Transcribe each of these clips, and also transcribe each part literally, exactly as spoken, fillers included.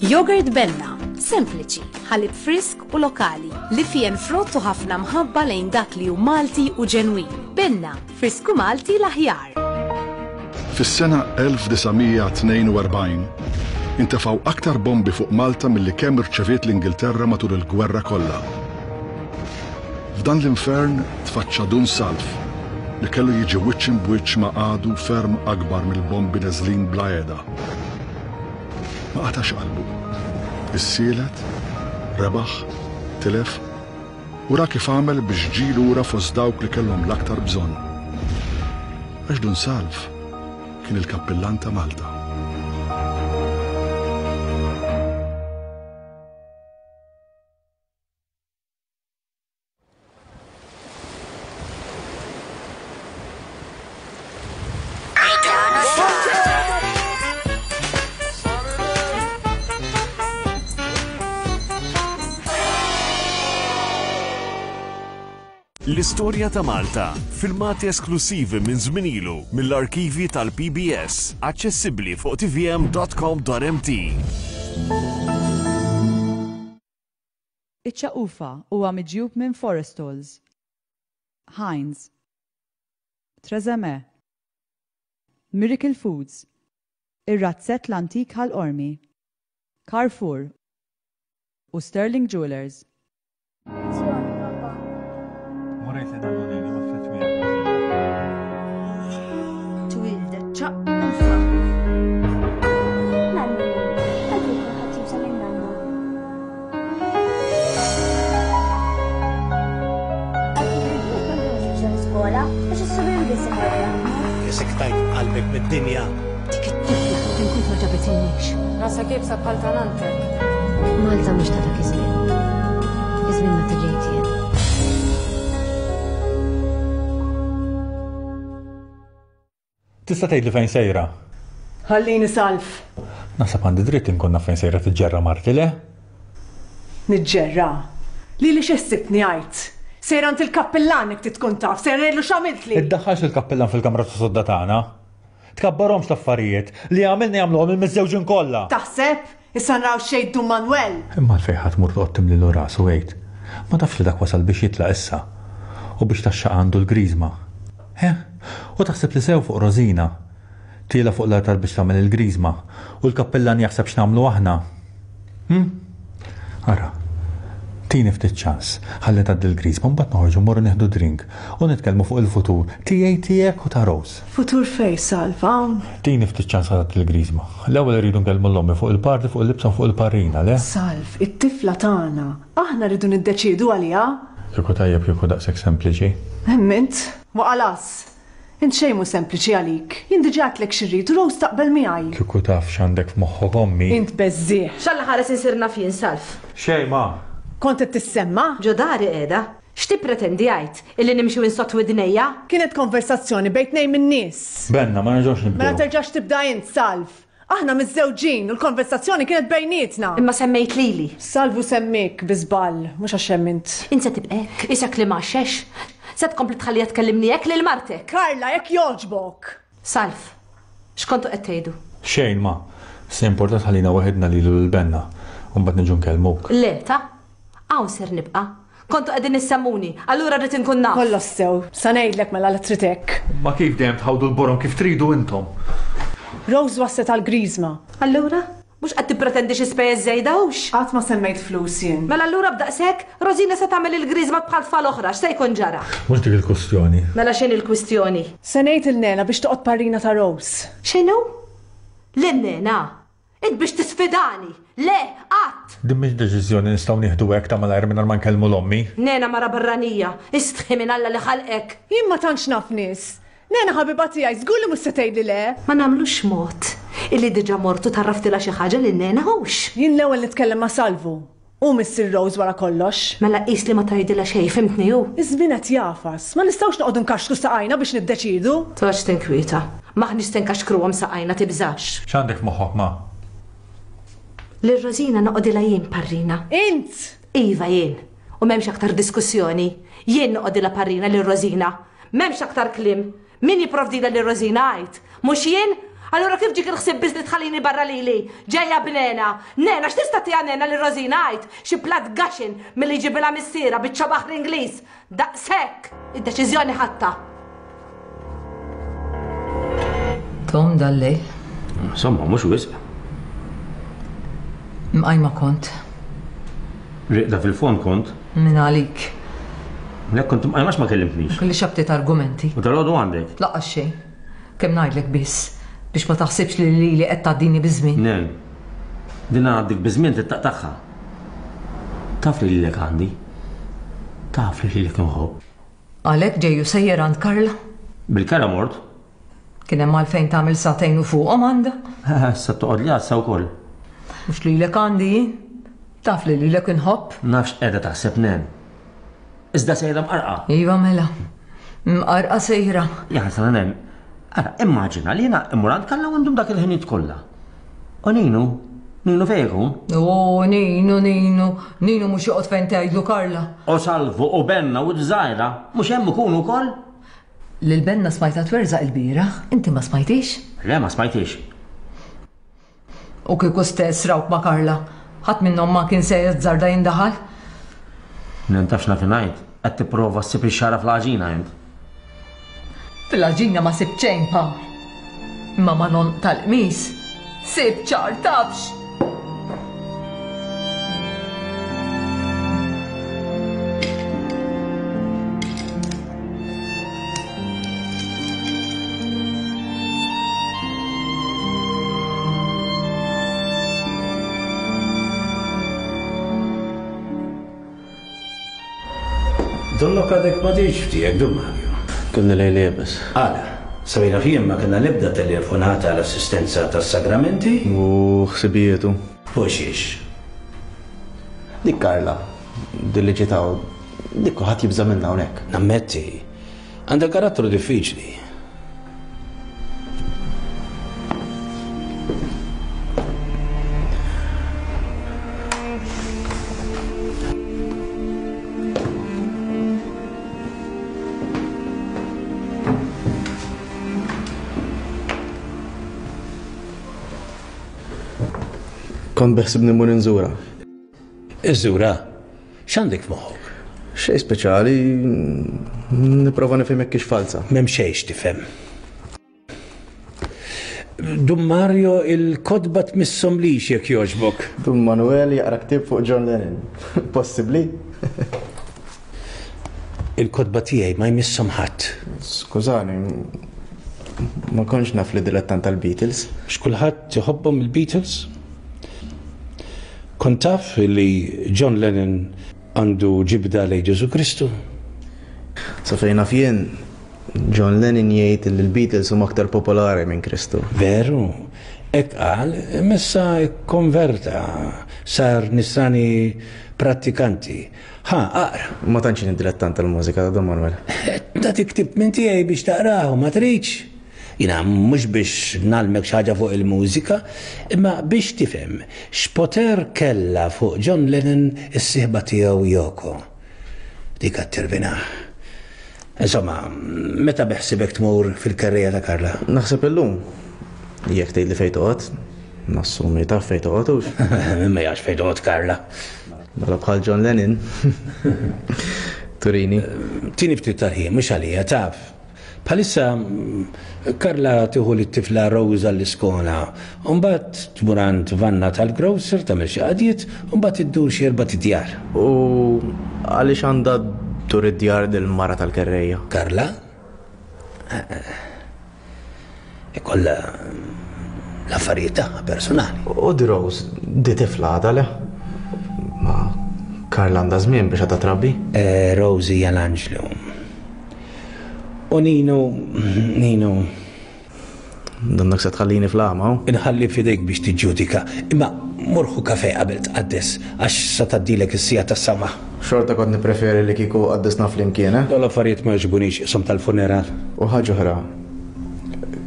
Yogurt Benna, sempliċi, ħalib frisk u lokali, li fien frott u ħafna mħabba lejn dak li hu Malti u ġenwin. Benna, frisku Malti l-aħjar. Fis-sena elf disa' mija tnejn u erbgħin, intefgħu aktar bombi fuq Malta milli kemm irċeviet l-Ingilterra matul il-gwerra kollha. F'dan l-infern tfaċċa Dun Salv li kellu jiġi wiċċ imbwiċċ ma' għadu ferm akbar mill-bombi neżlin bla għeda. Ma qatax qalbu. Issielet, rebaħ, tilef, u ra kif għamel biex ġie lura fost dawk li kellhom l-aktar bżonn. Għax Dun Salv kien il-kappillan ta' Malta. L-istorja ta' Malta, filmati esklusivi minn żmien ilu mill-arkivi tal-P B S, aċċessibbli fuq T V M dot com dot M T. Iċ-ċaqufa huwa miġjub minn Forestalls, Heinz, Tresemme, Miracle Foods, ir-Razzett l-Antik Ħal Qormi, Carrefour u Sterling Jewelers. Sektajt qalbek mid-dinja. Dik it-tifla tinkun ma ġabetinix. Rasa kibsa bħal tanantek. Malta mhux ta' dak iż-żmien. Iż-żmien meta ġejt jien. Tista' tgħidli fejn sejra? Ħallini Salv. Naħseb għandi dritt inkun naf fejn sejra tiġġerra marti, le? Niġġerra? Lili x'issibni għid? Sejra għand il-kappillan jekk tkun taf, sejra ngħidlu x'għamiltli. Iddaħħalx il-kappillan fil-kamra ta' sodda tagħna. Tkabbarhomx l-affarijiet li għamilna jagħmluhom il-miżżewġin kollha. Taħseb? Issa naraw xejn Dun Manuel. Imma għalfejn ħadd mur toqgħod timlilu rasu għid. Ma tafx li dak wasal biex jitlaq issa. U biex taxxaq għandu l-griżma. He? U taħseb li sew fuq Rosina. Tiela fuq l-altar biex tagħmel il-griżma. U l-kappillan jaħseb x'nagħmlu aħna. Hm? Ara. Tini ftit ċans, ħalli tgħaddi l-griżma, mbagħad noħorġu mmorru nieħdu drink u nitkellmu fuq il-futur tiegħi tiegħek u ta' Rose. Futur fej, Salv, hawn? Tini ftit ċans ħalli tgħaddi l-griżma. L-ewwel irridu nkellmu l-ommi fuq il-parti, fuq il-libsa u fuq il-parrina, le? Salv, it-tifla tagħna, aħna rridu niddeċiedu għaliha. Kieku tajjeb kieku daqshekk sempliċi. Emmint, waqalas. Int xejn mhu sempliċi għalik. Jien diġà għedtlek xi rrid u Rose taqbel miegħi. Kieku taf x'għandek f'moħħok ommi. Int beżżieħ. X'Alla ħares insir naf jien, Salv. Xejn ma. Kont qed tissemma? Ġo dari qiegħda. X'tippretendi għid? Illi nimxi insott widnejja? Kienet konversazzjoni bejn tnejn min-nies. Benna, ma nerġgħux nibdew. Mela terġax tibda int, Salv. Aħna miżżewġin u l-konversazzjoni kienet bejnietna. Imma semmejt lili. Salvu semmik bi żball, mhux għax hemm int. Int se tibqa' hekk, isek li m'għaxxex. Se tkompli tħallija tkellimni hekk lil martek. Karla, jekk jogħġbok. Salv, x'kontu qed tgħidu? Xejn ma. Se importa tħallina waħedna lilu lil Benna u mbagħad niġu nkellmuk. Le, ta' hawn ser nibqa'. Kontu qegħdin issemmuni, allura rrid inkun naf. Kollox sew, sa ngħidlek mela li trid hekk. Ma kif dejjem tħawdu l-borom kif tridu intom? Rose waslet għal griżma. Allura? Mhux qed tippretendi xi spejjeż żejda hux? Qatt ma semmejt flus jien. Mela allura b'daqshekk, Rosina se tagħmel il-griżma bħal tfal oħra, x'se jkun ġara? Mhux dik il-kwistjoni. Mela x'inhi l-kwistjoni? Se ngħid il-nena biex toqgħod parrina ta' Rose. X'inhu? Lin-nena? Int biex tisfidani? Le, qatt! Din mhix deċiżjoni nistgħu nieħdu hekk ta' malajr mingħajr ma nkellmu l-ommi. Nena mara barranija, istħi minn Alla li ħalqek. Jien ma tantx naf nies. Nena ħabiba tiegħi żgur li mhux se tgħidli le. Ma nagħmlux mod illi diġà mortu tarraftilha xi ħaġa lil nena hux. Jien l-ewwel nitkellem ma' Salvu. U Missier Rose wara kollox. Mela qis li ma tgħidilha xejn, fimtni hu. Iż-żmien qed jafas, ma nistgħux noqogħdu nkaxkru saqajna biex niddeċiedu. Toqgħodx tinkwieta. M'aħniex se nkaxkruhom saqajna tibżax. X'għandek f'moħħok ma? Lil Rosina noqogħdilha jien parrina. Int? Iva jien. U m'hemmx aktar diskussjoni. Jien noqogħdilha parrina lil Rosina. M'hemmx aktar kliem. Min jipprovdilha lil Rosina għid? Mhux jien? Allura kif ġiek il-ħsieb biss li tħallini barra lili? Ġejja b'Nena. Nena, x'tista' tiha Nena lil Rosina għid? Xi platt gaxin milli jġibilha missierha biċċa baħar Ingliż. Daqshekk! Id-deċiżjoni ħadtha. Tom dal-lejl. Insomma, mhux wisq. Mqajma kont. Riqda fil-fond kont. Min għalik. Lek kont mqajma ma kellimtnix. Kelli xabtiet argumenti. U dal-għodu għandek? Laqqas xejn. Kemm ngħidlek biss biex ma taħsibx li lili qed tgħaddini biż-żmien. Nen. Din għaddik biż-żmien tittaqtagħha. Taf li lilek għandi. Taf li lilek inħobb. Għalhekk ġejju sejjer għand Karla? Bil-kera mort. Kien hemm għalfejn tagħmel sagħtejn u fuqhom għandha. Issa toqgħod li għassa wkoll. Mhux lilek għandi jien. Taf li lilek inħobb. Nafx qiegħda taħseb Nen. Iżda sejra mqarqa. Iva mela. Mqarqa sejra. Ja ħasra Nen. Ara, immaġina li jiena immur għand Karla u għandhom dak il-ħinijiet kollha. U Ninu, Ninu fejn ikun? O Ninu, Ninu, Ninu mhux joqgħod fejn tgħidlu Karla. U Salvu u Benna u d-żgħira, mhux hemm ikunu wkoll? Lil Benna smajta twerżaq il-bieraħ, inti ma smajtix? Le, ma smajtix. U kieku stess rawk ma' Karla, ħadd minnhom ma kien se jazzarda jindaħal? Nen tafx naf ngħid, qed tipprova ssib ix-xara fl-għaġina int. Fil-għaġina ma sibt xejn, Pawl. Imma ma non tal-qmis, sib ċar tafx. Donnok għadek ma tiġ ftiegħek, Dun Mario. Kelli lejl iebes. Għala, sabina fien ma kellna l-ebda telefonata għal assistenza tas-sagramenti. U ħsibijietu. U xiex? Dik Karla, dilli ġitaw, dik kulħadd jibża' minnha hawnhekk. Nammetti, għandha karattru diffiċli. Kont beħsibni mmur inżura. Iżżura? X'għandek f'moħħok? Xejn speċjali, nipprova nifhem jekk hix falsa. M'hemm xejn x'tifhem. Dun Mario, il-kotba tmisshom lix jekk jogħġbok. Dun Manuel jaqra ktieb fuq John Lennon. Possibbli? Il-kotba tiegħi ma jmisshom ħadd. Skużani, ma kontx naf li dilettant tal-Beatles. X'kulħadd iħobbhom il-Beatles? Kont taf li John Lennon għandu ġibda lejn Ġesu Kristu? Sa fejn naf jien, John Lennon jgħid li l-Beatles huma aktar popolari minn Kristu. Veru, hekk qal, imma ikkonverta, sar nisrani prattikanti. Ha, aqra. Ma tantx jien dilettant tal-mużika ta' Don Manuel. Nagħtik ktieb minn tiegħi biex taqrahu, ma tridx? Jiena mhux biex nagħlmek xi ħaġa fuq il-mużika, imma biex tifhem x'poter kellha fuq John Lennon is-sieħba tiegħu Yoko. Dik qed tirvinah. Insomma, meta beħsibek tmur fil-kerrija ta' Karla? Naħseb illum. Jekk tgħidli fejn toqgħod, nassumi taf fejn toqgħod hux. Ma jafx fejn toqgħod Karla. Mela bħal John Lennon. Turini. Tini ftit tal-ħin, mhux għalija, taf. Bħalissa Karla tieħu lit-tifla Rosa l-iskola, u mbagħad tmur għand Vanna tal-grocer tagħmel xi qadiet, u mbagħad iddur xi erba' djar. U għaliex għandha ddur id-djar dil-mara tal-kerrejja? Karla? Ikollha l-affarijiet tagħha personali. U di Rose, di tifla għadha le? Ma Karla għandha żmien biex għadha trabbi? Rose hija l-anġlu. U Nino, Nino. Donnok se tħallini fl-għama, hu? Inħalli f'idejk biex tiġġudika, imma morħu kafe qabel tqaddes, għax sa tgħaddilek is-sija tas-sama. Xorta kont nippreferi li kieku qaddisna flimkien, eh? Dawn l-affarijiet ma jogħġbunix isom tal-funeral. U ħaġa oħra,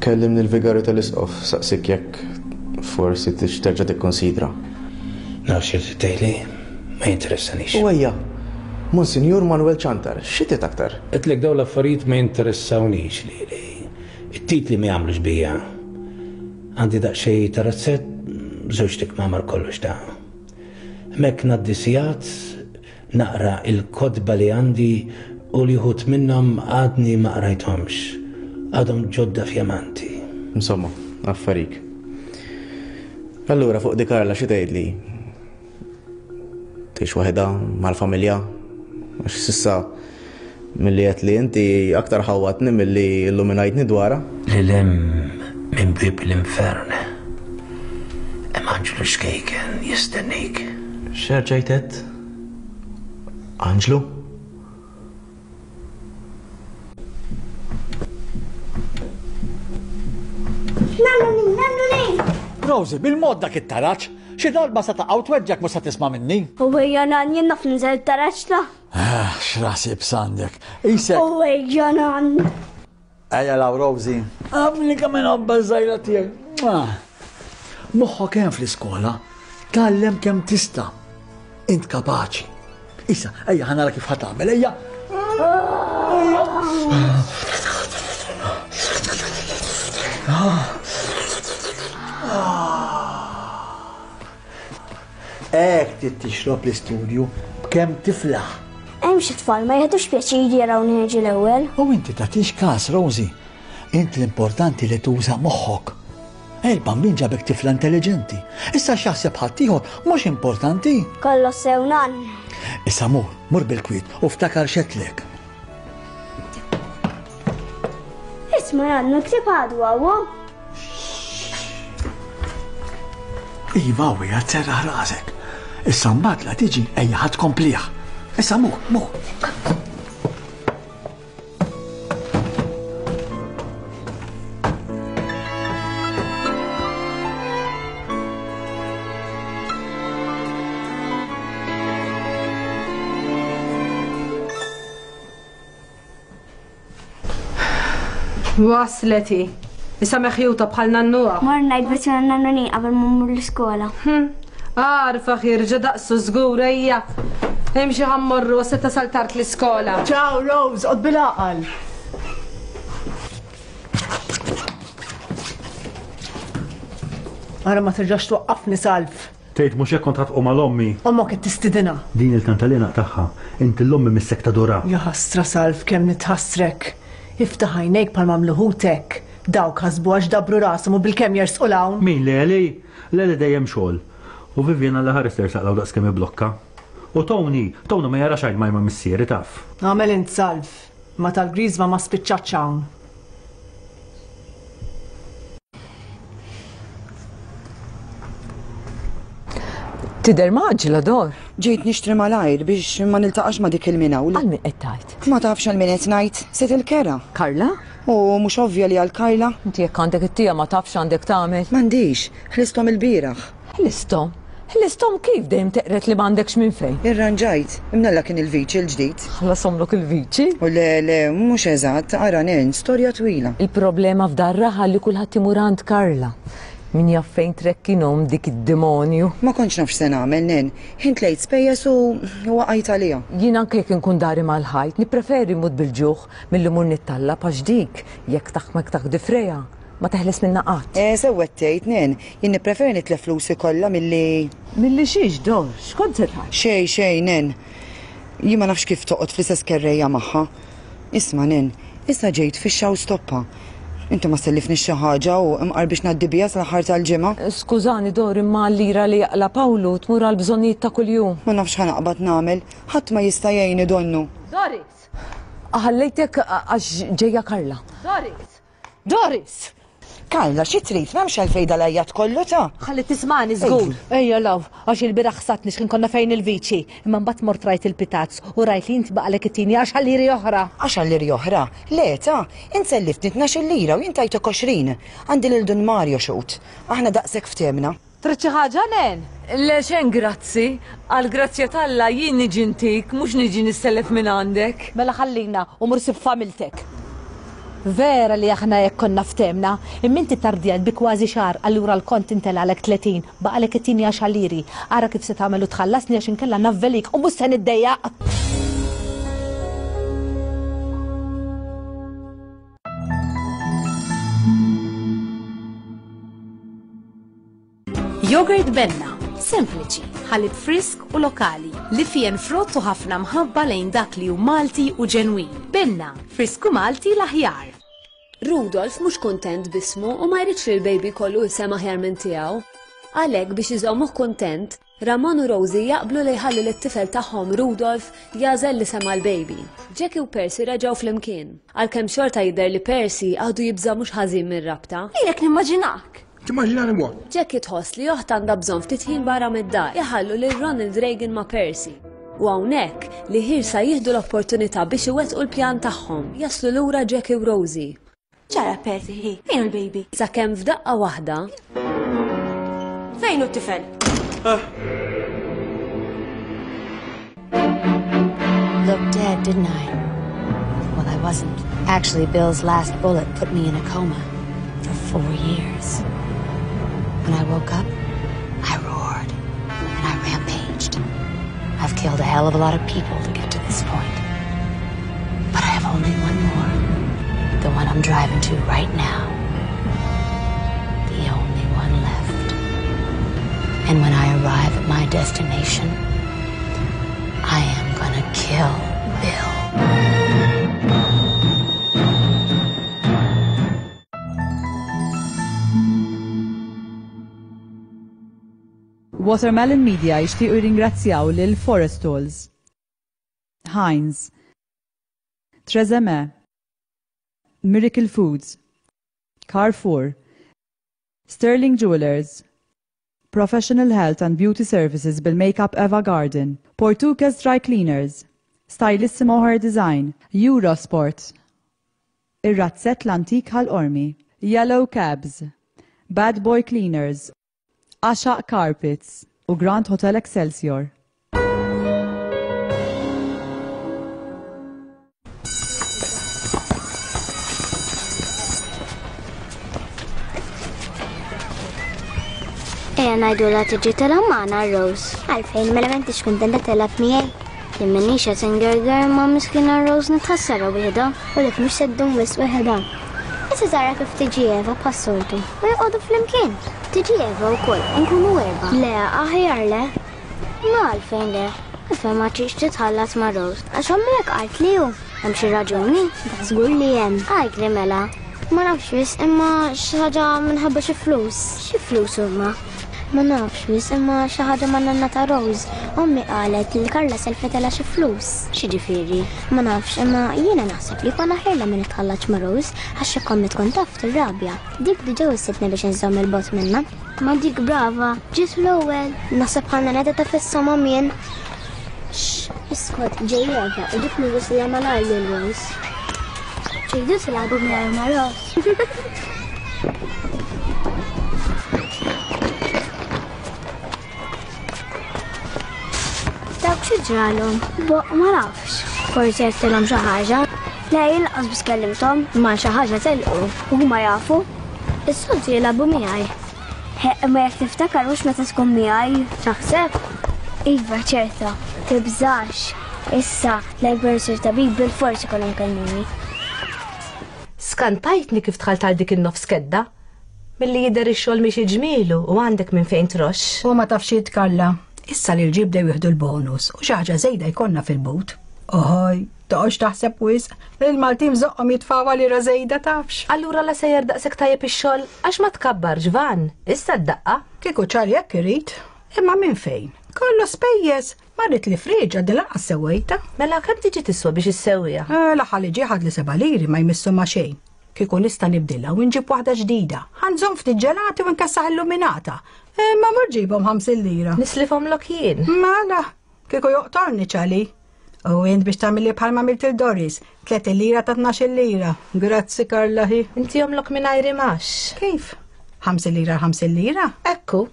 kellimni l-vigarju tal-isqof saqsik jekk forsi tix terġa' tikkonsidra. Naf xi trid tgħidli, ma jinteressanix. U ejja, Monsinjur Manuel Ciantar, xi trid aktar? Għedtlek dawn l-affarijiet ma jinteressawniex lili. It-titli ma jagħmlux bija. Għandi daqsxejn ta' razzett, żewġt ikmamar kollox ta'. Hemmhekk ngħaddi sigħat naqra il-kotba li għandi u li wħud minnhom għadni ma qrajthomx. Għadhom ġodda fjamanti. Insomma, affarik. Allura fuq di Karla xi tgħidli? Tgħix waħedha mal-familja? Għax s'issa milli qed li inti aktar ħawwatni milli illuminajtni dwarha. Lil hemm minn bieb l-infern hemm anġlu xkejken jistennik. X'erġajt għedt? Anġlu? Nannuni, nannuni! Rosie, bil-mod dak it-taraġ, xi darba sa taqa' u tweġġgħek mhux sa tisma' minni. U ejja nan, jien naf ninżel it-taraġ ta'. Ah, x'ras ibs għandek. Isek. U ejja nan. Ejja law Rosie. Għamli kemm inħobbha ż-żgħira tiegħek. Moħħok hemm fl-iskola. Tgħallem kemm tista'. Int kapaċi. Issa, ejja ħa nara kif ħa tagħmel, ejja. Hekk trid tixrob l-istudju b'kemm tiflaħ. Hemm xi tfal ma jieħdux pjaċir jarawni niġi l-ewwel. U inti tagħtix każ, Rosie. Int l-importanti li tuża moħħok. Il-bambin ġabek tifla intelligenti. Issa x'jaħseb ħaddieħor mhux importanti. Kollox sew nan. Issa mur, mur bil-kwiet u ftakar x'għedtlek. Isma' nannu ktieb għadu hawn. Iva u hija tserraħ rasek. Issa mbagħad la tiġi ejja ħadd tkomplih. Issa mur, mur. Waslet hi. Issa meħjuta bħal nannuha. Mor ngħid biex nannuni qabel ma mmur l-iskola. Għarfa ħirġa daqsu żgur ejja. Imxi ħa mmorru se tasal tard l-iskola. Ciao Rose, qod bil-għaqal. Ara ma terġax twaqqafni Salv. Tgħid mhux hekk kont ħa tqum għal ommi. Ommok qed tistidinha. Din il-kantalina tagħha, inti l-ommi missek tadura. Ja ħasra Salv kemm nitħassrek. Iftaħ għajnejk bħal m'għamlu ħutek. Dawk ħasbu għax dabru rashom u bilkemm jersqu 'l hawn. Min Leli? Leli dejjem xogħol. U Vivian alla ħares tersaq 'l hawn daqskemm iblokka. U Tony, Tony ma jarax għajn ma missieri taf. Għamel int Salv, ma tal-griżma ma spiċċatx hawn. Tidher maġla Dor. Ġejt nixtri malajr biex ma niltaqax ma dik il-minawl. Għal min qed tgħid? Ma tafx għal min qed ngħid, sid il-kera. Karla? U mhux ovvja li għal Karla. Inti jekk għandek it-tija ma tafx għandek tagħmel. M'għandix, ħlisthom il-bieraħ. Ħlisthom? Ħlisthom kif dejjem teqret li m'għandekx minn fejn? Irranġajt, imnalla kien il-viċi l-ġdid. Ħlashomlok il-viċi? U le, le, mhux eżatt, ara nen, storja twila. Il-problema f'dar raħal li kulħadd imur għand Karla. Min jaf fejn trekkinhom dik id-demonju. Ma kontx naf x'se nagħmel, nen. Ħint lejt spejjeż u waqajt għaliha. Jien anke jekk inkun dari mal-ħajt, nippreferi mmut bil-ġuħ milli mmur nittallab għax dik jekk taħmek taħ difreja ma teħles minna qatt. Eh, sewwed tgħid, nen. Jien nippreferi nitlef flusi kollha milli. Milli xiex, Dor? X'kont se tgħid? Xejn, xejn, nen. Jien ma nafx kif toqgħod fl-istess kerrejja magħha. Isma', nen, issa ġejt fixxa u stoppa. Inti ma sellifni xi ħaġa u imqar biex ngħaddi biha sal-aħħar tal-ġimgħa. Skużani Dor, imma l-lira li jaqla' Pawlu tmur għal bżonnijiet ta' kuljum. Ma nafx ħa naqbad nagħmel, ħadd ma jista' jgħinni donnu. Doris! Ħallejtek għax ġejja Karla. Doris! Doris! Karla, xi trid? M'hemmx għalfejn dal-għajjat kollu ta'. Ħalli tismani żgur. Ejja law, għax il-bieraħ ħsatni x'kien konna fejn il-viċi. Imma mbagħad mort rajt il-pitazz u rajt li inti baqalek it-tieni għaxar liri oħra. Għaxar liri oħra? Le ta, int selliftni tnax-il lira u jien tajtek għoxrin. Għandi lil Dun Mario xhud. Aħna daqshekk ftehmna. Trid xi ħaġa, Nen? Le xejn grazzi. Għall-grazzja t'Alla jien niġi ntik, mhux niġi nissellef minn għandek. Mela ħallina u mur sib familtek. Vera li aħna hekk konna ftehmna, imma inti tardjajt bi kważi xahar, allura l-kont intelgħalek tletin, baqalek it-tieni għaxar liri. Ara kif se tagħmel u tħallasni għax inkella navvelik u mhux se niddejjaq. Yogurt Benna, sempliċi, ħalib frisk u lokali, li fien frott u ħafna mħabba lejn dak li hu Malti u ġenwin. Benna, frisku Malti l-aħjar. Rudolf mhux kuntent b'ismu u ma jridx li l-baby kollu isem aħjar minn tiegħu. Għalhekk biex iżommuh kuntent, Ramon u Rosie jaqblu li jħallu lit-tifel tagħhom Rudolf jagħżel l-isem għall-baby. Jackie u Percy reġgħu flimkien. Għalkemm xorta jidher li Percy għadu jibża' mhux ħażin mir-rabta. Lilek nimmaġinak. Timmaġinani what? Jackie tħoss li oħtha għandha bżonn ftit ħin barra mid-dar. Iħallu lil Ronald Reagan ma' Percy. U hawnhekk li ħirsa jieħdu l-opportunità biex iwettqu l-pjan tagħhom. Jaslu lura Jackie u Rosie. Ġara Percy, hi, fejn hu l-baby? Sakemm f'daqqa waħda. Fejn hu t-tifel? Looked dead, didn't I? Well, I wasn't. Actually, Bill's last bullet put me in a coma for four years. When I woke up, I roared and I rampaged. I've killed a hell of a lot of people to get to this point. But I have only one more. The one I'm driving to right now. The only one left. And when I arrive at my destination, I am gonna kill Bill. Watermelon Media jixtiequ jirringrazzjaw lil Forestalls, Heinz, Trezeme, Miracle Foods, Carrefour, Sterling Jewelers, Professional Health and Beauty Services bil-Makeup Eva Garden, Portuguese Dry Cleaners, Stylissimo Hair Design, Eurosport, Ir-Razzett l-Antik Ħal Qormi, Yellow Cabs, Bad Boy Cleaners, Għaxaq Carpets u Grand Hotel Excelsior. Ejja ngħidulha tiġi tilgħab magħna Rose. Għalfejn mela m'intix kuntenta tilgħab miegħi. Jien m'iniex qed ingerger ma' miskina Rose nitħassarha wieħda u dik mhux se ddum wisq waħedha. Issa tara kif tiġi Eva bħas-soltu u joqogħdu flimkien. Tiġi Eva wkoll u nkunu erba'. Le, aħjar le. Ma għalfejn le. Għalfejn ma tridx titħallat ma' Rose. Għax ommi hekk qalt li hu. Hemm xi raġuni? Da żgur li hemm. Għajtli mela. Ma nafx wisq imma xi ħaġa minħabba xi flus. Xi flus huma? Ma nafx wisq imma xi ħaġa ma' nanna ta' Rose. Ommi qalet li Karla selfetela xi flus. X'jiġifieri? Ma nafx imma jiena naħseb li konna ħirla minn nitħallatx ma' Rose għax jekk ommi tkun taf tirrabja. Dik diġà wissitni biex inżomm il-bot minnha. Ma dik brava, ġiet l-ewwel. Naħseb ħalna neta ta' fis-soma mien. Xx, iskot, ġej Eva u dik li wisla malajr lil Rose. Tridu tilagħbu mingħajr ma' Rose. Dawk xi ġralhom? Boq ma nafx. Forsi għedtilhom xi ħaġa. Le, jien lanqas biss kellimthom, imma xi ħaġa telqu u huma jafu. Is-soltu jilagħbu miegħi. He, imma jekk tiftakar mhux meta tkun miegħi, taħseb? Iva, ċerta, tibżax. Issa, l-akbar sir tabib bil-forsi kollhom kellmuni. Skantajtni kif dħalt għal dik in-nofs kedda. Milli jidher ix-xogħol mhix iġmielu u għandek minn fejn troxx. U ma tafx jitkalla. Issa li l-ġib bdew jieħdu l-bonus u xi ħaġa żejda jkollna fil-but. Oħoj, toqgħodx taħseb wisq, il-Maltin żoqqhom jitfgħu lira żejda tafx. Allura la sejjer daqshekk tajjeb ix-xogħol għax ma tkabbarx van, issa d-daqqa. Kieku ċar jekk irid, imma minn fejn? Kollu spejjeż, ma rrid li friġa din lanqas sewwejta. Mela kemm tiġi tiswa biex issewwiha? Eh, l-aħħar li ġie ħad li seba' liri ma jmissu ma' xejn. Kieku nista' nibdilha u nġib waħda ġdida. Ħanżomm ftit ġelati u nkessaħ illuminata. Imma mur ġibhom ħamsin lira. Nislifhom lok jien. Mela, kieku joqtorni ċali. U int biex tagħmilli bħalma għamilt il Doris, tletin lira ta' tnax-il lira. Grazzi Karla hi. Inti jomlok mingħajr imax. Kif? Ħamsin lira ħamsin lira? Ekku.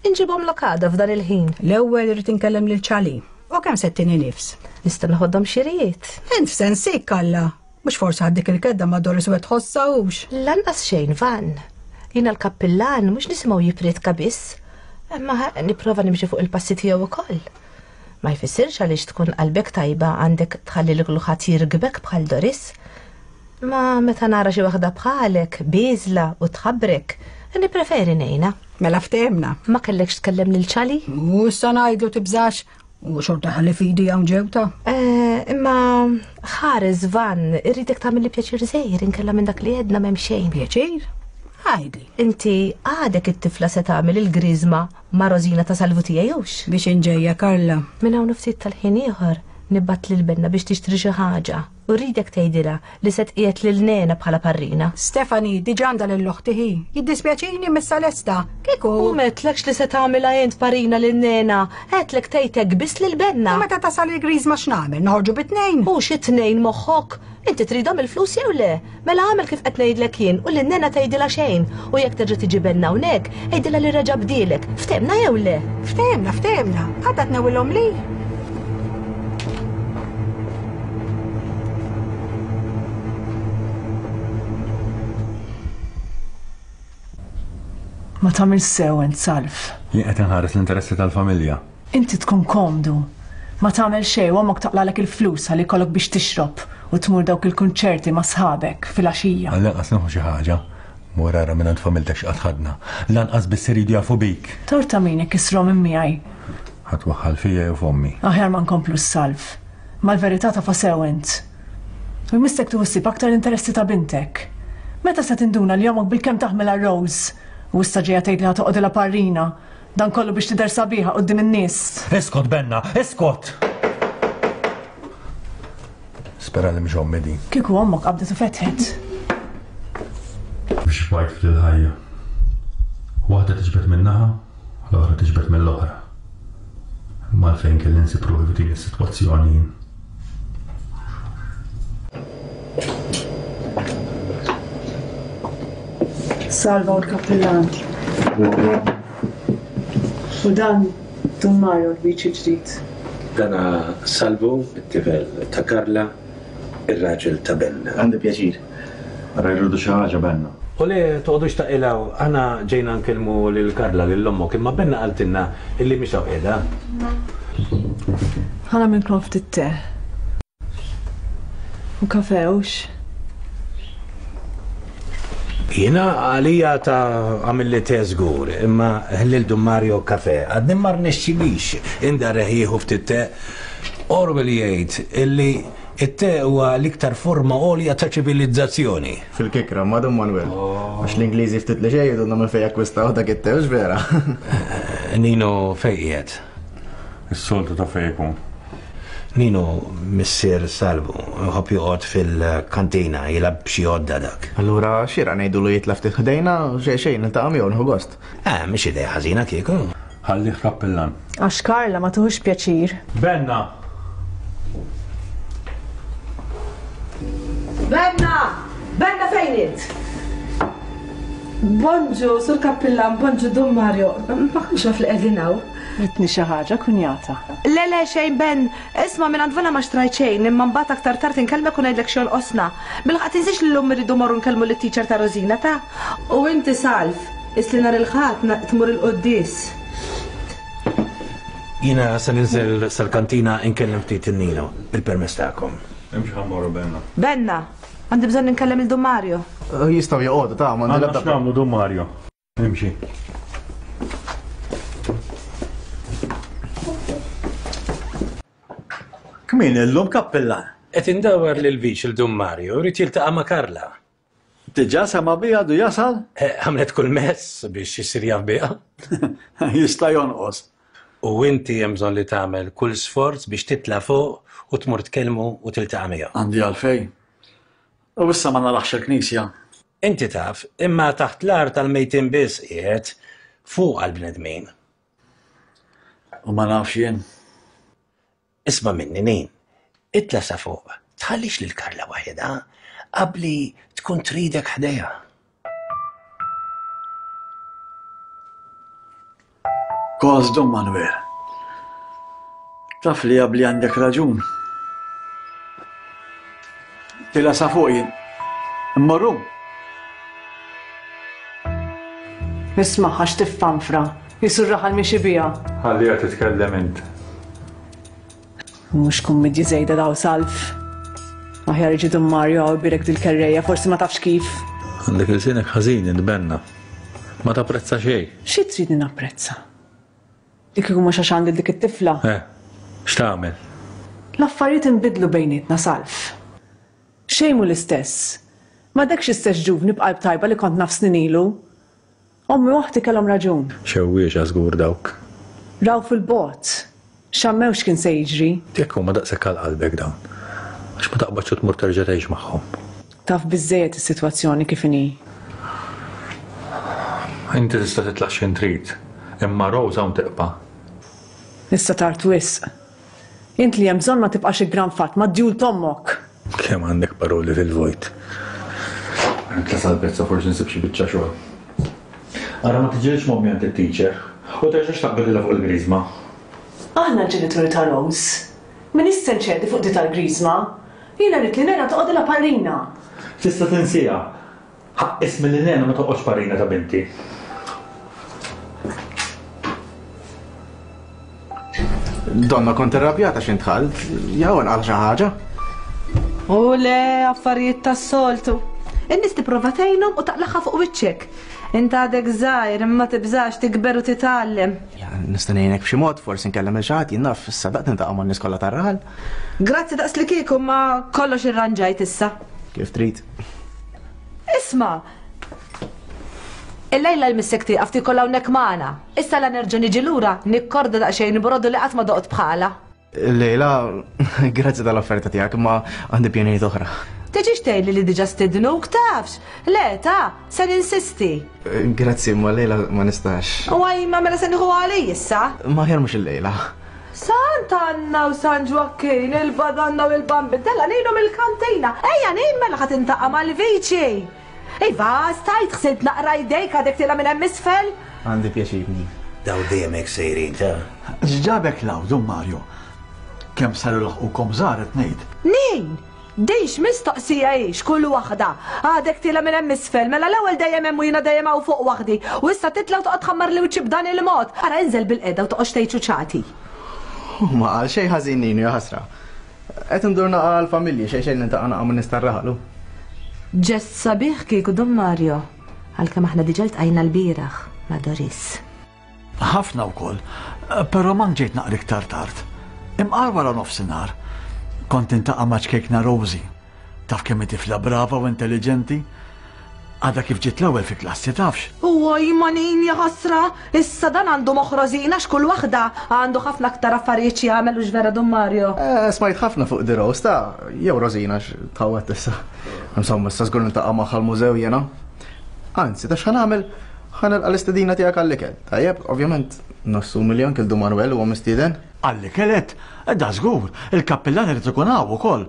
Inġibhom lok għada f'dan il-ħin. L-ewwel irid inkellem lil ċali. U kemm se ttini nifs? Nista' noħodhom xirijiet. Int f'sensik Kalla. Mhux forsi ħaddik il-kedda ma' Doris u qed tħossha hux. Lanqas xejn van. Jiena l-kappillan mhux nisimgħu jippriedka biss. Imma nipprova nimxi fuq il-passi tiegħu wkoll. Ma jfissirx għaliex tkun qalbek tajba għandek tħalli lil kulħadd jirgbek bħal Doris. Ma meta nara xi waħda bħalek, bieżla u tħabbrek, Nippreferi ngħinha. Mela ftehemna. Ma kellekx tkellem lil Ċali? U issa ngħidlu tibżax. U xorta ħalli fidi hawn ġewta. Eh, imma ħares Van, irridek tagħmel li pjaċir żgħir inkella minn dak li għedna m'hemm xejn. Pjaċir? Għidli. Inti għadek it-tifla se tagħmel il-griżma ma' Rosina ta' Salvu tiegħi hux? Biex inġejja Karla. Minn hawn ftit tal-ħin ieħor nibgħat lil Benna biex tixtri xi ħaġa u rridek tgħidilha li se tqiegħed lil Nena bħala parrina. Stefani, diġà għandha lil oħti hi. Jiddispjaċini missa lesta. Kieku. U m'għedtlekx li se tagħmilha int parrina lil Nena, għedtlek tgħidlek biss lil Benna. U meta tasal il-griżma x'nagħmel? Noħorġu bi tnejn? U xi tnejn moħħok? Inti tridhom il-flus jew le? Mela għamel kif qed ngħidlek jien u lil Nena tgħidilha xejn. U jekk terġa' tiġi Benna hawnhekk, għidilha li reġa' bdielek. Ftehmna jew le? Ftehmna, ftehmna. Għadha tnewwilhom li. Ma tagħmel sew int Salv. Jien qed inħares l-interessi tal-familja. Inti tkun komdu. Ma tagħmel xejn u ommok taqlalek il-flus ħalli jkollok biex tixrob u tmur dawk il-kunċerti ma' sħabek fil-għaxija. Għall-inqas nieħu xi ħaġa. Mur ara minn għand familtek x'qatt ħadna. Lanqas biss iridu jafu bik. Torta min jekk isrom minn miegħi. Ħadd waħħal fija jew f'ommi. Aħjar ma nkomplu s-Salv. Mal-verità tafa sew int. U jmissek tieħu ħsieb aktar l-interessi ta' bintek. Meta se tinduna li ommok bilkemm taħmilha Rose? U issa ġejja tgħid li ħa toqgħodilha parrina. Dan kollu biex tidher sabiħa quddiem in-nies. Iskot Benna, iskot! Spera li mhix ommi din. Kieku ommok qabdet u fetħet. Biex bajt fil-ħajja. Waħda tiġbed min-naħa, l-oħra tiġbed mill-oħra. Imma għalfejn kelli nsib ruħi f'din is-sitwazzjoni jien. Salva u l-kappillan. U dan Dun Mario l-biċi ġdid. Dana Salvu, it-tifel ta' Karla, ir-raġel ta' Benna. Għandi pjaċir. Ara jridu xi ħaġa Benna. U le toqgħodux taqilgħu, aħna ġejna nkellmu lil Karla lil ommok, imma Benna qaltilna illi mhix hawn qiegħda. Ħa nagħmilkom ftit te. U kafe hux? Jiena għalija ta' għamilli te żgur, imma lil Dun Mario kafe. Għadni ma rnexxilix indarreħ jieħu ftit te. Orwell jgħid illi it-te huwa l-iktar forma għolja ta' ċivilizzazzjoni. Fil-kikra, ma Dun Manuel. Għax l-Ingliżi ftit li xejn jgħidulna minn fejn akkwistaw dak it-te, hux vera? Nino fejn qiegħed? Is-soltu ta' fejn ikun. Nino missier Salvu, jħobb joqgħod fil-kantina jilgħab b'xi għodda dak. Allura xieraq ngħidulu jitla' ftit ħdejna, xejn xejn niltaqa' miegħu nieħu gost. Eh, mhix idea ħażina kieku. Ħallih kappillan. Għax Karla ma tuħux pjaċir. Benna! Benna! Benna fejn int? Bonġu, sur kappillan, bonġu Dun Mario. Ma kontx naf li qegħdin hawn. Ritni xi ħaġa kunjata. Le le xejn Ben, isma' minn għand Vana ma xtrajt xejn, imma mbagħad aktar tard inkellmek u ngħidlek x'jonqosna. Bilħaqq tinsiex li llum irridu morru nkellmu lit-teacher ta' Rosina ta' U inti Salv, isli nhar il-Ħadd tmur il-quddies. Jiena se ninżel sal-kantina nkellem ftit in-Nino, bil-permess tagħkom. Imxi ħa mmorru Benna. Benna, għandi bżonn inkellem il Dun Mario. Jistgħu joqogħdu ta' m'għandi Għandna l-ebda x'nagħmlu Dun Mario. Imxi. Kmin illum kappillan? Qed indawwar lil viċ il Dun Mario, jrid jiltaqa' ma' Karla. Diġà sema' biha għadu jasal? Għamlet kull mezz biex isir jaf biha. Jista' jonqos. U inti hemm bżonn li tagħmel kull sforz biex titla' fuq u tmur tkellmu u tiltaqa' miegħu. Għandi għalfejn. U issa ma naraħx il-knisja. Inti taf, imma taħt l-art tal-mejtin biss qiegħed fuq għall-bnedmin. U ma nafx jien. Isma' minni Nin, itla' sa fuq, tħallix lil Karla waħedha, qabli tkun tridek ħdejha. Kos Dun Manuel. Taf li qabli għandek raġun. Tila sa fuq jien. Immorru. Nismaħħa x'tiffanfra, jisur raħal miexi biha. Ħalliha titkellem int. Mhux kummidji żejda daw Salv. Aħjar iġi Dun Mario għaw birek dil-kerrejja, forsi ma tafx kif. Għandek il-sinek ħażin int Benna. Ma tapprezza xejn. Xi tridni napprezza? Li kieku mhux għax għandi dik it-tifla. Eh, x'tagħmel? L-affarijiet inbidlu bejnietna, Salv. Xejn mhu l-istess. Ma dekx istess ġuvni b'qalb tajba li kont naf snin ilu. Ommi u oħti kellhom raġun. Xewwiexa żgur dawk. Raw fil-bogħod. Xammew x'kien se jiġri. Jekk huma daqshekk għal qalbek dawn. Għax ma taqbadx u tmur terġa' tgħix magħhom. Taf biżżejjed is-sitwazzjoni kif inhi. Inti tista' titlaq x'in trid, imma Rose hawn tibqa'. Issa tard wisq. Int li hemm bżonn ma tibqax iggranfat mad-djul t'ommok. Kemm għandek paroli fil-vojt. Nitla' sal-pezza forsi nsib xi biċċa xogħol. Ara ma tiġilx m'ommi għand it-teacher u terġax taqbililha fuq il-griżma. Aħna l-ġenituri ta' Rose. M'iniex se nċedi fuq di tal-griżma. Jiena rrid li Nena toqgħodilha parrina. Tista' tinsiha. Ħaqq ismi li Nena ma toqgħodx parrina ta' binti. Donna kont irrabjata x'int dħalt, jew inqal xi ħaġa. U le, affarijiet tas-soltu. In-nies tipprova tgħinhom u taqlaħha fuq wiċċek. Int għadek żgħir imma tibżax tikber u titgħallem. Ja, nista' ngħinek b'xi mod, forsi nkellem il xi ħadd, jien naf, issa daqt niltaqa' man-nies kollha tar-raħal. Grazzi daqs li kieku ma kollox irranġajt issa. Kif trid. Isma', il-lejla l-missek tieqaf tiekol hawnhekk magħna. Issa la nerġa' niġi lura nikkorda daqsxejn brodu li qatt ma doqt bħala. Lejla, grazzi tal-offerta tiegħek, imma għandi pjanijiet oħra. Tiġix tgħidli li diġà stidnuk tafx. Le, ta, se ninsisti. Grazzi, imma lejla ma nistax. U għajma mela se nieħu għalij issa. Ma aħjar mhux illejla. Sant'Anna u San Ġwakkin, il-Badanna u l-Bambin, della ngħinu mill-kantina. Ejja ngħin mela ħa tintaqa' mal-viċi. Iva, stajt ħsilt naqra jdejk għadek tilha minn hemm isfel. Għandi pjaċir. Daw dejjem hekk sejrin ta'. X'ġabek law, Dun Mario? Kemm saru laħqukom żgħar qed ngħid. Nin! Dix mistoqsija hix kull waħda. Għadek tilha minn hemm isfel, mela l-ewwel dejjem hemm u jiena dejjem hawn fuq waħdi. U issa titla' u toqgħod tħammar li wiċċi b'dan il-mod. Ara inżel bil-qeda u toqgħodx tgħid ċuċati. U ma qal xejn ħażin Ninu, ja ħasra. Qed indur naqa' l-familji xejn xejn nintaqa' naqa' minn nies tar-raħal. Ġest sabiħ kieku Dun Mario, għalkemm aħna diġà ltqajna l-bieraħ ma' Doris. Ħafna wkoll, però ma ġejt naqra iktar tard. Imqar wara nofsinhar. Kont intaqa' ma' ċkejkna Rosie. Taf kemm hi tifla brava u intelligenti? Għadha kif ġiet l-ewwel fi klassi tafx. Uj, manin ja ħasra, issa dan għandu moħħ Rosina x'kull waħda għandu ħafna aktar affarijiet xi jagħmel u x'vera Dun Mario. Eh, smajt ħafna fuq di Rose ta' jew Rosina x'tħawwet issa. Insomma, issa żgur niltaqa' magħha l-mużew jiena. Anzi, ta' x'ħa nagħmel? Ħa nilqa' l-istedina tiegħek għall-ikel. Tajjeb, ovvjament, nassumi li anke l-Dun Manuel huwa mistieden. Għall-ikel qed? Da żgur, il-kappillan irid ikun hawn ukoll.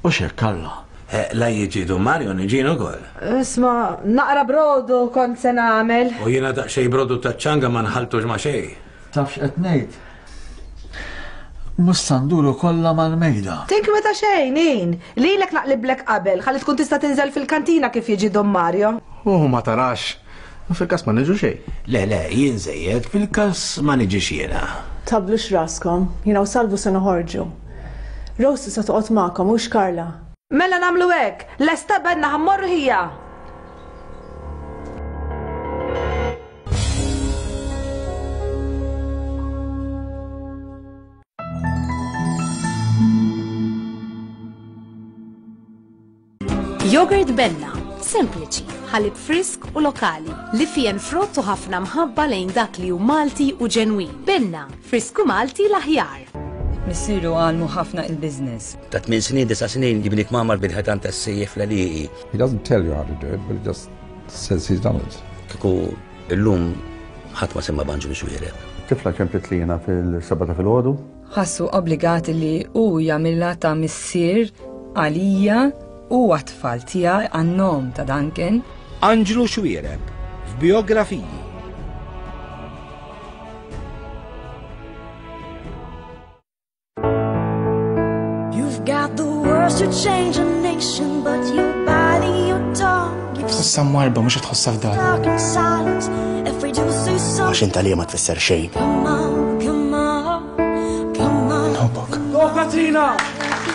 U x'hekk Alla. Eh, la jiġi Dun Mario niġin ukoll. Isma', naqra brodu kont se nagħmel. U jiena daqsxejn brodu taċ-ċanga ma nħaltux ma' xejn. Taf x'qed ngħid? Mhux se nduru kollha mal-mejda. Tinkweta xejn, in. Lilek naqliblek qabel, ħalli tkun tista' tinżel fil-kantina kif jiġi Dun Mario. U ma tarax. Fil-każ ma niġu xejn. Le, le, jien żejjed, fil-każ ma niġix jiena. Tablux raskom, jiena u Salvu se noħorġu. Rose se toqgħod magħkom hux Karla. Mela nagħmlu hekk, lesta bedna ħammorru ħija. Yogurt Benna, sempliċi, ħalib frisk u lokali, li fien frott u ħafna mħabba lejn dak li hu Malti u ġenwin. Benna, frisku Malti l-aħjar. Missieru għalmu ħafna il-biznis. Ta' tmien snin, disa' snin, jibnik mamar bil-ħetan ta' s-sejjef l-għaliqi. He doesn't tell you how to do it, but he just says he's done it. Kieku illum ħadd ma semma b'Anġlu Xuereb. Tifla ċemplet li jiena fil-seba ta' filgħodu. Ħassu obbligat li hu jagħmilha ta' missier għalija u għat-tfal tiegħi għan-nom ta' Duncan. Anġlu Xuereb f'Biografiji. You've got the words to change a nation, but you're biting your tongue. You've Tħossha mwarba mhux qed tħossha f'dar. stuck in silence. If we do say Għax something, int għalija ma tfisser xejn. come on, come on, come on. Nħobbok. Go, Katrina!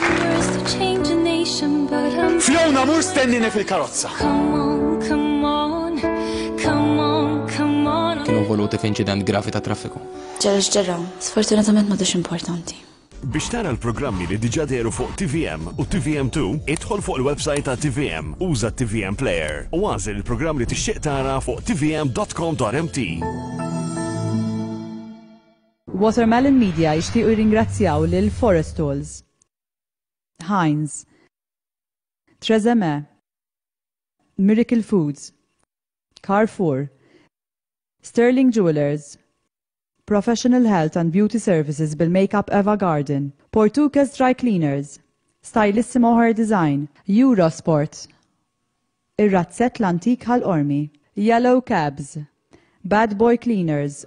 Words to change a nation, but I'm Fiona, mur stennini fil-karozza. Come on, come on, come on. involuti f'inċident gravi ta' traffiku. Ġara x'ġara, sfortunatament m'għadux importanti. Biex tara l-programmi li diġà dehru fuq T V M u T V M two, idħol fuq il-website ta' T V M, uża T V M Player u għażel il-programm li tixtieq tara fuq T V M dot com dot M T. Watermelon Media jixtiequ jirringrazzjaw lil Forestols, Heinz, Trezeme, Miracle Foods, Carrefour, Sterling Jewelers, Professional Health and Beauty Services bil-Makeup Eva Garden, Portuguese Dry Cleaners, Stylissimo Hair Design, Eurosport, Ir-Razzett l-Antik Ħal-Qormi, Yellow Cabs, Bad Boy Cleaners,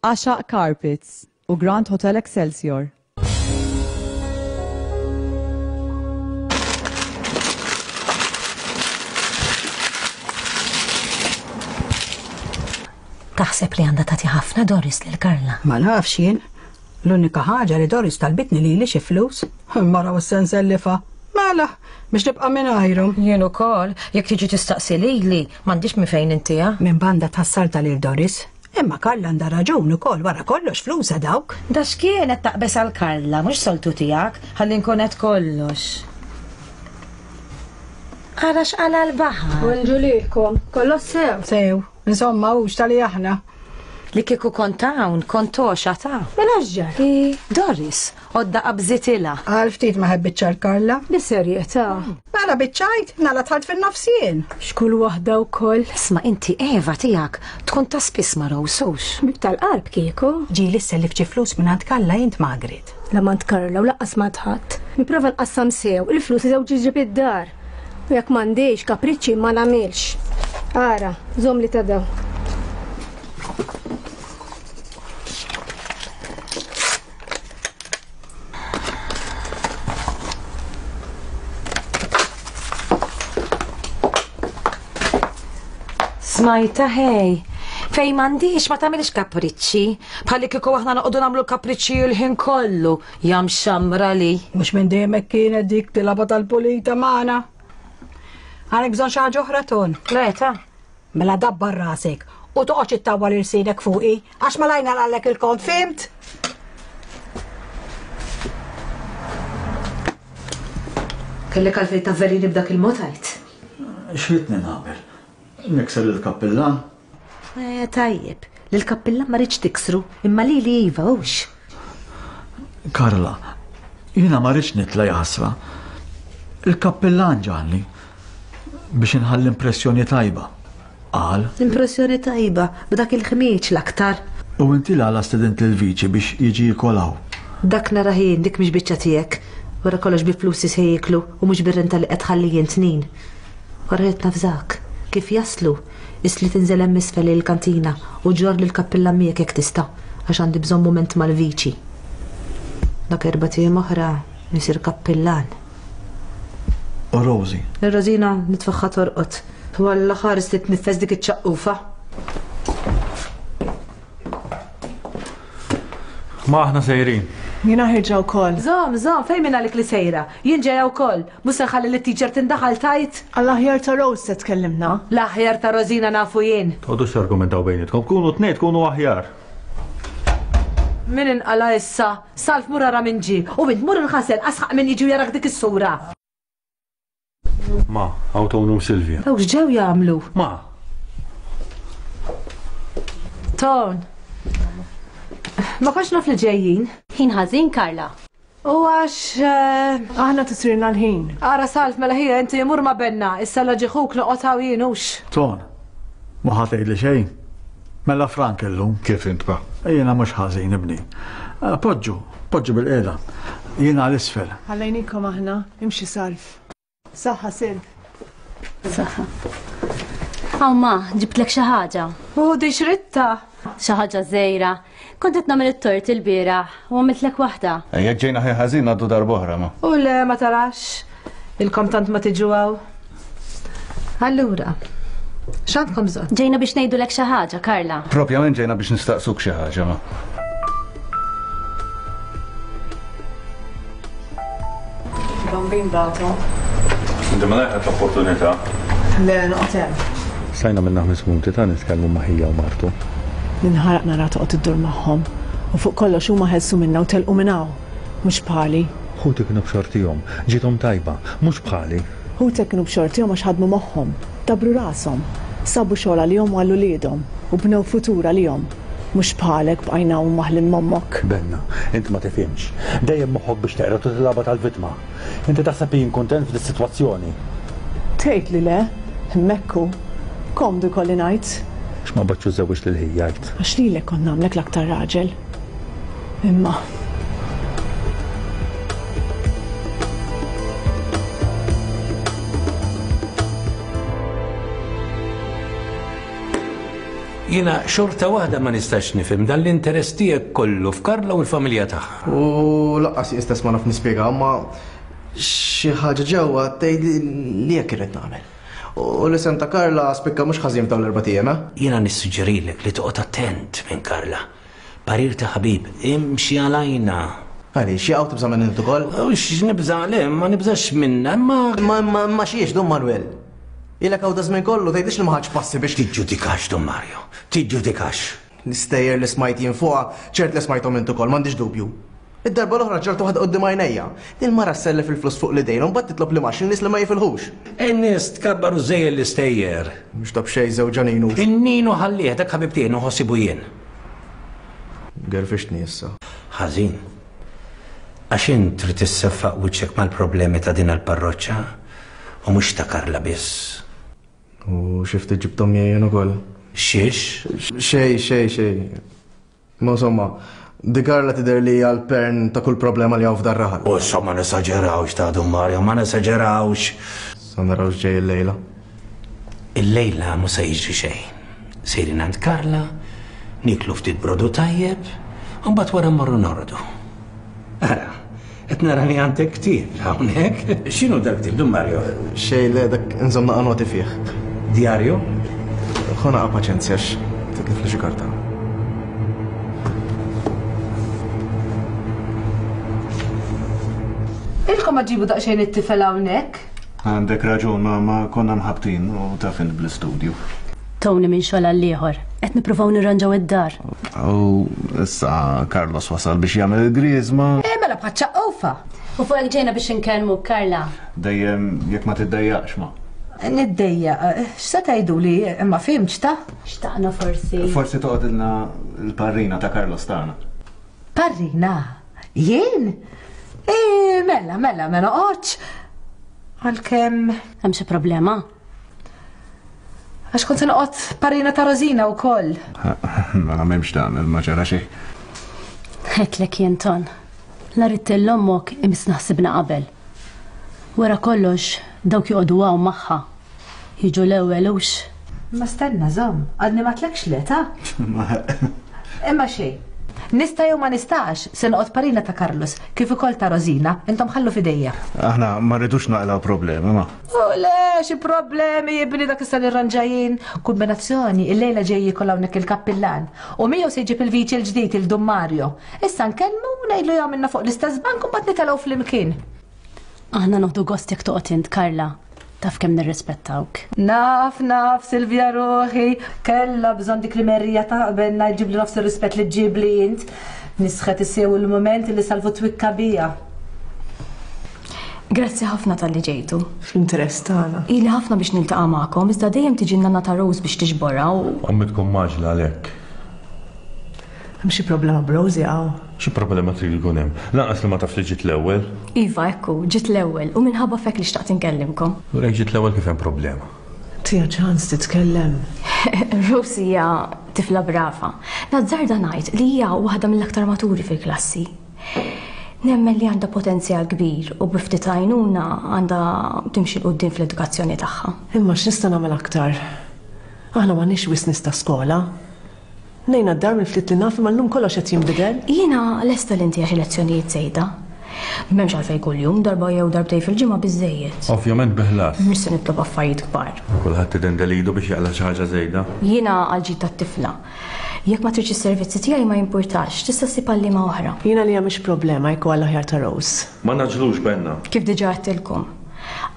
Għaxaq Carpets u Grand Hotel Excelsior. Taħseb li għandha tagħti ħafna Doris lil Karla? Ma nafx jien. L-unika ħaġa li Doris talbitni lili xi flus, mara u s-sensellifa. Mela, biex nibqa' mingħajrhom. Jien ukoll, jekk tiġi tistaqsi lili, m'għandix minn fejn intiha. Minn banda tħassarta lil Doris. Imma Karla għandha raġun ukoll wara kollox flusha dawk. Da x'kienet taqbes għal Karla, mhux soltu tiegħek, ħalli nkun qed kollox. Ara x'qala l-baħar. Bonġu lilkom, kollox sew. Sew, insomma hux tali aħna. Li kieku kont hawn, kont għoxa ta'. Mela x'ġara? I, Doris, għodda qabżitilha. Għal ftit ma ħebbitx għal Karla. Bis-serjetà. Mela biċċajt, nala tħalt fin-nofsien. X'kull waħda wkoll. Isma' inti Eva tiegħek tkun ta' spiss ma' Rose hux. Bib tal-qalb kieku. Ġieli sellif xi flus minn għand Karla int Margaret. La m'għand Karla u laqqas ma' ħadd. Nipprova nqassam sew, il-flus żewġ ġib id-dar. U jekk m'għandix kapriċċi ma nagħmilx. Ara, żomm li ta' daw. Smajta ħej, fej m'għandix ma tagħmilx kapriċċi, bħalli kieku aħna noqogħdu nagħmlu kapriċċi l-ħin kollu, jam xamra li. Mhux minn dejjem hekk kienet dik tilaba tal-pulita magħna. Għandek bżonn xi ħaġa oħra Ton? Le ta. Mela dabbar rasek u toqgħodx ittawwal irsinek fuqi għax malajna għallek il-kont, fimt? Kellek għalfejn tavvelini b'dak il-mod għajt? X'ritni nagħmel? Nikser lill-kappillan? Eh, tajjeb, lill-kappillan ma rridx tiksru, imma lili iva hux. Karla, jiena ma rridx nitla' jaħasra. Il-kappillan ġalni biex inħalli impressjoni tajba. Qal. Impressjoni tajba b'dak il-ħmieġ l-aktar. U inti l-għala stedint lill-viċi biex jiġi jiekol hawn. Dak nara ħin, dik mhix biċċa tiegħek. Wara kollox bi flusi se jieklu u mhux bir-renta li qed tħalli jien tnin. Wara rid nafżak. Kif jaslu, isli tinżel hemm isfel il-kantina u ġor lill-kappilla miegħek jekk tista' għax għandi bżonn mument mal-viċi. Dak erba' tiem oħra nisir kappillan. U Rosie? Ir-Rosina nitfaħħa torqod. Walla ħares li tniffes dik iċ-ċaqqufa. Ma aħna sejrin. Jiena ħirġa wkoll. Żomm, żomm, fejn minn għalik li sejra? Jien ġejja wkoll. Mhux se nħalli lit-teacher tindaħal tajt. Għall-aħjar ta' Rose se tkellimna. L-aħjar ta' Rosina nafu jien. Toqgħodux targumentaw bejnietkom, kunu tnejn tkunu aħjar. Min inqala issa, Salv mur ara min ġie, u int mur inħasel asħaq min jiġi jarak dik is-sura. Ma, hawn Tonu u Silvia. Dawk x'ġew jagħmlu? Ma. Ton. Ma kontx naf li ġejjin. Ħin ħażin, Karla. U għax, eh, Aħna tisirna l-ħin. Ara Salv, mela ħija inti mur ma benna, issa la ġieħuk noqgħod hawn jien hux. Ton, ma ħa tgħidli xejn. Mela Frank illum. Kif int pa? Jiena mhux ħażin ibni. Eh, Poġġu, poġġu bil-qiegħda. Jiena għal isfel. Ħallejnikom aħna, imxi Salv. Saħħa Silv. Saħħa. Hawn ma, ġibtlek xi ħaġa. U di xritta. Xi ħaġa żgħira. Kont qed nagħmel it-tort il-bieraħ u għamiltlek waħda. Jekk ġejna ħin ħażin ngħaddu darb'oħra ma. U le ma tarax. Ilkom tant ma tiġu hawn. Allura, x'għandkom bżonn? Ġejna biex ngħidulek xi ħaġa, Karla. Propjament ġejna biex nistaqsuk xi ħaġa ma. Bambin batu. Inti ma laqgħet l-opportunità. Le, noqgħod hemm. Stajna minna ħames minuti ta' nitkellmu ma' ħija u martu. Ninħaraq nara toqgħod iddur magħhom. U fuq kollox huma ħelsu minna u telqu minn hawn. Mhux bħali. Ħuti kienu b'xortihom, ġiethom tajba, mhux bħali. Ħutek kienu b'xortihom għax ħadmu moħħhom, dabbru rashom, sabu xogħol għalihom u għal uliedhom u bnew futur għalihom. Mhux bħalek bqajna hawn maħlin m'ommok. Benna, int ma tifhimx. Dejjem moħħok biex teqred u tilgħabha tal-vittma. Inti taħseb li jien kuntent f'dis-sitwazzjoni. Tgħid li le, hemmhekk hu. Komdu jkolli ngħid. X'ma bgħadx u żewwiġt lil ħija għidt. Għax lilek kont nagħmlek l-aktar raġel. Imma. Jiena xorta waħda ma nistax nifhem dan l-interess tiegħek kollu f'Karla u l-familja tagħha. U laqqas jien stess ma naf nispjega, imma xi ħaġa ġewwa tgħidli li hekk irrid nagħmel. U l-isem ta' Karla spikka mhux ħażin f'dawn l-erbat ijiem, eh? Jiena nissuġġerilek li toqgħod attent minn Karla. Parir ta' ħabib, imxi għalajna. Għaliex, jaqgħu tibża' minn int ukoll? Ux nibża' le, ma nibżax minna, imma. Ma ma ma xiex, Dun Manuel. Ilek hawn daż-żmien kollu tgħidlix li ma ħadx passi biex. Tiġġudikax, Dun Mario, tiġġudikax. L-istejjer li smajt jien fuqha, ċert li smajthom int ukoll, m'għandix dubju. Id-darba l-oħra ġartu waħda quddiem għajnejja. Il-mara ssellef il-flus fuq l-idejn u mbagħad titlob li max in-nies li ma jifilħux. In-nies tkabbar u żejjel l-istejjer. Mhux ta' b'xejn żewġha Ninu. In-Ninu ħallih, dak ħabib tiegħi nħossibu jien. Gerfixtni issa. Ħażin. Għax int trid isseffaq wiċċek mal-problemi ta' din il-parroċċa u mhux ta' Karla biss. U xi ftit ġibthom miegħi jien ukoll. Xiex? Xej, xej, xej. Ma insomma, di Karla tidher li hija l-pern ta' kull problema li hawn f'dar raħal. U insomma ma nesaġerawx ta' Dun Mario, ma nesaġerawx. Sa naraw x'ġej illejla. Illejla mhux se jiġri xejn. Sejrin għand Karla, niklu ftit brodu tajjeb, u mbagħad wara mmorru nordu. Ara, qed nara li għandek ktieb hawnhekk. X'inhu dak ktieb, Dun Mario? Xejn le, dak inżomm naqa' noti fih. Djarju? Ħu naqa' paċenzja għax titlifli xi karta. Ilkom ma ġibu daqsxejn it-tifel hawnhekk? Għandek raġun, ma, ma konna mħabtin u taf int bl-istudju. Tony minn xogħol għal ieħor, qed nippruvaw nirranġaw id-dar. U issa Carlos wasal biex jagħmel il-griżma. Eh, mela bħal ċaqqofa. U fuq hekk ġejna biex inkellmu Karla. Dejjem jekk ma tiddejjaqx ma. Niddejjaq, x'se tgħiduli imma fhimtx ta? Xtaqna forsi. Forsi toqgħodilna l-parrina ta' Carlos tagħna. Parrina? Jien? Eh, mela, mela, ma noqgħodx. Għalkemm. Hemm xi problema? Għax kont se noqgħod parrina ta' Rosina wkoll. Mela m'hemmx tagħmel, ma ġara xejn. Għedtlek jien Ton. La ridt lil ommok imiss naħsibna qabel. Wara kollox dawk joqogħdu hawn magħha. Jiġu l-ewwel hux. Ma stenna żomm, għadni ma tlekx le ta? Imma xejn. Nista' jew ma nistax se noqgħod parina ta' Carlos kif ukoll ta' Rosina, intom ħallu f'idejja. Aħna ma rridux naqlaw problemi ma. U le, xi problemi jibni dak issa nirranġajin. Kombinazzjoni, illejla ġej jkoll hawnhekk il-kappillan. U miegħu se jġib il-viċi l-ġdid il-Dun Mario. Issa nkellmu u ngħidlu jagħmilna fuq l-istess bank u mbagħad nitelgħu flimkien. Aħna noħdu gost jekk toqgħod int Karla. Taf kemm nirrispettawk. Naf, naf, Silvia ruħi, kellha bżonn dik li merrija ta' qabelna jġibli nofs ir-rispett li ġġibli int. Nisħet issew il-mument li salvu twikka bija. Grazzi ħafna talli ġejtu. Fl-interess tagħna. Ili ħafna biex niltaqa' magħkom, iżda dejjem tiġi n-nanna ta' Rose biex tiġborha u. Ommi tkun maġla għalhekk. Hemm xi problema b'Rosie hawn? Xi problema trid ikun hemm? Lanqas li ma taf li ġiet l-ewwel. Iva, ekku, ġiet l-ewwel u minħabba fek li xtaqt inkellimkom. U jekk ġiet l-ewwel kif hemm problema? Tija ċans titkellem. Rosie hija tifla brava. Nazzarda ngħid li hija waħda mill-aktar maturi fil-klassi. Nemmen li għandha potenzjal kbir u bi ftit għajnuna għandha timxi 'l quddiem fl-edukazzjoni tagħha. Imma x'nista' nagħmel aktar? Aħna m'għandniex wisq nies ta' skola. Nejna d-dar mill-ftit li naf imma llum kollox qed jinbidel. Jiena lesta li ntiha xi lezzjonijiet żejda. M'hemmx għalfejn kuljum, darba jew darbtejn fil-ġimgħa biżejjed. Ovvjament bi ħlas. Mhux se nitlob affarijiet kbar. Kulħadd idendel idu biex jaqla' xi ħaġa żejda. Jiena għal ġid tat-tifla. Jekk ma tridx is-servizzi tiegħi ma jimpurtax, tista' ssib għalliema oħra. Jiena li hija mhix problema jekk huwa l-aħjar ta' Rose. Ma naġlux benna. Kif diġà għedtilkom,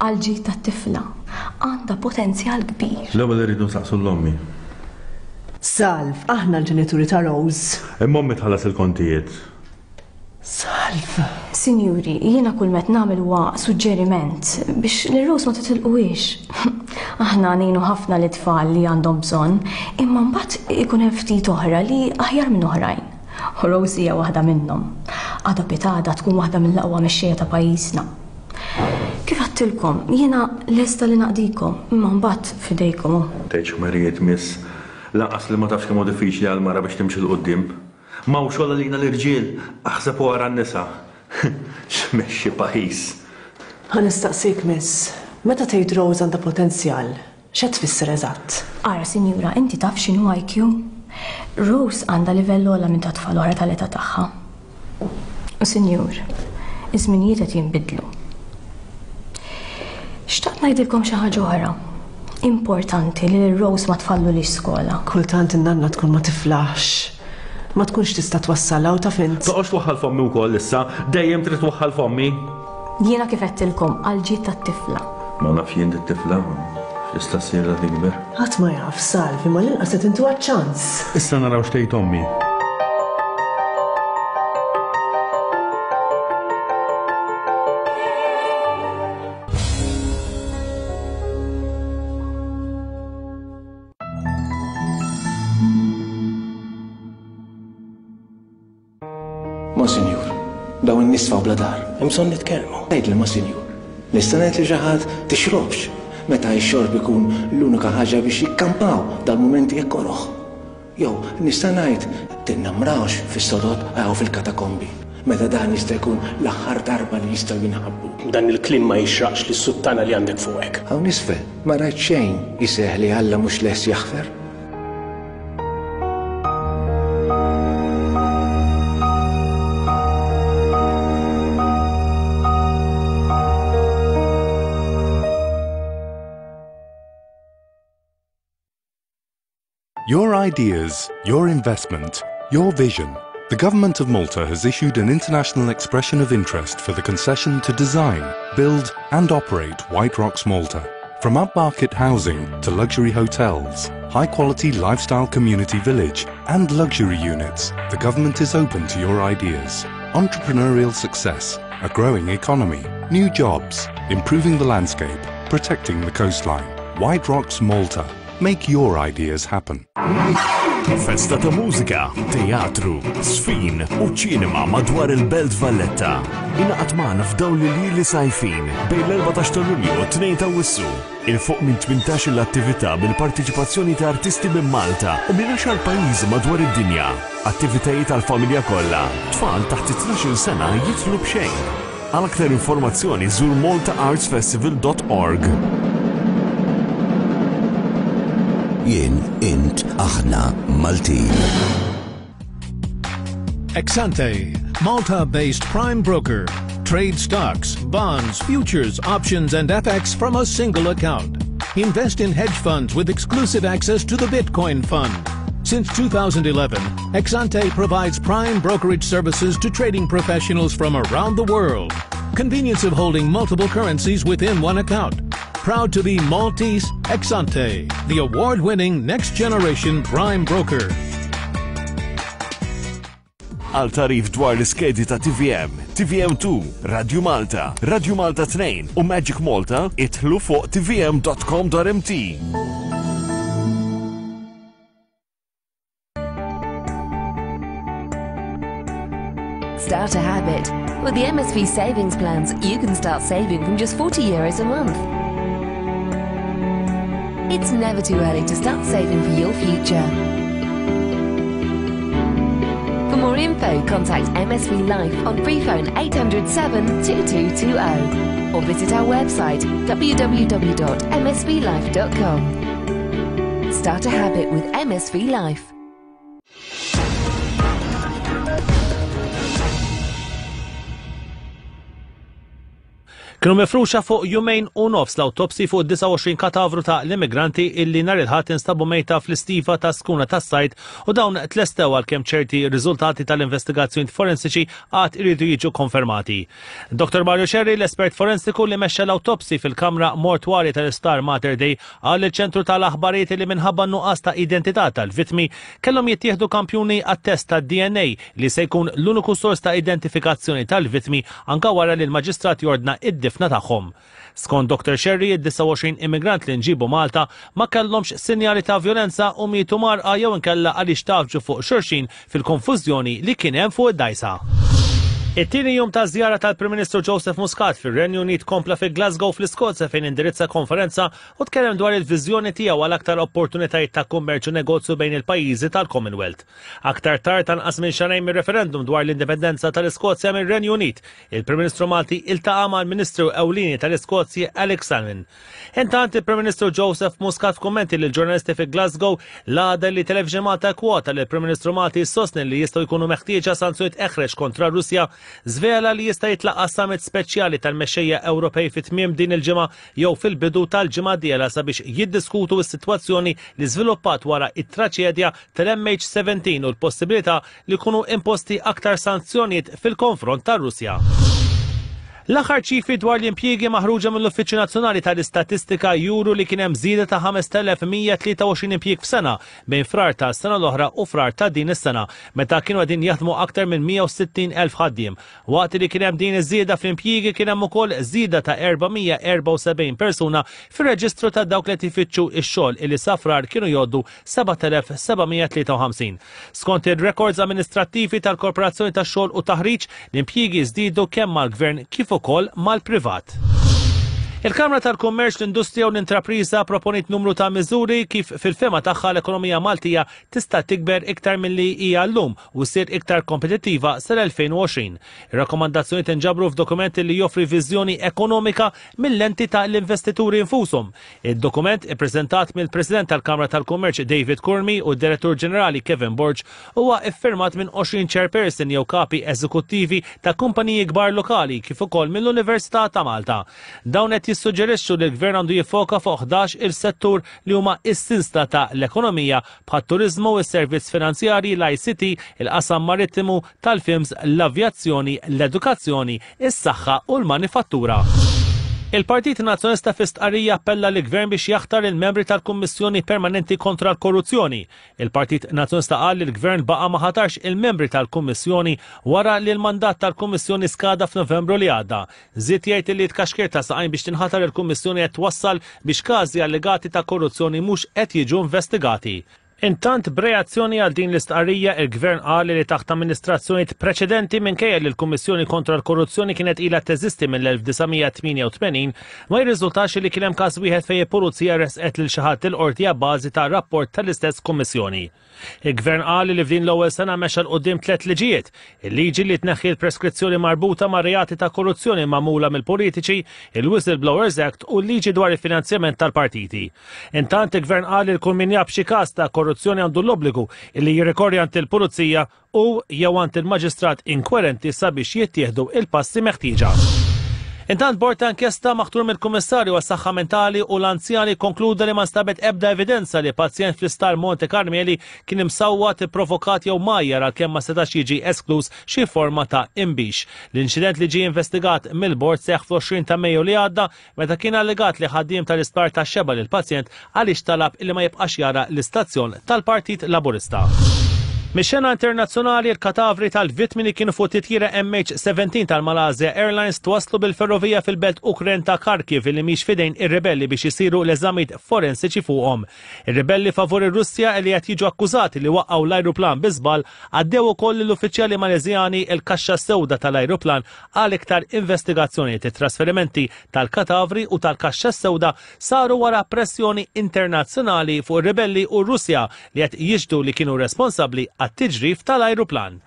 għal ġid tat-tifla għandha potenzjal kbir. L-ewwel irridu nsaqsu l-ommi. Salv, aħna l-ġenituri ta' Rose. Imma ommi tħallas il-kontijiet. Salv. Sinjuri, jiena kull met nagħmel huwa suġġeriment biex lil Rose ma titilquhiex. Aħna ngħinu ħafna li tfal li għandhom bżonn, imma mbagħad ikun hemm ftit oħra li aħjar minn oħrajn. U Rose hija waħda minnhom. Għada pitgħada tkun waħda mill-aqwa mexxejja ta' pajjiżna. Kif għedtilkom, jiena lesta li naqdikom, imma mbagħad f'idejkom. Tgħidx ħmerijiet miss, lanqas li ma tafx kemm hu diffiċli għal mara biex timxi 'l quddiem. M'hawn xogħol għalina l-irġiel, aħseb u ara n-nisa. X'mexxi pajjiż. Ħa nistaqsik miss, meta tgħid Rose għandha potenzjal, x'qed tfisser eżatt? Ara, sinjura, inti taf x'inhu I Q? Rose għandha livell ogħla minn ta' tfal oħra tal-età tagħha. U sinjur, iż-żminijiet qed jinbidlu. Xtaqt ngħidilkom xi ħaġa oħra. Importanti li l-Rose ma tfallulix skola. Kultant in-nanna tkun ma tiflaħx. Ma tkunx tista' twassalha u taf int. Toqgħodx twaħħal f'ommi wkoll issa, dejjem trid twaħħal f'ommi. Jiena kif għedtilkom għal ġid tat-tifla. Ma naf jien tifla x'tista' ssir la tikber. Ħadd ma jaf, Salv, imma l-inqas qed intuha ċans. Issa naraw x'tgħid ommi. Monsinjur, dawn in-nies sfaw bla dar, hemm bżonn nitkellmu. Għidli Monsinjur, nista' ngħid li xi ħadd tixrobx meta x-xorb ikun l-unika ħaġa biex jikkampaw dal-mumenti hekk koroh. Jew nista' ngħid tinnamrawx fis-sodod jew fil-katakombi meta dan jista' jkun l-aħħar darba li jistgħu jinħabbu. Dan il-kliem ma jixraqx lis-suttana li għandek fuqek. Hawn isfel ma rajt xejn iseħ li Alla mhux lest jaħfer. Your ideas, your investment, your vision. The Government of Malta has issued an international expression of interest for the concession to design, build and operate White Rocks Malta. From upmarket housing to luxury hotels, high-quality lifestyle community village and luxury units, the government is open to your ideas. Entrepreneurial success, a growing economy, new jobs, improving the landscape, protecting the coastline. White Rocks Malta. Make your ideas happen. Festa ta' mużika, teatru, żfin u ċinema madwar il-Belt Valletta. Ingħaqad magħna f'dawn l-iljieli sajfin bejn l-erbatax ta' Lulju u tnejn ta' Awwissu. 'Il fuq minn tmintax-il attività bil-partiċipazzjoni ta' artisti minn Malta u minn għaxar pajjiżi madwar id-dinja. Attivitajiet għal-familja kollha. Tfal taħt it-tnax-il sena jidħlu b'xejn. Għal aktar informazzjoni żur malta arts festival dot org. Jien, int, aħna, Maltin. Exante, Malta-based prime broker. Trade stocks, bonds, futures, options, and F X from a single account. Invest in hedge funds with exclusive access to the Bitcoin Fund. Since twenty eleven, Exante provides prime brokerage services to trading professionals from around the world. Convenience of holding multiple currencies within one account. Proud to be Maltese, Exante, the award-winning next-generation prime broker. Għal tagħrif dwar l-iskedi ta' T V M, T V M two, Radio Malta, Radio Malta tnejn u Magic Malta, idħlu fuq T V M dot com dot M T. Start a habit. With the M S V savings plans, you can start saving from just forty euros a month. It's never too early to start saving for your future. For more info, contact M S V Life on free phone eight hundred seven two two two zero or visit our website w w w dot m s v life dot com. Start a habit with M S V Life. Kienu mifruxa fuq jumejn u nofs l-awtopsi fuq disgħa u għoxrin katavru ta' l-immigranti illi nhar il-Ħadd instabu mejta fl-istiva ta' skuna tas-sajd u dawn tlestew għalkemm ċerti riżultati tal-investigazzjoni forensiċi għad iridu jiġu konfermati. Dottor Mario Scerri, l-espert forensiku li mexxa l-awtopsi fil-kamra mortwarja tal-Isptar Mater Dei, qal lill-ċentru tal-aħbarijiet li minħabba n-nuqqas ta' identità tal-vittmi kellhom jittieħdu kampjuni għat-test tad-D N A li se jkun l-uniku sors ta' identifikazzjoni tal-vittmi anka wara li l-maġistrat jordna id-difna tagħhom. Skont Dottor Scerri, id-disgħa u għoxrin immigrant li nġibu Malta ma kellhomx sinjali ta' violenza u mietu marqa jew inkella għaliex tafġu fuq xulxin fil-konfużjoni li kien hemm fuq id-dajsa. It-tieni jum ta' żjara tal-Prim Ministru Joseph Muscat fir-Renju Unit kompla fi Glasgow fl-Iskozja fejn indirizza konferenza u tkellem dwar il-viżjoni tiegħu għal aktar opportunitajiet ta' kummerċ u negozju bejn il-pajjiżi tal-Commonwealth. Aktar tard anqas minn xahrejn mir-referendum dwar l-indipendenza tal-Iskozja mir-Renju Unit, il-Prim Ministru Malti iltaqa' mal-Ministru Ewlieni tal-Iskozja Alex Salmond. Intant il-Prim Ministru Joseph Muscat f'kummenti lil ġurnalisti fi Glasgow l-għada li Television Malta kwota li l-Prim Ministru Malti sostni li jistgħu jkunu meħtieġa sanzjonijiet eħreġ kontra Russja, żvela li jista' jitlaqa' summit speċjali tal-mexxejja Ewropej fi tmiem din il-ġimgħa jew fil-bidu tal-ġimgħa d-dieħla sabiex jiddiskutu s-sitwazzjoni li żviluppat wara it-traċedja tal-M H seventeen u l-possibilità li jkunu imposti aktar sanzjonijiet fil-konfront tar-Russja. L-aħħar ċifri dwar l-impjiegi maħruġa mill-Uffiċċju Nazzjonali tal-Istatistika juru li kien hemm żieda ta' ħames telef mija tlieta u għoxrin impjieg f'sena bejn frar ta' sena l-oħra u frar ta' din is-sena, meta kienu qegħdin jaħdmu aktar minn mija u sittin elf ħaddiem. Waqt li kien hemm din iż-żieda fl-impjiegi kien hemm ukoll żieda ta' erba' mija erba' u sebgħin persuna fir-reġistru ta' dawk li qed ifittxu x-xogħol illi sa frar kienu jgħoddu seba' telef seba' mija tlieta u ħamsin. Skont ir-rekords amministrattivi tal-Korporazzjoni tax-Xogħol u Taħriġ, l-impjiegi żdiedu kemm mal-gvern kif ukoll mal-privat. Il-Kamra tal-Kummerċ, l-Industrija u l-Intrapriża proponiet numru ta' miżuri kif fil-fema tagħha l-ekonomija Maltija tista' tikber iktar milli hija llum u ssir iktar kompetittiva sal-elfejn u għoxrin. Ir-rakkomandazzjonijiet inġabru f'dokument li joffri viżjoni ekonomika mill-lenti ta' l-investituri infushom. Id-dokument ippreżentat mill-President tal-Kamra tal-Kummerċ David Curmi u d-Direttur Ġenerali Kevin Borg huwa iffirmat minn għoxrin chairperson jew kapi eżekuttivi ta' kumpaniji kbar lokali kif ukoll mill-Università ta' Malta. Dawn qed jissuġġerixxu li l-gvern għandu jiffoka fuq ħdax il-settur li huma s-sinsla ta' l-ekonomija bħat-turiżmu, is-servizz finanzjarji, l-I C T, il-qasam marittimu, tal-films, l-avjazzjoni, l-edukazzjoni, is-saħħa u l-manifattura. Il-Partit Nazzjonalista fi stqarrija appella lill-Gvern biex jaħtar il-membri tal-Kummissjoni Permanenti kontra l-Korruzzjoni. Il-Partit Nazzjonalista qal li l-Gvern baqa' ma ħatarx il-membri tal-Kummissjoni wara li l-mandat tal-Kummissjoni skada f'Novembru li għadda. Żied jgħid li tkaxkir ta' saqajn biex tinħatar il-Kummissjoni qed twassal biex każi allegati ta' korruzzjoni mhux qed jiġu investigati. Intant, b'reazzjoni għal din l-istqarrija, il-Gvern qal li taħt amministrazzjonijiet preċedenti minkejja li l-Kummissjoni kontra l-Korruzzjoni kienet ilha teżisti mill-elf disa' mija tmienja u tmenin, ma jirriżultax li kien hemm każ wieħed fejn il-Pulizija resqet lil xi ħadd il-qorti abbażi ta' rapport tal-istess Kummissjoni. Il-Gvern qal li f'din l-ewwel sena mexa 'l quddiem tliet liġijiet: il-liġi li tneħħi l-preskrizzjoni marbuta ma' reati ta' korruzzjoni magħmula mill-politiċi, il-Whistleblowers Act u l-liġi dwar il-finanzjament tal-partiti. Intant, il-Gvern qal li kull min jaf xi każ ta' korruzzjoni għandu l-obbligu li jirrikorri għand il-pulizija u jew għand il-maġistrat inkwerenti sabiex jittieħdu il-passi meħtieġa. Intant, bord ta' inkjesta maħtur mill-Kummissarju għas-Saħħa Mentali u l-Anzjani konkluda li ma nstabet ebda evidenza li pazjent fl-Isptar Monte Carmeli kien imsawwat, ipprovokat jew majjar għalkemm ma setax jiġi esklus xi forma ta' imbix. L-inċident li ġie investigat mill-bord seħħ fl-għoxrin ta' Mejju li għadda meta kien allegat li ħaddiem tal-isptar ta' xeba lil pazjent għaliex talab li ma jibqax jara l-istazzjon tal-Partit Laburista. Mix-xena internazzjonali, il-katavri tal-vittmi li kienu fuq titjira M H seventeen tal-Malaysia Airlines twaslu bil-ferrovija fil-belt Ukren ta' Kharkiv li mhix fidejn ir-ribelli biex isiru l-eżamijiet forensiċi fuqhom. Ir-ribelli favur ir-Russja li qed jiġu akkużati li waqgħu l-ajruplan bi żball għaddew ukoll lill-uffiċjali Mależjani il-kaxxa sewda tal-ajruplan għal iktar investigazzjonijiet. It-trasferimenti tal-katavri u tal-kaxxa sewda saru wara pressjoni internazzjonali fuq ir-ribelli u r-Russja li qed jixhdu li kienu responsabbli għat-tiġrif tal-ajruplan.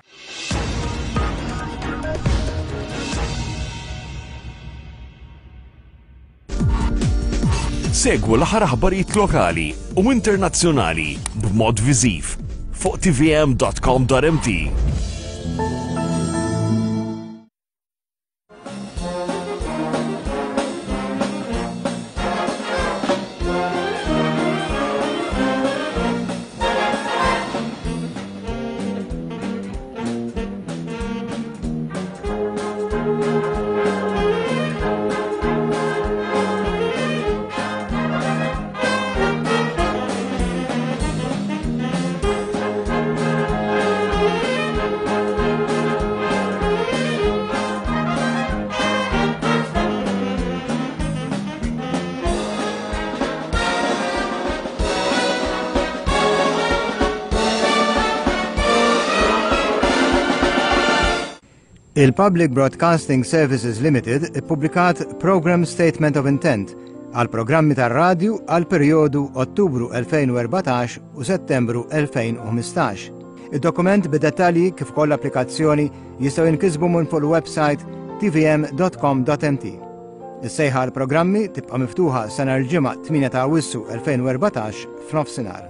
Segwu l-aħħar aħbarijiet lokali u internazzjonali b'mod viżiv fuq T V M dot com dot M T. Il-Public Broadcasting Services Limited ippubblikat Program Statement of Intent għal programmi tar-radju għal perjodu Ottubru elfejn u erbatax u Settembru elfejn u ħmistax. Id-dokument bid-dettalji kif ukoll l-applikazzjoni jistgħu jinkisbu minn fuq il-website t v m dot com dot m t. Is-sejħa għal programmi tibqa' miftuħa sa nhar il-Ġimgħa tmienja ta' Awwissu elfejn u erbatax f'nofsinhar.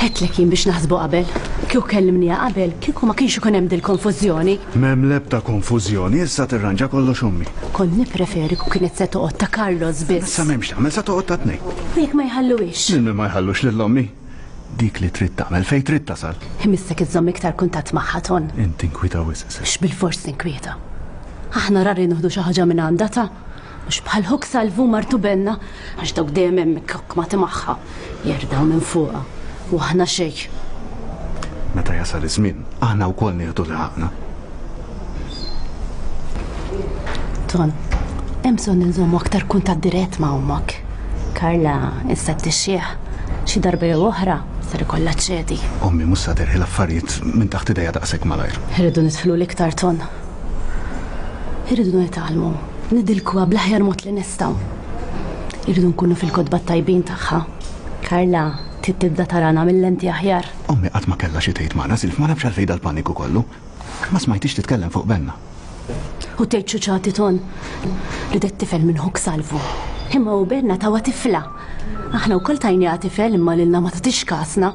Għedtlek jien biex naħsbu qabel. Kieku kellimniha qabel, kieku ma kienx ikun hemm dil-konfużjoni. M'hemm l-ebda konfużjoni, issa tirranġa kollox ommi. Kont nippreferi kieku kienet se toqgħod ta' Carlos biss. Issa m'hemmx tagħmel, se toqgħod ta' tnejn. U jekk ma jħalluhiex? Lil min ma jħallux lil ommi. Dik li trid tagħmel fejn trid tasal. Imissek iżżomm iktar kuntatt magħha, Ton. Inti nkwieta wisq, Sef. Mhux bilfors ninkwieta. Aħna rari nieħdu xi ħaġa minn għandha ta' mhux bħal ħuk Salvu martu Benna, għax dawk dejjem hemm ikkokmati magħha, jerdaw minn fuqha. U aħna xejn. Meta jasal iż-żmien, aħna wkoll nieħdu li ħaqna. Ton, hemm bżonn inżommu aktar kuntatt dirett ma' ommok. Karla issa tixjih xi darba jew oħra ser ikollha ċedi. Ommi mhux sa terħi l-affarijiet minn taħt idejha daqshekk malajr. Irridu nidħlu l-iktar, Ton. Irridu nitgħallmu, nidilkuha bl-aħjar mod li nistgħu. Irridu nkunu fil-kotba tajbin tagħha. Karla trid tibda tarana mill-lenti aħjar. Ommi qatt ma kellha xi tgħid magħna, Silf, ma nafx għalfejn dal-paniku kollu. Ma smajtix titkellem fuq Benna. U tgħid xuċati, Ton, ridet tifel minn ħuk Salvu. Imma u Benna tawa tifla. Aħna wkoll tajniha tifel imma lilna ma tagħtix kasna.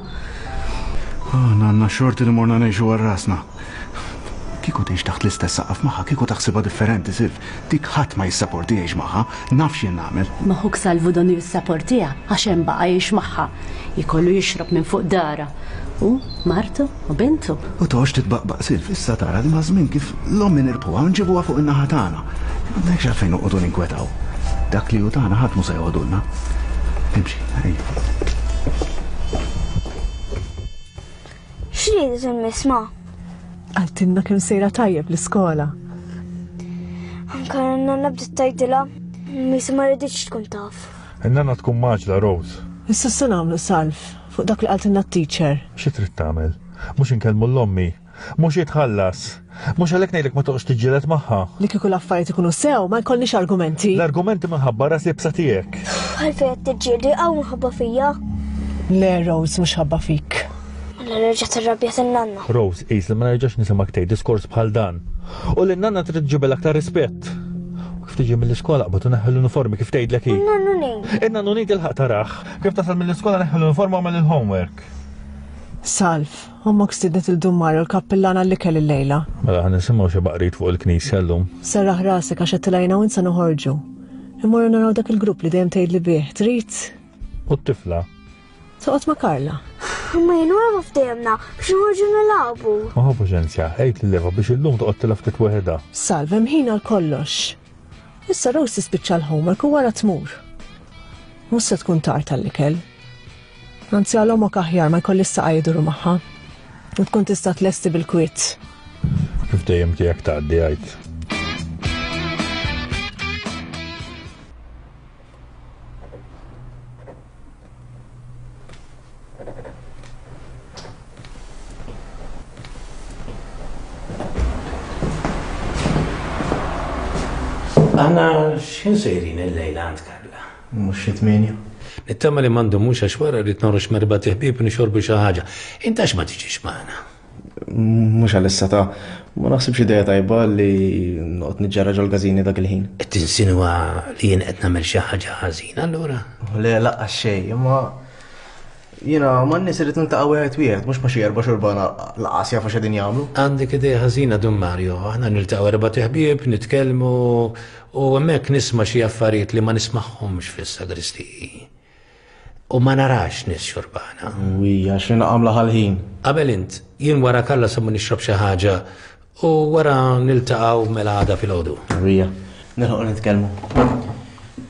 Aħna għandna xorti li morna ngħixu għal rasna. Kieku tgħix taħt l-istess saqaf magħha, kieku taħsibha differenti, Silf. Dik ħadd ma jissaporti jgħix magħha, naf x'jien nagħmel. Ma ħuk Salvu donnu jissaportiha għax hemm baqa' jgħix magħha. Jkollu jixrob minn fuq dara. U martu u bintu. U toqgħodx titbaqbaq, Silf, issa tara li maż-żmien kif l-ommi nirbħuha u nġibuha fuq in-naħa tagħna. M'għandekx għalfejn noqogħdu ninkwetaw. Dak li hu tagħna ħadd mhu se joħodulna. Imxi, ejja. X'ridet il-misma? Qaltilna kemm sejra tajjeb l-iskola. Anka n-nanna bdiet tgħidilha, misa ma riditx tkun taf. In-nanna tkun maġla, Rose. Issa se nagħmlu, Salv, fuq dak li qaltilna t-teacher. Xi trid tagħmel? Mhux inkellmu l-ommi, mhux jitħallas. Mhux għalhekk ngħidlek ma toqgħodx tiġġieled magħha. Li kieku l-affarijiet ikunu sew, ma jkollniex argumenti. L-argumenti minħabba ras libsa tiegħek. Għalfejn qed tiġġieldi hawn minħabba fija? Le, Rose, mhux ħabba fik. Mela nerġa' tirrabja in-nanna. Rose, qis li ma nerġax nisimgħek tgħid diskors bħal dan. U li n-nanna trid tġibel aktar rispett. U kif tiġi mill-iskola qbad u neħħi l-uniformi kif tgħidlek hi. In-nannu ngħid. In-nannu ngħid ilħaq taraħ. Kif tasal mill-iskola neħħi l-uniforma u għamel il-homework. Salv, ommok stidnet il-dummar u l-kappillana li kell il-lejla. Mela ħan nisimgħu xi baqrit fuq il-knisja llum. Serraħ rasek għax qed tilajna u insa noħorġu. Immorru naraw dak il-grupp li dejjem tgħidli bih, trid? U t-tifla? Toqgħod ma' Karla. Imma jien wara ma ftehemna biex noħorġu nilagħbu. Ma ħu paċenzja, għid lil Eva biex illum toqgħod tilgħab ftit weħedha. Salv, hemm ħin għal kollox. Issa Rose tispiċċa l-homework u wara tmur. Mhux se tkun tard tal-ikel. Anzi għal omok aħjar ma jkollix saqaj jduru magħha. U tkun tista' tlesti bil-kwiet. Kif dejjem tiegħek tgħaddi għid. Aħna x'ħin sejrin il-lejla għand Karla? Mhux xi tmienja. Nittama li m'għandhomux għax wara rrid noħroġ m'erba' ħbieb u nixorbu xi ħaġa. Int għax ma tiġix magħna? Mhux għalissa ta' ma naħsibx idea tajba li noqgħod niġġerra ġol-każini dak il-ħin. Qed tinsinwa li jien qed nagħmel xi ħaġa ħażina allura? Le, laqqas xejn, imma jiena man-nies irid niltaqa' wieħed wieħed, mhux ma xi erba' xurbana laqas jafu x'qegħdin jagħmlu. Għandek idea ħażina, Dun Mario, aħna niltaqgħu erba' ħbieb, nitkellmu u hemmhekk nisma' xi affarijiet li ma nismagħhomx fis-sagristiji. U ma narax nies xurbana. Wija, x'inha għamla ħal-ħin. Qabel int, jien wara Karla se ma nixrob xi ħaġa u wara niltaqgħu mela għada filgħodu. Wija, nilħuq nitkellmu.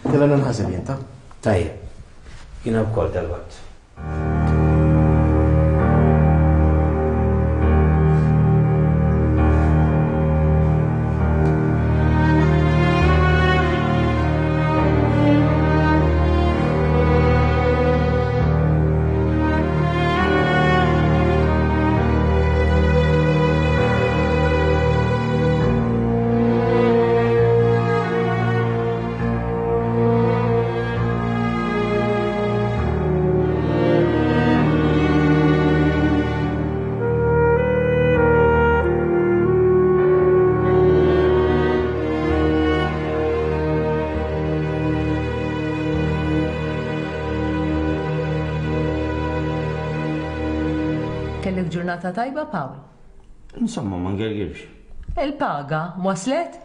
Tilla ninħaseb jien, ta? Tajjeb, jiena wkoll dalwaqt. Kellek ġurnata tajba, Paul? Insomma, ma ngergirx. Il-paga, waslet?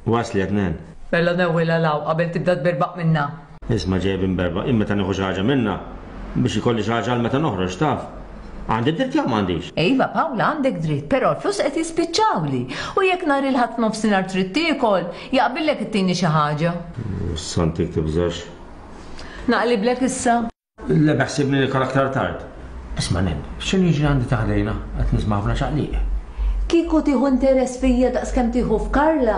Waslet, nen. Bella newwilha law qabel tibda tberbaq minna. Isma' ġejb imberbaq, imma meta nieħu xi ħaġa minna biex ikolli xi ħaġa għal meta noħroġ taf. Għandi dritt jew m'għandix? Iva, Pawla, għandek dritt, però l-flus qed jispiċċawli. U jekk nhar il-Ħadd nofsinhar trid tiekol, jaqbillek ittini xi ħaġa. Santik tibżax. Naqliblek issa. Le beħsibni nikol aktar tard. Isma' nen, x'inhu jiġri għandi taħdejna qed nisma' ħafna ċaqliq. Kieku tieħu interess fija daqskemm tieħu f'Karla,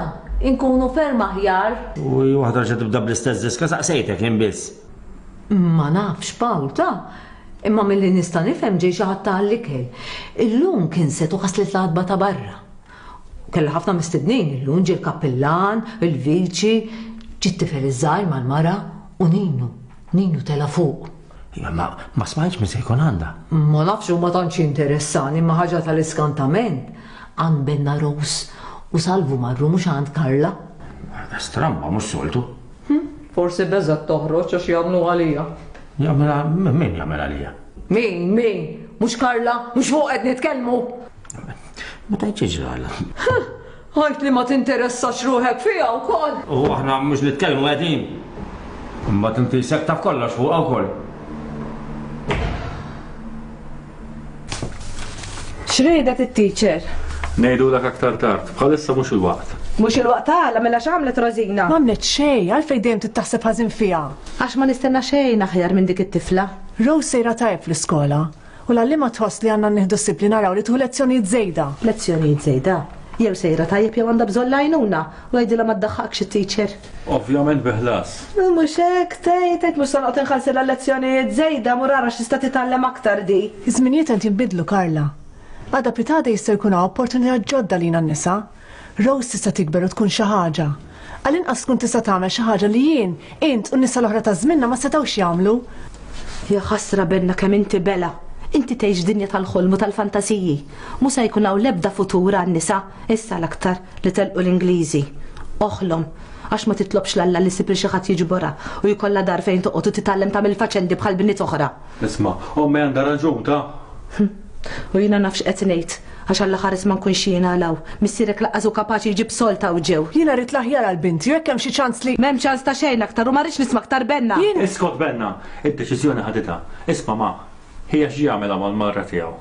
inkunu ferm aħjar. U waħda ġa tibda bl-istess diska saqsejtek jien biss. Ma nafx, Pawl, ta' imma milli nista' nifhem ġej xi ħadd ta' l-ikel. Illum kien setu ħaslet l-għatba ta' barra. Kellha ħafna mistednin illum ġie l-kappillan, il-viċi, ġie t-tifel iż-żgħir mal-mara u Ninu, Ninu tela' fuq. Iva, ma, ma smajtx min se jkun għandha. Ma nafx u ma tantx interessani, imma ħaġa tal-iskantament. Għand Benna Rose u Salvu marru mhux għand Karla. Stramba, mhux soltu. Forsi beżgħet toħroġ għax jagħmlu għalija. Jagħmel min jagħmel għalija? Min, min? Mhux Karla, mhux fuq qed nitkellmu. Ma tgħidx ġrala. Għajt li ma tinteressax ruħek fiha wkoll. U aħna mhux nitkellmu qegħdin. Imbagħad inti sek taf kollox fuqha wkoll. X'riedet it-teacher? Ngħidulek aktar tard, bħalissa mhux il-waqt. Mhux il-waqt għala mela x'għamlet Rosina? M'għamlet xejn, għalfejn dejjem titaħseb ħażin fiha. Għax ma nistenna xejn aħjar minn dik it-tifla. Rose sejra tajjeb fl-iskola u l-għalliema tħoss li għandna nieħdu ssib li naraw li tieħu lezzjonijiet żejda. Lezzjonijiet żejda? Jew sejra tajjeb jew għandha bżonn l-għajnuna u għidilha ma ddaħħakx it-teacher. Ovvjament bi ħlas. Mhux hekk tgħid tgħid mhux se noqgħod inħallsilha lezzjonijiet żejda mur ara x'tista' titgħallem aktar di. Iż-żminijiet qed jinbidlu, Karla. Għada pitada jista' jkun hawn opportunità ġodda lina n-nisa. Rose tista' tikber u tkun xi ħaġa. Għall-inqas tkun tista' tagħmel xi ħaġa li jien, int u n-nisa l-oħra ta' żminna ma setgħux jagħmlu. Ja ħasra Benna kemm inti bela. Inti tgħix dinja tal-ħolm u tal-fantasiji. Mhux se jkun hawn l-ebda futur għan-nisa, issa l-aktar li telqu l-Ingliżi. Oħlom, għax ma titlobx l-Alla li ssib li xi ħadd jiġborha u jkollha dar fejn toqgħod u titgħallem tagħmel faċendi bħal bniet oħra. Isma', ommi għandha raġun ta'. U jiena nafx qed ngħid, għax Alla ħares ma nkunx jiena law. Missierek laqqas hu kapaċi jġib solta u ġew. Jiena rrid l-aħjar għal binti u jekk hemm xi ċans li. M'hemm ċans ta' xejn aktar u ma rridx nisma' aktar Benna. Iskot Benna, id-deċiżjoni ħaditha. Isma' ma, hija xi jagħmilha mal-marra tiegħu.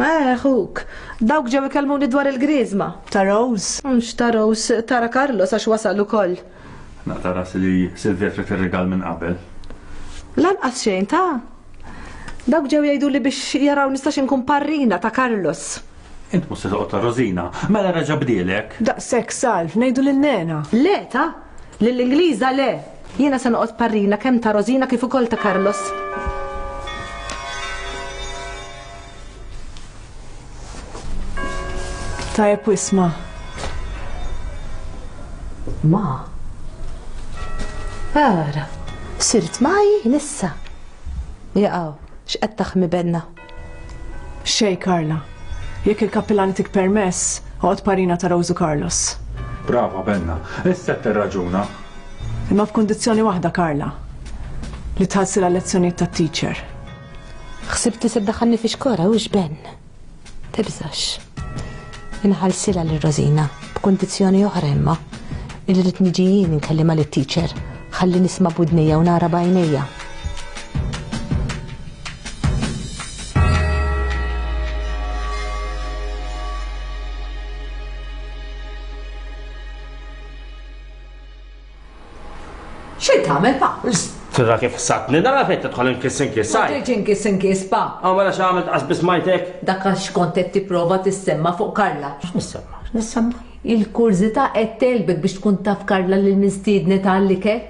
Eh, ħuk, dawk ġew ikellmuni dwar il-griżma. Ta' Rose? Mhux ta' Rose, tara Carlos għax wasal ukoll. Naqta' rasi li Silvia trid ir-rigal minn qabel. Lanqas xejn ta' Dawk ġew jgħidu li biex jaraw nistax inkun parrina ta' Carlos. Int mhux se toqgħod ta' Rosina, mela reġa' bdielek. Daqshekk Salv, ngħidu lil Nena. Le ta' lill-Ingliża le. Jiena se noqgħod parrina kemm ta' Rosina kif ukoll ta' Carlos. Tajjeb wisma. Ma. Ara, sirt maj nissa. Jaqaw, x'qed taħmi Benna? Xej, Karla. Jekk il-kappillan itik permess, oqgħod parina ta' Rose u Carlos. Brava Benna, issa tirraġuna. Imma f'kundizzjoni waħda, Karla. Li tħallsilha lezzjonijiet tat-teacher. Ħsibt li se ddaħħalni fi xkora hux Ben. Tibżax. Inħallsilha lil Rosina b'kundizzjoni oħra imma. Illi rrid niġi jien inkellimha lit-teacher. Ħalli nisma' b'widnejja u nara b'għajnejja. Xi tagħmel pa? Tira kif satni, nara fejn tidħol inkiss inkiss. Ma ġejtx inkiss inkiss pa. Aw mela x'għamilt qas biss majtek? Dak għax kont qed tipprova tissemma fuq Karla. X'nissemma? X'nissemma? Il-kurżità qed telbek biex tkun taf Karla lil mistiednet għall-ikel.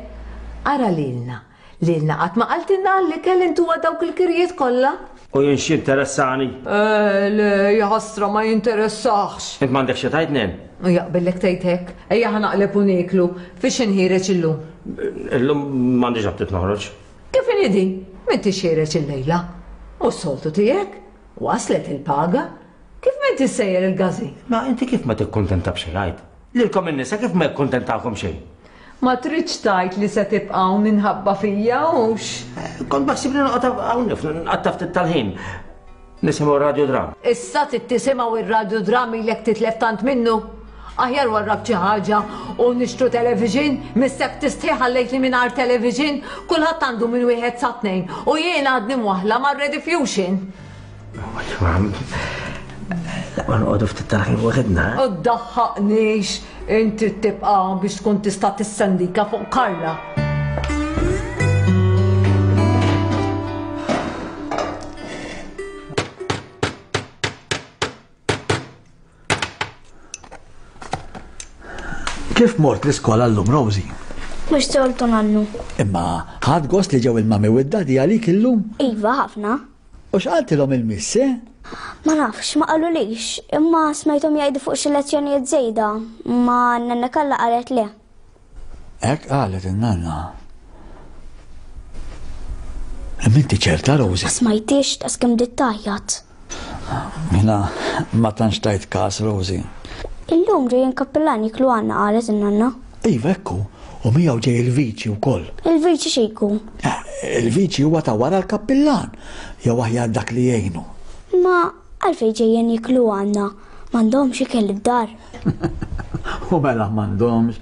Ara lilna. Lilna qatt ma qaltilna għall-ikel intuha dawk il-kirjiet kollha. U jien x'interessani? Eh, le, ja ħasra ma jinteressax. Int m'għandek xi tgħid nen? U jaqbillek tgħid hekk. Ejja ħa naqleb u nieklu. Fiex inħireġ illum? Illum m'għandix aptit noħroġ. Kif inhi din? M'intix ħiereġ illejla. U s-soltu tiegħek? Waslet il-paga? Kif m'inti sejjer il-gażin? Ma inti kif ma tikkuntenta b'xejn għid? Lilkom in-nisa kif ma jikkuntentakom xejn? Ma tridx tgħid li se tibqa' hawn minħabba fija hux? Kont baħsibni noqgħod hawn nqatta' ftit tal-ħin. Nisimgħu radiodram. Issa trid tisimgħu ir-radiodram ilek titlef tant minnu. Aħjar warrab xi ħaġa u nixtru television, missek tistħi ħallejtni mingħajr television, kulħadd għandu minn wieħed sa tnejn u jien għadni mwaħla mar-Rediffusion. Laqwa noqogħdu ftit tal-ħin waħedna. U ddaħħaqnix, inti tibqa' biex tkun tista' tissendika fuq Karla. Kif mort l-iskola llum, Rosie? Mhux soltu nannu. Imma ħadt gost li ġew il-mami u d-daddy għalik illum? Iva, ħafna. U x'qaltilhom il-miss, eh? Ma nafx, ma qalulix, imma smajthom jgħidu fuq xi lezzjonijiet żejda, ma nanna Kalla qalet le. Hekk qalet in-nanna. Imma inti ċerta, Rosie? Ma smajtix ta' skemm bdiet tgħajjat. Jiena ma tantx tajt każ, Rosie. Illum ġejjin kappillan jiklu għandna qalet in-nanna. Iva ekku, u miegħu ġej il-viċi wkoll. Il-viċi xejku? Il-viċi huwa ta' wara l-kappillan, jew aħjar dak li jgħinu. Ma għalfejn ġejjin jiklu għandna, m'għandhomx ikel id-dar. U mela m'għandhomx.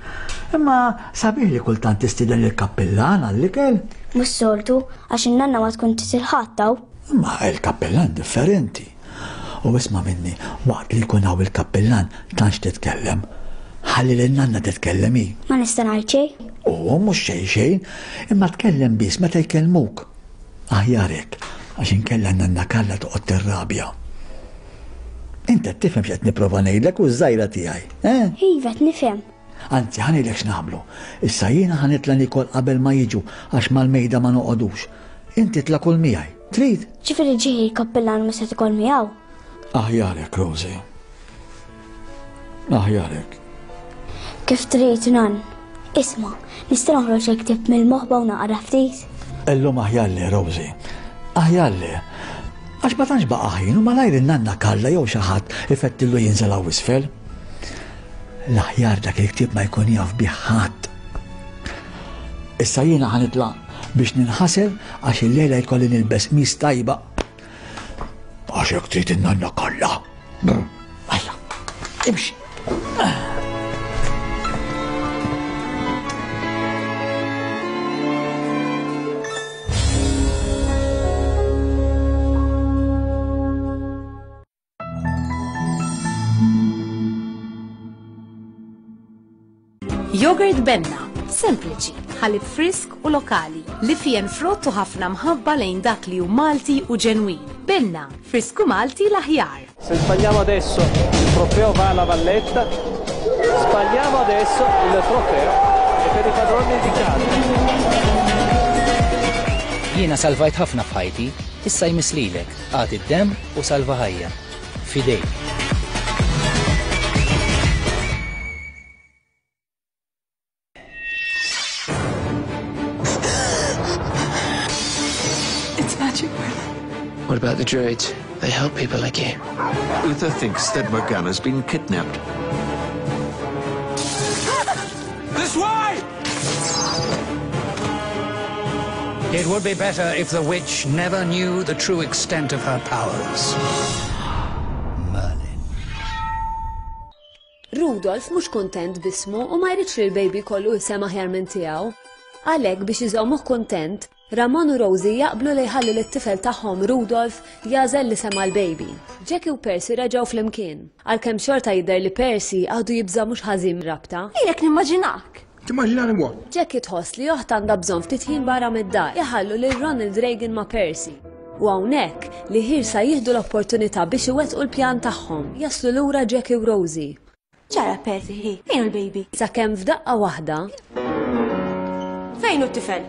Imma sabiħ li kultant tistieden il-kappillan għall-ikel. Mhux soltu, għax in-nanna ma tkun titilħadd hawn. Imma il-kappillan differenti. U isma' minni, waqt li jkun hawn il-kappillan tantx titkellem. Ħalli lil nanna titkellem hi. Ma nista' ngħid xejn. U mhux xejn xejn, imma tkellem biss meta jkellmuk. Aħjar hekk, għax inkella nanna Kalla toqgħod tirrabja. Inti qed tifhem x'qed nipprova ngħidlek u ż-żgħira tiegħi, eh? Iva qed nifhem. Anzi, ħa ngħidlek x'nagħmlu. Issa jiena ħa nitla' nikol qabel ma jiġu għax mal-mejda ma noqogħdux. Inti tla' kul miegħi. Trid? Ġifieri ġej il-kappillan ma se tikol miegħu. Aħjar hekk, Rosie. Aħjar hekk. Kif trid, nan? Isma', nista' noħroġ il-ktieb mill-moħba u naqra ftit? Illum aħjar le, Rosie. Aħjar le. Għax ma tantx baqa' ħin u malajr in-nanna Kalla jew xi ħadd ifettillu jinżel hawn isfel. L-aħjar dak il-ktieb ma jkun jaf bih ħadd. Issa jiena ħa nitla' biex ninħasel għax illejla jkolli nilbes qmis tajba. Għax hekk trid in-nanna Kalla. Ejja, imxi. Yogurt Benna, sempliċi, ħalib frisk u lokali, li fijen frott u ħafna mħabba lejn dak li hu Malti u ġenwin. Benna, frisku Malti l-aħjar. Se sbagliamo adesso il trofeo va alla Valletta, sbagliamo adesso il trofeo è per i padroni di casa. Jiena salvajt ħafna f'ħajti, issa jmiss lilek, agħti d-demm u salva ħajja. Fidejk. It's magic, Merlin. What about the druids? They help people like you. Uther thinks that Morgana's been kidnapped. This way! It would be better if the witch never knew the true extent of her powers. Rudolf mhux kuntent b'ismu u ma jridx li l-baby jkollu isem aħjar minn tiegħu. Għalhekk biex iżommuh kuntent, Ramon u Rosie jaqblu li jħallu lit-tifel tagħhom Rudolf jagħżel l-isem għall-baby. Jackie u Percy reġgħu flimkien, għalkemm xorta jidher li Percy għadu jibża' mhux ħażin mir-rabta. Ilek nimmaġinak. Timmaġinani what? Jackie tħoss li oħtha għandha bżonn ftit ħin barra mid-dar, iħallu lil Ronald Reagan ma' Percy. U hawnhekk li ħirsa jieħdu l-opportunità biex iwettqu l-pjan tagħhom, jaslu lura Jackie u Rosie. Ġara Percy, hi, fejn hu l-baby? Sakemm f'daqqa waħda. Fejn hu t-tifel?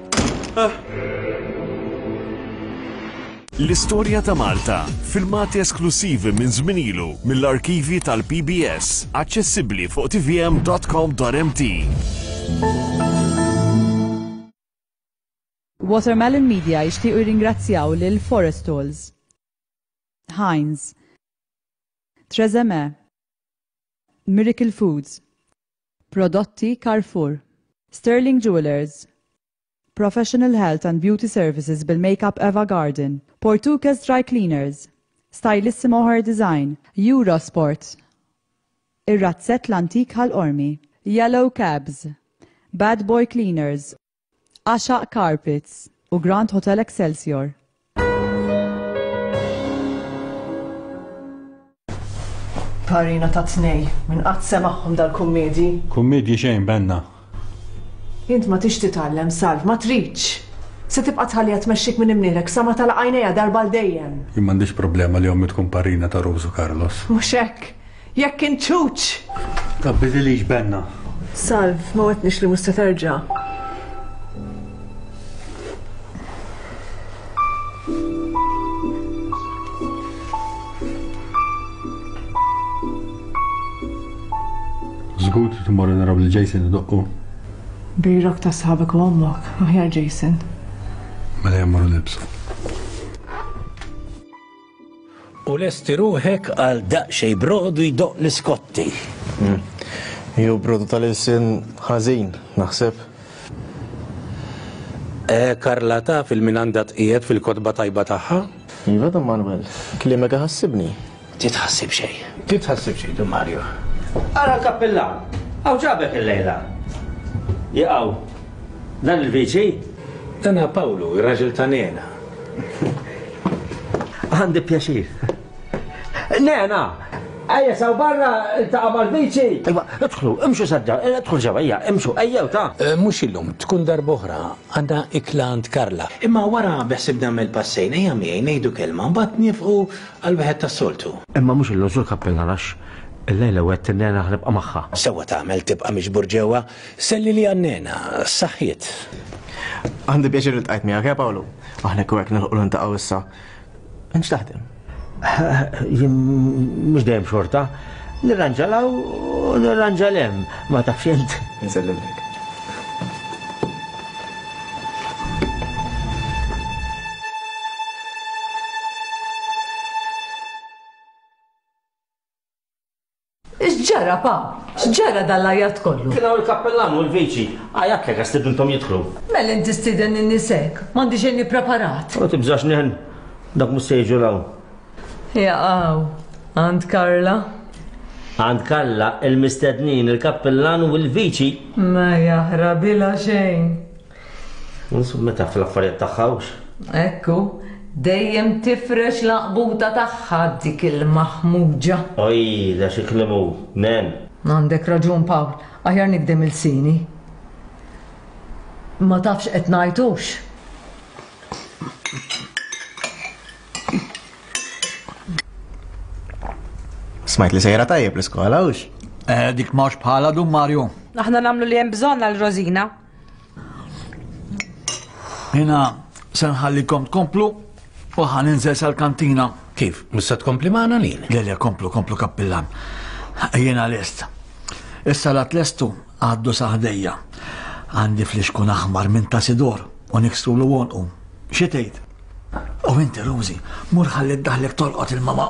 L-istorja ta' Malta, filmati esklusivi minn żmien ilu mill-arkivi tal-P B S, aċċessibbli fuq t v m dot com dot m t. Watermelon Media jixtiequ jirringrazzjaw lil Forestols, Heinz, Trezeme, Miracle Foods, Prodotti Carrefour, Sterling Jewelers, Professional Health and Beauty Services bil-Makeup Eva Garden, Portuguese Dry Cleaners, Stylissimo Hair Design, Eurosport, Ir-Razzett l-Antik Ħal Qormi, Yellow Cabs, Bad Boy Cleaners, Għaxaq Carpets u Grand Hotel Excelsior. Parina ta' tnej, minn qatt semagħhom dal-kummedji. Kummedji xejn, Benna. Int ma tix titgħallem, Salv, ma tridx. Se tibqa' tħalliha tmexxik minn imnieħrek sa ma tagħlaq għajnejha darba għal dejjem. Jien m'għandix problema li ommi tkun parina ta' Rose u Carlos. Mhux hekk. Jekk int ċuċ! Tgħabbidilix, Benna. Salv, ma wegħdtnix li mhux se terġa'. Żgur trid immorru naraw lil Jason idoqqu. Birok ta' sħabek u ommok, aħjar Jason. Mela ejja mmorru nilbsu. U lesti ruħek għal daqsxejn brodu jdoqq l-iskotti. Jew brodu tal-ilsien ħażin, naħseb. Eh, Karla taf il-min għandha tqiegħed fil-kotba tajba tagħha? Iva, Don Manuel, kliemek iħassibni. Titħassib xejn. Titħassib xejn, Don Mario. Ara l-kappillan, hawn ġabek illejla. Jaqaw, dan il-viċi? Dan Pawlu, ir-raġel ta' Nena. Għandi pjaċir. Nena, ejja saw barra iltaqa' mal-viċi. Iva, idħlu, imxu sadda, idħlu ġewwa, ejja, imxu, ejjew ta'. Eh, mhux illum, tkun darb'oħra, għandna ikla għand Karla. Imma wara beħsib nagħmel passejn, ejja miegħi ngħidu kelma, mbagħad niefqu għal wieħed tas-soltu. Imma mhux illum sur kappillan għax illejla wegħedt in-nena ħa nibqa' magħha. Sewwa tagħmel tibqa' miġbur ġewwa, selli li għan-nena, saħħiet. Għandi pjaċir li ltqajt miegħek, eh Pawlu? Aħna kieku hekk nilħqu niltaqgħu issa. Int x'taħdem? Jien mhux dejjem xorta. Nirranġa 'l hawn u nirranġa 'l hemm, ma tafx int. Insellimlek. X'ġara, pa? X'ġara dal-għajat kollu? Kien hawn il-kappellan u l-viċi. Għajatlek għax stidinthom jidħlu. Mela inti stieden in-nies hekk, m'għandi xejn ippreparat. U tibżax nen, dak mhux se jiġu 'l hawn. Jaqaw, għand Karla. Għand Karla, il-mistednin, il-kappellan u l-viċi. Ma jaħrabilha xejn. Insomma, taf l-affarijiet tagħha hux. Ekku, dejjem tifrex l-għaqbuta tagħha dik il-maħmuġa. Oj, da xi kliem hu, nen. Għandek raġun, Pawl, aħjar nikdem il-sini. Ma tafx qed ngħid hux. Smajt li sejra tajjeb l-iskola, hux? Eh, dik mhux bħala Dun Mario. Aħna nagħmlu li hemm bżonn għal Rosina. Jiena se nħallikom tkomplu u ħa ninżel sal-kantina. Kif? Mhux se tkompli magħna lin? Le, le, komplu, komplu kappillan. Jiena lest. Issa la tlestu għaddu sa ħdejja. Għandi flixkun aħmar minn ta' Sidor u niksrulu għonqu. Xi tgħid? U inti, Rosie, mur ħalli ddaħlek tolqot il-mama.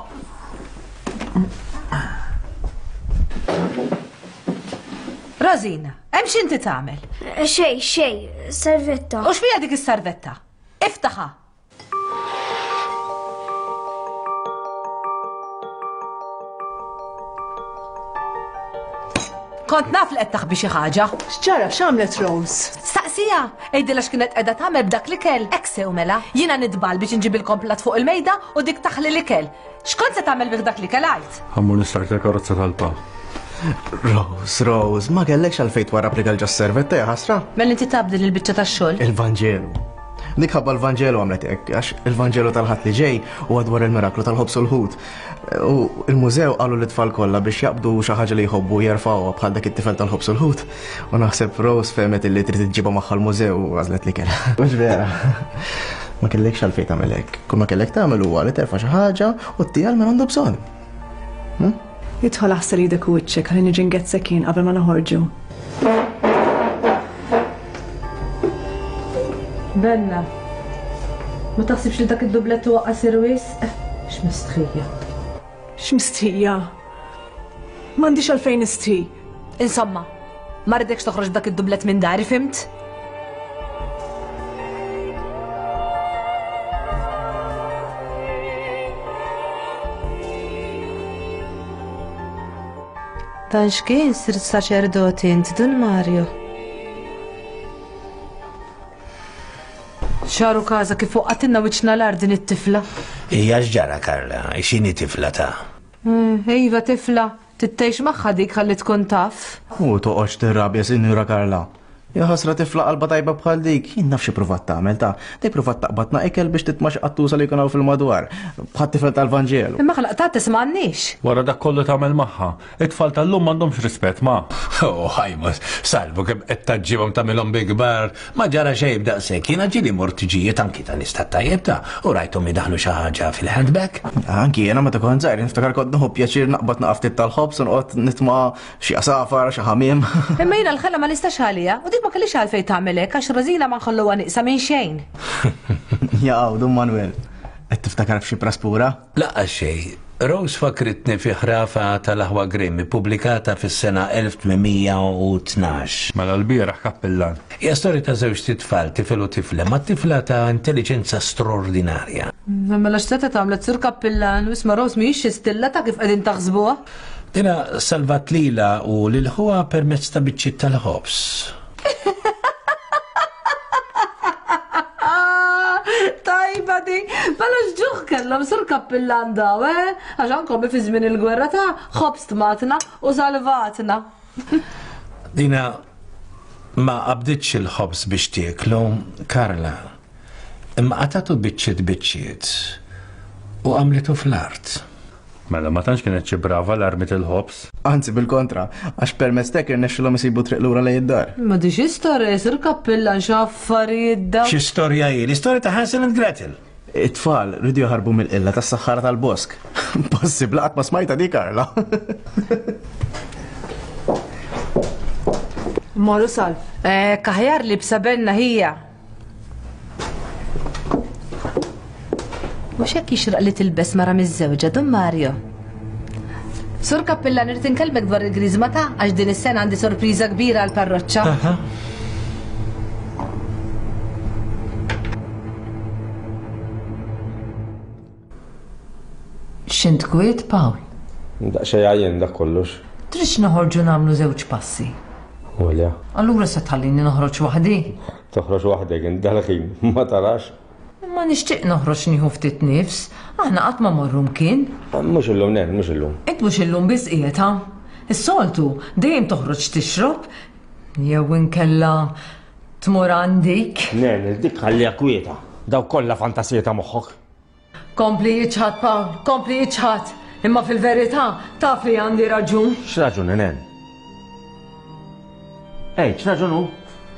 Rosina, hemm x'inti tagħmel? Xej, xej, servetta. U x'fiha dik is-servetta? Iftaħha. Kont naf li qed taħbi xi ħaġa. X'ġara, x'għamlet Rose? Staqsija, għidilha x'kienet qiegħda tagħmel b'dak l-ikel. Hekk sew mela, jiena nitbal biex inġibilkom platt fuq il-mejda u dik taħli l-ikel. X'kont se tagħmel bih dak l-ikel għid? Ħa mmur nistartja l-karozza tal-pa. Rose, Rose, ma kellekx għalfejn twarrab l-ikel ġos-servetta, ja ħasra? Mela inti taf din il-biċċa tax-xogħol? Il-Vanġelu. Dik ħabba l-Vanġelu għamlet hekk, għax il-Vanġelu tal-Ħadd li ġej huwa dwar il-miraklu tal-ħobż u l-ħut. U il-mużew qalu lit-tfal kollha biex jaqbdu xi ħaġa li jħobbu jerfgħuha bħal dak it-tifel tal-ħobż u l-ħut. U naħseb Rose fehmet illi trid iġġibha magħha l-mużew u għażlet l-ikel. Mhux vera. Ma kellekx għalfejn tagħmel hekk. Kull ma kellek tagħmel huwa li terfa' xi ħaġa u ttiha lil min għandu bżonn. Hm? Idħol aħsel idek u wiċċek ħalli niġi ngezzek jien qabel ma noħorġu. Benna, ma taħsibx li dak id-dublett huwa qasir wisq? X'mistħija. X'mistħija? M'għandix għalfejn nistħi. Insomma, ma rridekx toħroġ b'dak id-dublett minn dari, fimt? Dan x'kien sirt saċerdoti int, Dun Mario? Xaru każa kif waqqatilna wiċċna l-art din it-tifla. Hija x'ġara, Karla, x'inhi tifla ta'? Iva tifla, tittejx magħha dik ħalli tkun taf. U toqgħodx tirrabja, Sinjura Karla. Ja ħasra tifla qalba tajba bħal dik, jien naf xi provat tagħmel ta' dik provat taqbadna ikel biex titma' xi qattusa li jkun hawn fil-madwar, bħat-tifel tal-Vanġelu. Imma ħlaqtha tisma'għandniex. Wara dak kollu tagħmel magħha, it-tfal tal-lum m'għandhomx rispett ma. Oh, ħajma, salvu kemm qed taġġibhom tagħmilhom bi kbar, ma ġara xejn b'daqshekk. Jiena ġieli mort tiġijiet anki ta' nies tat-tajjeb ta' u rajthom idaħlu xi ħaġa fil-handbag. Anki jiena meta kont żgħir niftakar kont nieħu pjaċir naqbad naqaf ftit tal-ħobż u noqgħod nitma' xi għasafar, xi ħamiem. Imma jiena l-ħela ma nistax għalija u dik ma kellix għalfejn tagħmel hekk għax Rosina ma nħalluha nieqsa minn xejn. Jaqgħu, Dun Manuel, qed tiftakar f'xi praspura? Laqgħa xejn. Rose fakritni fi ħrafa tal-Aħwa Grimm ippubblikata fis-sena elf tmien u tnax. Mela l-bieraħ kappillan. Hija storja ta' żewġ titfal, tifel u tifla, ma' tifla ta' intelligenza straordinarja. Mela x'seta' tagħmlet sur kappillan, u isma' Rose mhijiex xi stilla ta' kif qegħdin taħsbuha. Dina salvat lilha u lil ħuha permezz ta' biċċiet tal-ħobż. Tajba di, mela x'ġuħ kellhom sur kappillan daw, eh? Għax ankom fi żmien il-gwerra ta' ħobż tmatna u salvatna. Dina ma qabditx il-ħobż biex tieklu, Karla, imma qatatu biċċiet biċċiet u għamlitu fl-art. Mela ma tantx kienet xi brava l-armi tal-ħobż. Anzi bil-kontra, għax permezz tek irnexxilhom isibu triq lura lejn id-dar. Ma di xi storja jsir kappillan x'affarijiet dawn. Xi storja hi? L-istorja ta' Hansel and Gretel. It-tfal rridu jaħarbu mill-qilla tas-saħħara tal-bosk. Possibbli qatt ma smajta di Karla. Morru Salv. Eh, kaħjar li b'sabenna hija. Mhux hekk jixraq li tilbes mara miż-żewġa, Dun Mario. Sur Kappillan, irid inkellmek dwar il-griżma ta' għax din is-sena għandi sorpriża kbira għall-parroċċa. X'int kwiet, Pawl? Daqsxejn għajjen dak kollox. Tridx noħorġu nagħmlu żewġ passi. Olja. Allura se tħallini noħroġ waħdi? Toħroġ waħdek int dal-ħin, ma tarax. Ma nixtieq noħroġ nieħu ftit nifs, aħna qatt ma morru mkien. Mhux illum, nen, mhux illum. Int mhux illum biss qiegħed ha? Is-soltu dejjem toħroġ tixrob jew inkella tmur għandik. Nen, dik ħalliha kwieta. Daw kollha fantasija ta' moħħok. Kompli jiċħad, Pawl, kompli jiċħad. Imma fil-verità taf li għandi raġun. X'raġun, nen? Ej, x'raġun hu?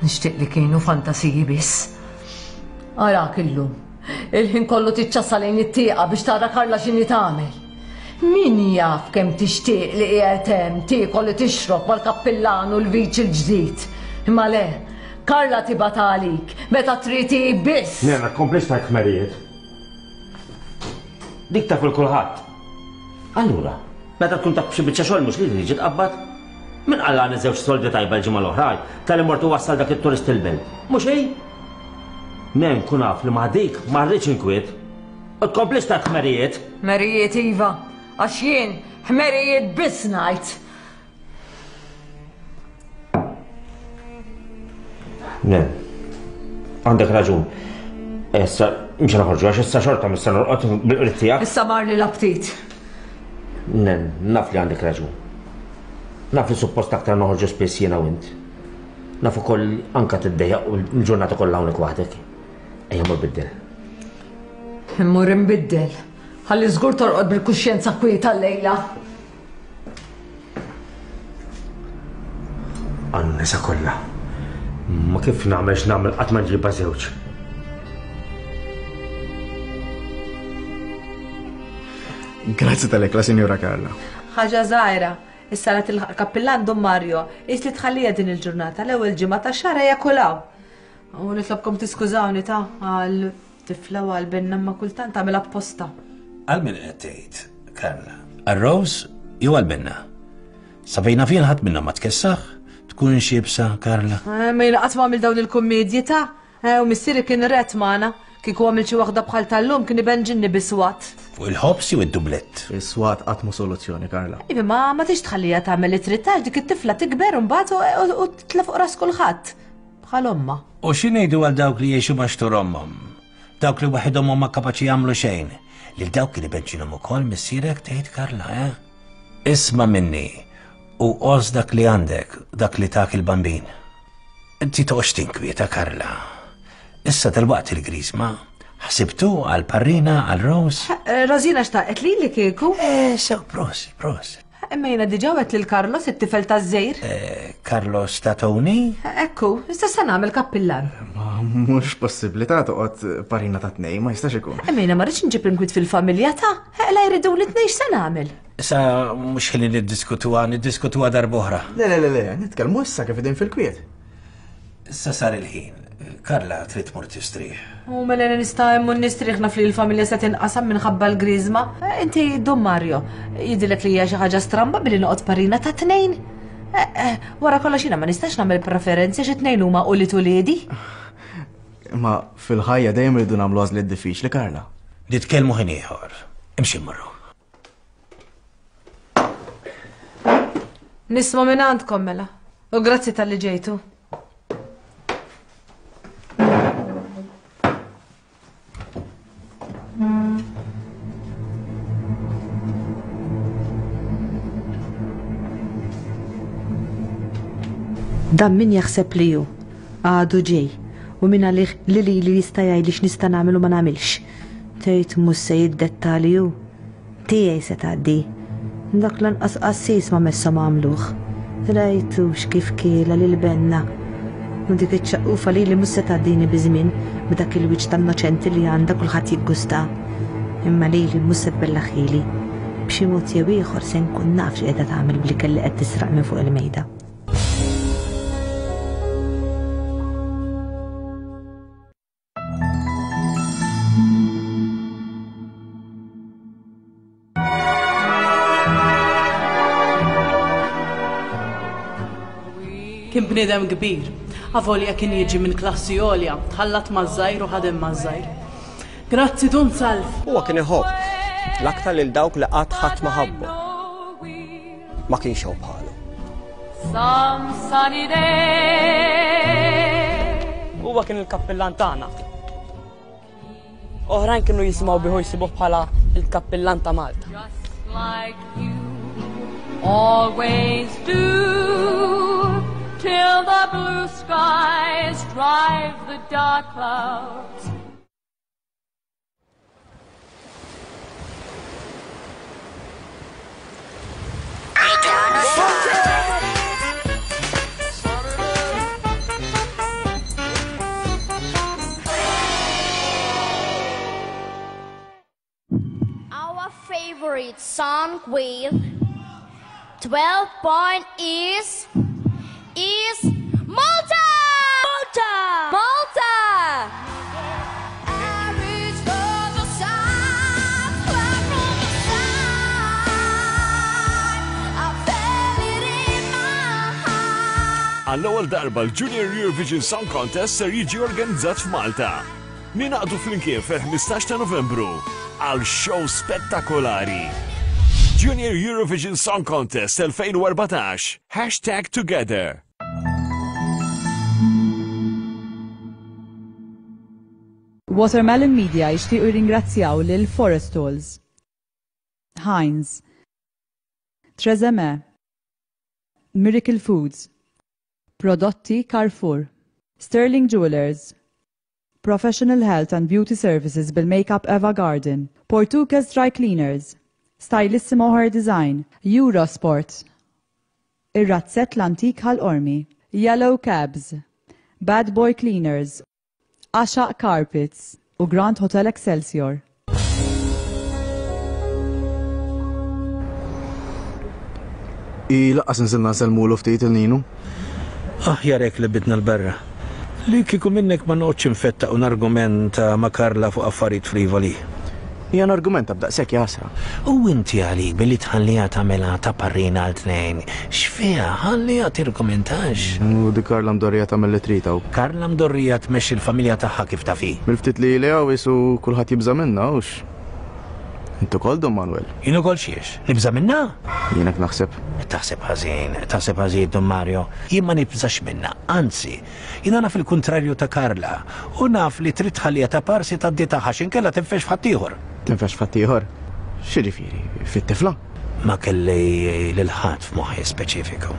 Nixtieq li kienu fantasiji biss. Arak illum. Il-ħin kollu tiċċassa lejn it-tieqa biex tara Karla x'inhi tagħmel. Min jaf kemm tixtieq li qiegħed hemm tiekol li tixrob mal-kappillan u l-viċ il-ġdid. Imma le, Karla tibgħat għalik meta trid hi biss. Nena, tkomplix tgħid ħmerijiet. Dik taf il kulħadd. Allura, meta tkun taf xi biċċa xogħol mhux li tiġi tqabbad? Min qallani żewġ soldi tajba l-ġimgħa l-oħra tal-li mortu wassal dak it-turist il-belt. Mhux hi? Nen kun naf li ma' dik ma rridx inkwiet. U tkomplix ta' ħmerijiet. Ħmerijiet iva, għax jien ħmerijiet biss ngħid. Nen, għandek raġun. Issa, mhux noħorġu għax issa xorta mista norqod bil-qrid tiegħek. Issa marli l-aptit. Nen, naf li għandek raġun. Naf li suppost aktar noħorġu spiss jiena u int. Naf ukoll anka tiddejjaq u l-ġurnata kollha hawnhekk waħdek. Ejja mur biddel. Immur imbiddel. Ħalli żgur torqod bil-kuxjenza kwieta llejla. Għan-nisa kollha. Ma kif nagħmel x'nagħmel qatt ma nġibha żewġ. Grazzi tal-ekla, Sinjura Karla. Ħaġa żgħira. Issa la tilħaq kappillan Dun Mario, is li tħallija din il-ġurnata l-ewwel ġimgħa tax-xahar ejja kulaw. U nitlobkom tiskużawni ta' għal tifla u għal binna ma kultant tagħmel apposta. Għal min qed tgħid, Karla? Għal Rose jew għal binna? Sa fejna fien ħadd minnhom ma tkessaħ? Tkun xibsa, Karla? Eh, ma jiena qatt ma għamil dawn il-kummedji ta' eh, u missieri kien ret magħna. Kieku għamil xi waħda bħal tal-lum kien ibenġinni biswat. Fuq il-ħobż jew id-dublett? Is-swat qatt mhu soluzzjoni, Karla. Iva, ma ma tix tħallija tagħmel li trid għax dik it-tifla tikber imbagħad u- u titla' fuq ras kulħadd. Bħal ommha. U xi ngħidu għal dawk li jgħixu ma' xtur ommhom? Dawk li waħedhom huma kapaċi jagħmlu xejn. Lil dawk li benċinhom ukoll missierek tgħid Karla, eh? Isma' minni u għożż dak li għandek, dak li tak il-bambin. Inti toqgħodx tinkwieta, Karla. Issa dalwaqt il-griżma. Ħsibtu għal parrina, għal Rose? Eh, Rosina xtaqet li li kieku? Eh, sew, prosit, prosit. Imma jiena diġà għedt lil Carlos it-tifel taż-żejr. Eh, Carlos ta' Tony? Ekku, issa se nagħmel kappillan. Ma mhux possibbli ta' toqgħod parrina ta' tnejn, ma jistax ikun. Imma jiena ma rridx nġib inkwiet fil-familja ta' la jridu li tnejn x'se nagħmel. Issa mhux ħin niddiskutuha, niddiskutuha darb'oħra. Le, le, le, le, nitkellmu issa kif qegħdin fil-kwiet. Issa sar il-ħin. Karla trid tmur tistrieħ. U mela nista' hemm u nistrieħ naf li l-familja se tinqasam minħabba l-griżma. Eh, Inti Don Mario, jidhirlek li hija xi ħaġa stramba billi noqgħod parrina ta' tnejn. Eh, eh, Wara kollox jiena ma nistax nagħmel preferenzi xi tnejn huma ulied uliedi. Ma fil-ħajja dejjem irridu nagħmlu għażliet diffiċli, Karla. Nitkellmu ħin ieħor. Imxi mmorru. Nisma' minn għandkom mela. U grazzi talli ġejtu. Dan min jaħseb li hu għadu ġej u min għalih li li li jista' jgħidli x'nista' nagħmel u ma nagħmilx. Tgħid mhux se jiddettali hu. Tiegħi se tgħaddi. Dak lanqas qassis ma messhom għamluh. Rajtux kif kiela lil benna. U dik iċ-ċaqqufa li li mhux se tgħaddini biż-żmien b'dak il-wiċċ tan-noċenti li għandha kulħadd jiggusta. Imma lili mhux se tbellaħili. B'xi mod jew ieħor se nkun naf x'qiegħda tagħmel bl-ikel li qed tisraq minn fuq il-mejda. Kien bniedem kbir, avolja kien jiġi minn klassi għolja, tħallat maż-żgħir u ħadem maż-żgħir. Grazzi Dun Salv. Huwa kien iħobb l-aktar lil dawk li qatt ħadd ma ħabbu. Ma kienx hawn bħalu. Some sunny day. Huwa kien il-kappillan tagħna. Oħrajn kienu jisimgħu bihu jsibuh bħala il-kappillan ta' Malta. Just like you always do. Till the blue skies drive the dark clouds. Our favorite song with twelve point is is Malta! Malta! Malta! I reach for the sun, far from the sun. I felt it in my heart. Għall-ewwel darba l-Junior Eurovision Song Contest ser jiġi organizzat f'Malta. Ninaqdu flimkien fil-ħmistax ta' Novembru għal show spettakolari. Junior Eurovision Song Contest elfejn u erbatax, hashtag together. Watermelon Media jixtiequ jirringrazzjaw lil Forestalls, Heinz, Trezeme, Miracle Foods, Prodotti Carrefour, Sterling Jewelers, Professional Health and Beauty Services bil-Makeup Eva Garden, Portuguese Dry Cleaners, Stylissimo Hair Design, Eurosport, Ir-Razzett l-Antik Ħal Qormi, Yellow Cabs, Bad Boy Cleaners, Għaxaq Carpets u Grand Hotel Excelsior. I laqqas nżilna nsellmulu ftit il-Ninu. Aħjar hekk li bidna l-berra. Li kieku minnek ma noqgħodx infettaq un argumenta ma' Karla fuq affarijiet frivoli. Hija argumenta b'daqshekk jasra. U inti għalik billi tħalliha tagħmilha ta' parrina għal tnejn, x'fiha ħalliha tirgumentax. U di Karla mdorrija tagħmel li trid hawn. Karla mdorrija tmexxi l-familja tagħha kif taf hi. Mill-ftit li li hawn isu kulħadd jibża' minnha hux. Intu kol, Dun Manuel? Jien ukoll xiex? Nibża' minna? Jien hekk naħseb. Taħseb ħażin, taħseb ħażin, Dun Mario. Jien ma nibżax minna, anzi, jiena naf il-kuntrarju ta' Karla u naf li trid tħalliha ta' parsi tgħaddi tagħha x'inkella tinfex f'ħaddieħor. Tinfex f'ħaddieħor? X'jiġifieri, fit-tifla? Ma kelli lil ħadd f'moħħi speċifiku.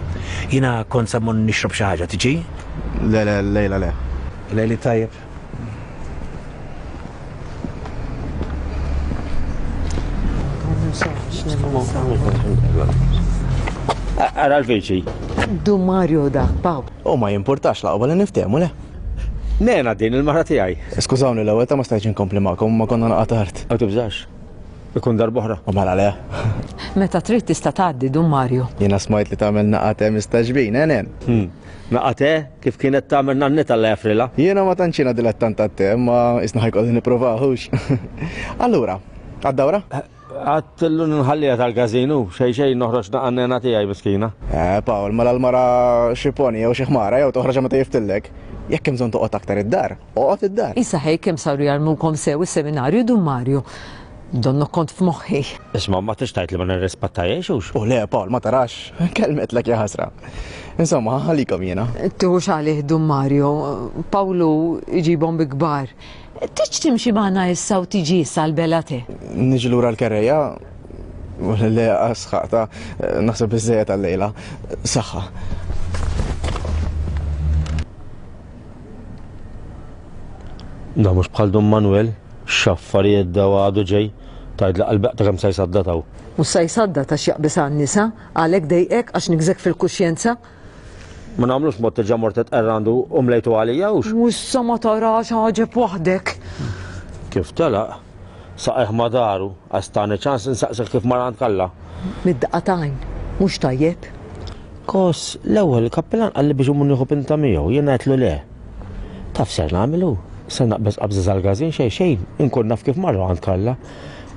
Jiena kont sa mmur nixrob xi ħaġa, tiġi? Le, le, lejla le. Lejli tajjeb. Ara l-viċi. Dun Mario dak, Paw. U ma jimpurtax laqwa li niftehmu le. Nena din il-mara tiegħi. Skużawni l-ewwel ta' ma stajtx inkompli magħkom ma konna naqa' tard. Ma tibżax. Ikun darb'oħra. U mela le. Meta trid tista' tgħaddi Dun Mario. Jiena smajt li tagħmel naqa' te mistaġbin, eh nen? Hmm. Naqa' te kif kienet tagħmel nannita alla jafrilha. Jiena ma tantx jiena dilettant tat-te, imma isna ħajkolli nippruvahux. Allura, għad-dawra? Għattillu nħallija tal-gazinu, xej xej noħroġ naqa' nena tiegħi miskina. Eh, Pawl, mela l-mara xi poni jew xi ħmara jew toħroġ meta jiftillek. Jekk hemm bżonn toqgħod aktar id-dar, oqgħod id-dar. Issa ħej kemm saru jarmukom sew is-seminarju Dun Mario. Donnu kont f'moħħi. Isma' ma tix tgħid li ma nirrispettajiex hux. U le, Pawl, ma tarax, kelmetlek ja ħasra. Insomma, ħalikom jiena. Tuħux għalih Dun Mario, Pawlu iġibhom bi kbar. Tiġ timxi magħna issa u tiġi issa l-bela te. Niġi lura l-kerreja, le sħaqta, naħseb biżejjed għal-lejla. Saħħa. Da mhux bħal Dun Manuel, x'affarijiet daw għadu ġej, tgħid li qalbeq ta' kemm se jsaddataw. Mhux se jsadda ta' x'jaqbis għan-nisa, għalhekk dejqek għax nigżek fil-kuxjenza. Ma nagħmlux mod terġa' mort tqerr għandu u mlejtu għalija hux. U issa ma tarax ħaġeb waħdek. Kif telaq? Saqajh ma daru, għax tani ċans insaqsik kif mar għand Kalla. Mid-daqqa t'għajn, mhux tajjeb. Kos, l-ewwel il-kappillan qalli biex imur nieħu pinta miegħu, jien għedtlu le. Taf ser nagħmlu? Se naqbeż qabża sal-każin xejn xejn, inkun naf kif marru għand Kalla.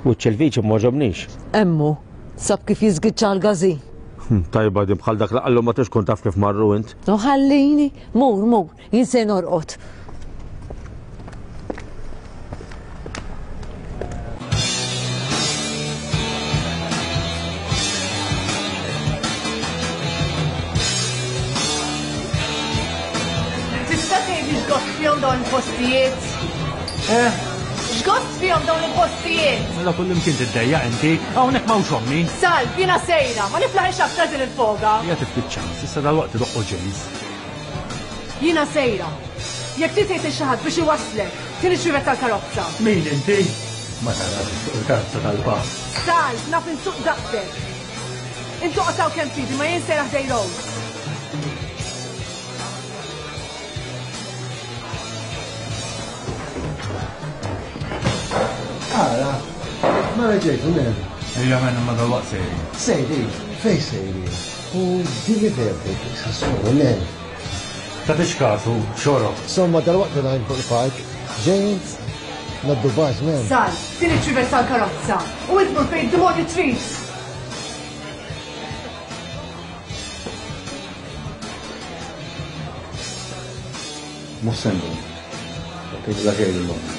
Wiċċ il-viċi m'għoġobnix. Emmu, sab kif jiżgiċċa l-każin. Tajba din bħal dak li qallu ma tix tkun taf kif marru int. U ħallini, mur, mur, jien se norqod. Tista' tgħidli x'gost fihom dawn il-postijiet? Eh? X'gost fihom dawn il-postijiet? Mela kullimkien tiddejjaq inti, hawnhekk m'hawnx ommi. Salv, jiena sejra, ma niflaħx aktar din il-foga. Hija tiftit ċans, issa dalwaqt idoqqu ġejż. Jiena sejra. Jekk trid tgħid lil xi ħadd biex iwasslek, tieni xrivet tal-karozza. Min inti? Ma tarax fuq il-karozza tal-pass. Salv, naf insuq daqsek. Intu qtaw kemm tridu, ma jien sejra ħdej Rose. Ara, ma reġejtu nen. Ejja men ma dal-waqt sejri. Sejri, fej sejri. U dili verbek, sassuru nen. Ta' tix kasu, xorob. Somma dal-waqt najn fuq il-park, James, naddu baż men. Sal, din iċ-ċivet tal-karozza. U int mur fejn id-demonju trid. Mhux se ndum. Tgħidilha xejn lil ommi.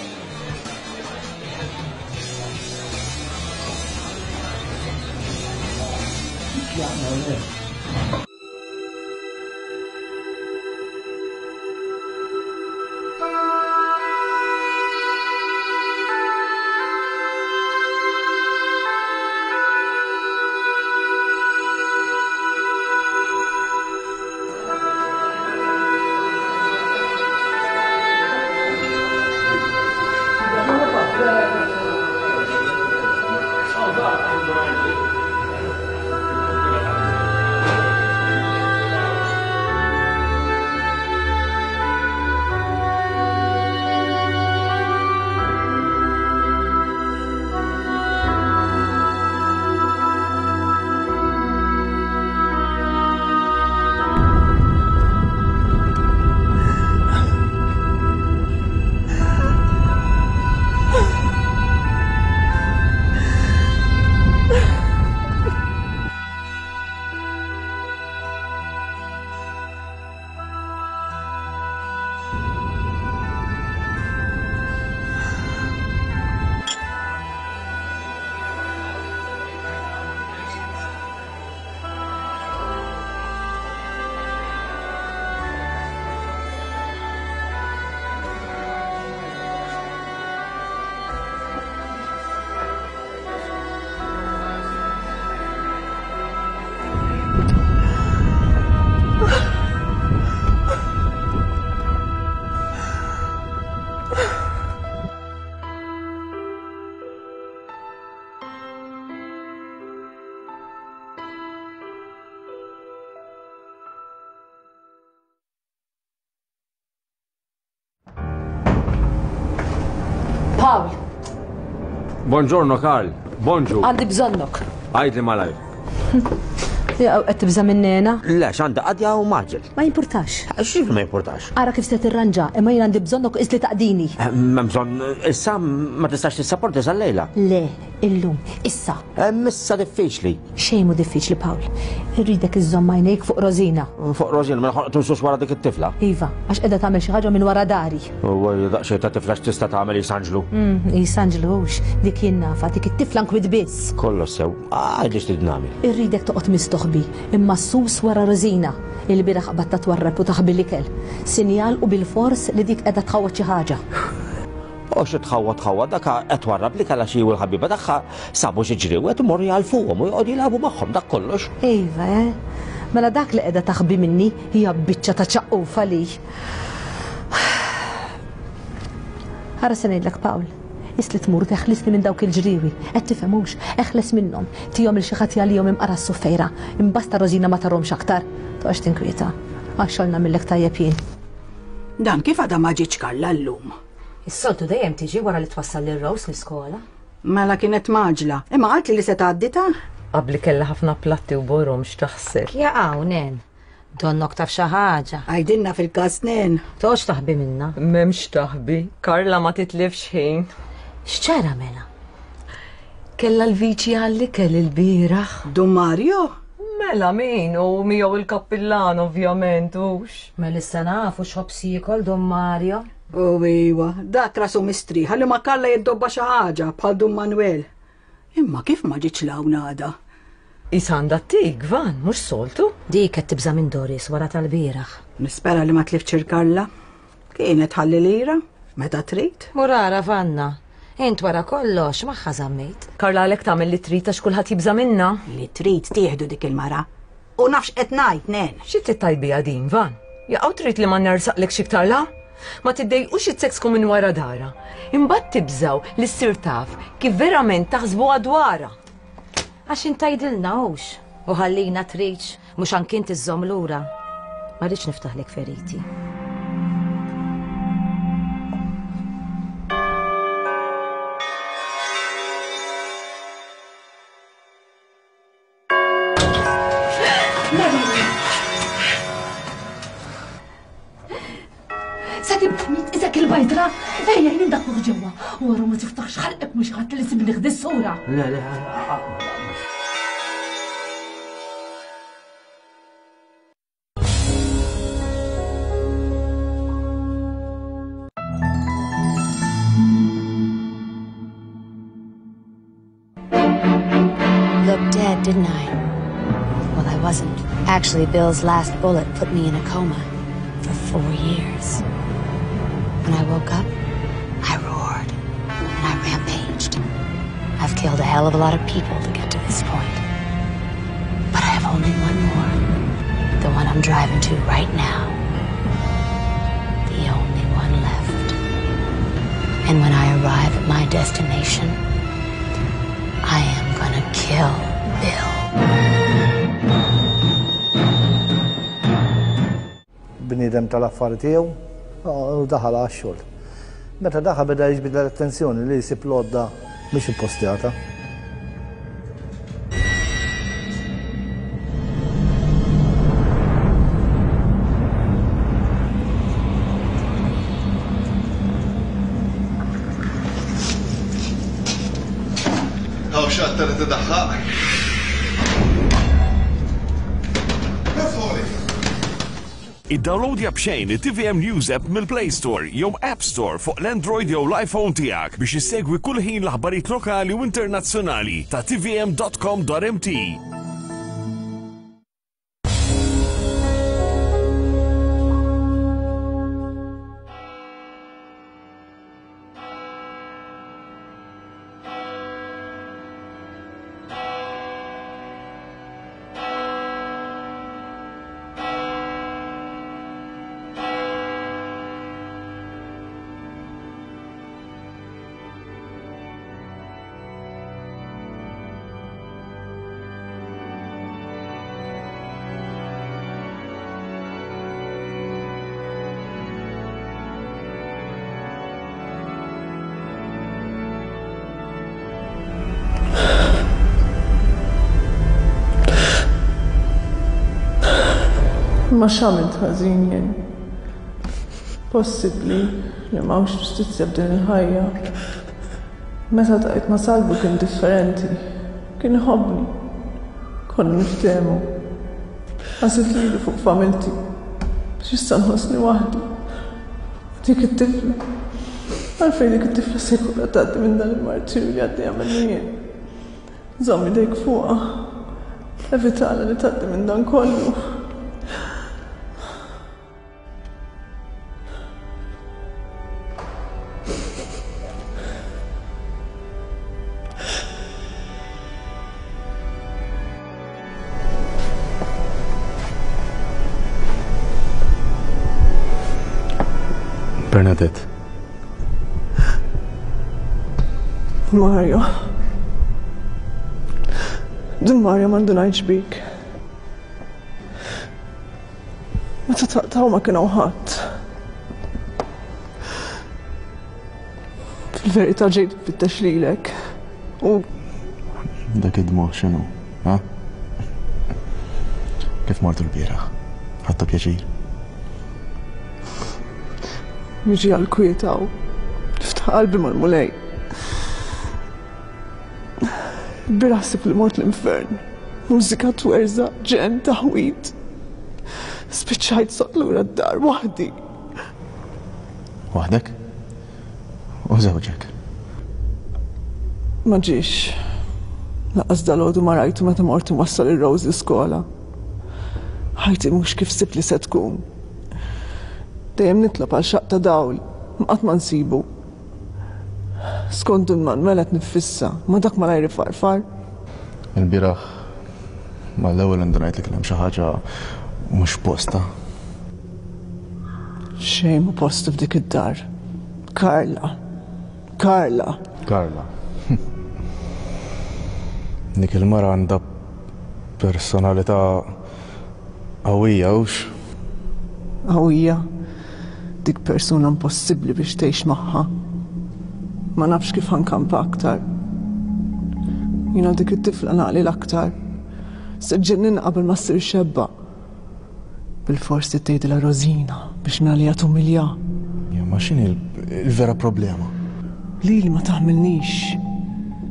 Ugh. Pawl. Buongiorno, Karl. Bonġu. Għandi bżonnok. Għidli malajr. Qed tibża' minn Nena? Le, x'għandha qadja u maġel. Ma jimpurtax. X'jiġifieri ma jimpurtax? Ara kif se tirranġa, imma jien għandi bżonnok qis li taqdini. M'hemm bżonn, issa ma tistax tissaporti sal-lejla. Le, illum, issa. Issa diffiċli. Xejn mhu diffiċli, Pawl. Irridek iżżomm għajnejk fuq Rosina. Fuq Rosina, mela ħolqtu nsux wara dik it-tifla. Iva, għax qiegħda tagħmel xi ħaġa minn wara dari. U daqsxejn ta' tifla x'tista' tagħmel Isanġlu. Isanġlu hux, dik jien nafha, dik it-tifla nkwiet biss. Kollox sew, għidli x'trid nagħmel. Irridek toqgħod mistoħbi, imma sus wara Rosina. Il-bieraħ qbadta twarrab u taħbi l-ikel. Sinjal u bil-fors li dik qiegħda tħawwad xi ħaġa. U xi tħawwad tħawwad dak qed twarrab li kellha xi u l-ħabiba tagħha sabu xi ġriewet u morru jgħalfuhom u joqogħdu jilagħbu magħhom dak kollox. Iva, eh? Mela dak li qiegħda taħbi minni hija biċċa ta' ċaqqufa li. Ara se ngħidlek Pawl, is li tmur teħlisni minn dawk il-ġriewi, qed tifhemux, eħles minnhom, tihom il xi ħadd jgħalihom imqara s-suffejra, imbasta Rosina ma tarhomx aktar. Toqgħodx tinkwieta, għax xogħol nagħmillek tajjeb jien. Dan kif għadha ma ġietx Karla llum? Is-soltu dejjem tiġi wara li twassal lil Rose l-iskola. Mela kienet maġla, imma qaltli li se tgħaddi ta'. Qabli kellha ħafna platti u borom x'taħseb. Jaqgħu nen. Donnok taf xi ħaġa. Għajdilna fil-każ nen. Toqgħodx taħbi minna. M'hemmx taħbi, Karla ma titlifx ħin. X'ċara mela? Kellha l-viċi għall-ikel il-bieraħ. Dun Mario? Mela min u miegħu il-kappillan ovvjament hux. Mela issa nafu x'ħobs jiekol Dun Mario. U iwa, dak rasu mistrieħ li ma Karla jiddobba xi ħaġa bħal Dun Manuel. Imma kif ma ġietx l-hawn għada? Is għandha tik, Van, mhux soltu. Dik qed tibża' minn Doris wara tal-bieraħ. Nispera li ma tliftx il-Karla. Kienet ħalli lira, meta trid. Murara Vanna, int wara kollox magħha żammejt. Karla għalhekk tagħmel li trid għax kulħadd jibża' minna. Li trid tieħdu dik il-mara. U nafx qed ngħid, nen. Xi trid tajbija din, Van? Jaqgħu trid li ma nersaqlek xi iktar la? Ma tiddejqux it-seksku minn wara dara. Imbagħad tibżaw li ssir taf kif verament taħsbuha dwarha. Għax intajdilna hux u ħallina tridx mhux anki inti żżomm lura. Ma rridx niftaħlek feriti. Sakim isek il-bajtra, ejja jien daħluh ġewwa. Wara ma tiftaħx ħalqek mhux ħadd li sibni ħdi s-sura. Le, le, Looked dead, didn't I? Well, I wasn't. Actually, Bill's last bullet put me in a coma for four years. When I woke up, I roared and I rampaged. I've killed a hell of a lot of people to get to this point. But I have only one more. The one I'm driving to right now. The only one left. And when I arrive at my destination, I am gonna kill Bill. Bniedem tal-affari tiegħu u daħal għax-xogħol. Meta daħal beda jiġbid l-attenzjoni li jsib l-għodda mhix ippostjata. Hawn xatta li tidaħħaq. Iddownloadja b'xejn it-T V M News app mill-Play Store jew App Store fuq l-Android jew l-iPhone tiegħek biex issegwi kull ħin l-aħbarijiet lokali u internazzjonali ta' T V M dot com dot M T. Imma x'għamilt ħażin jien? Possibbli li m'hawnx ġustizzja f'din il-ħajja. Meta tqajt ma' Salvu kien differenti. Kien iħobbni. Konna niftehmu. Għażilt lili fuq familti. Biex issa nħossni waħdi. U dik it-tifla. Għalfejn dik it-tifla se jkollha tgħaddi minn dan il-martirju li għaddejja minnu jien. Żomm idejk fuqha. Evitala li tgħaddi minn dan kollu. Bernadette. Mario. Dun Mario ma ndunajtx bik. Meta taqtaw ma kien hawn ħadd. Fil-verità ġejt nfittex lilek. U Dak id-dmugħ x'inhu, ha? Kif mortu l-bieraħ? Ħadtu pjaċir? Niġi għal-kwiet hawn. Niftaħ qalbi mal-Mulej. Bieraħ ħsibt li mort l-infern. Mużika twerżaq, ġenn, taħwid. Spiċċajt soqt lura d-dar waħdi. Waħdek? U żewġek? Ma ġiex. Lanqas dalgħodu ma rajtu meta mort inwassal ir-Rose l-iskola. Ħajti mhux kif sibt li se tkun. Dejjem nitlob għal xaqq ta' dawl, ma qatt ma nsibu. Skont Dun Manuel qed niffissa, ma dak malajr ifarfar. Il-bieraħ mal-ewwel indunajt li kien hemm xi ħaġa mhux posta. Xejn mhu postu f'dik id-dar. Karla. Karla. Karla. Dik il-mara għandha personalità qawwija hux? Qawwija. Dik persuna impossibbli biex tgħix magħha. Ma nafx kif ħa nkampa aktar. Jiena dik it-tifla naqli l-aktar. Se ġġenninha qabel ma ssir xebba. Bilfors trid tgħidilha Rosina biex mingħalija tumilja. Ja, ma x'inhi l-vera problema? Lili ma taħmilnix.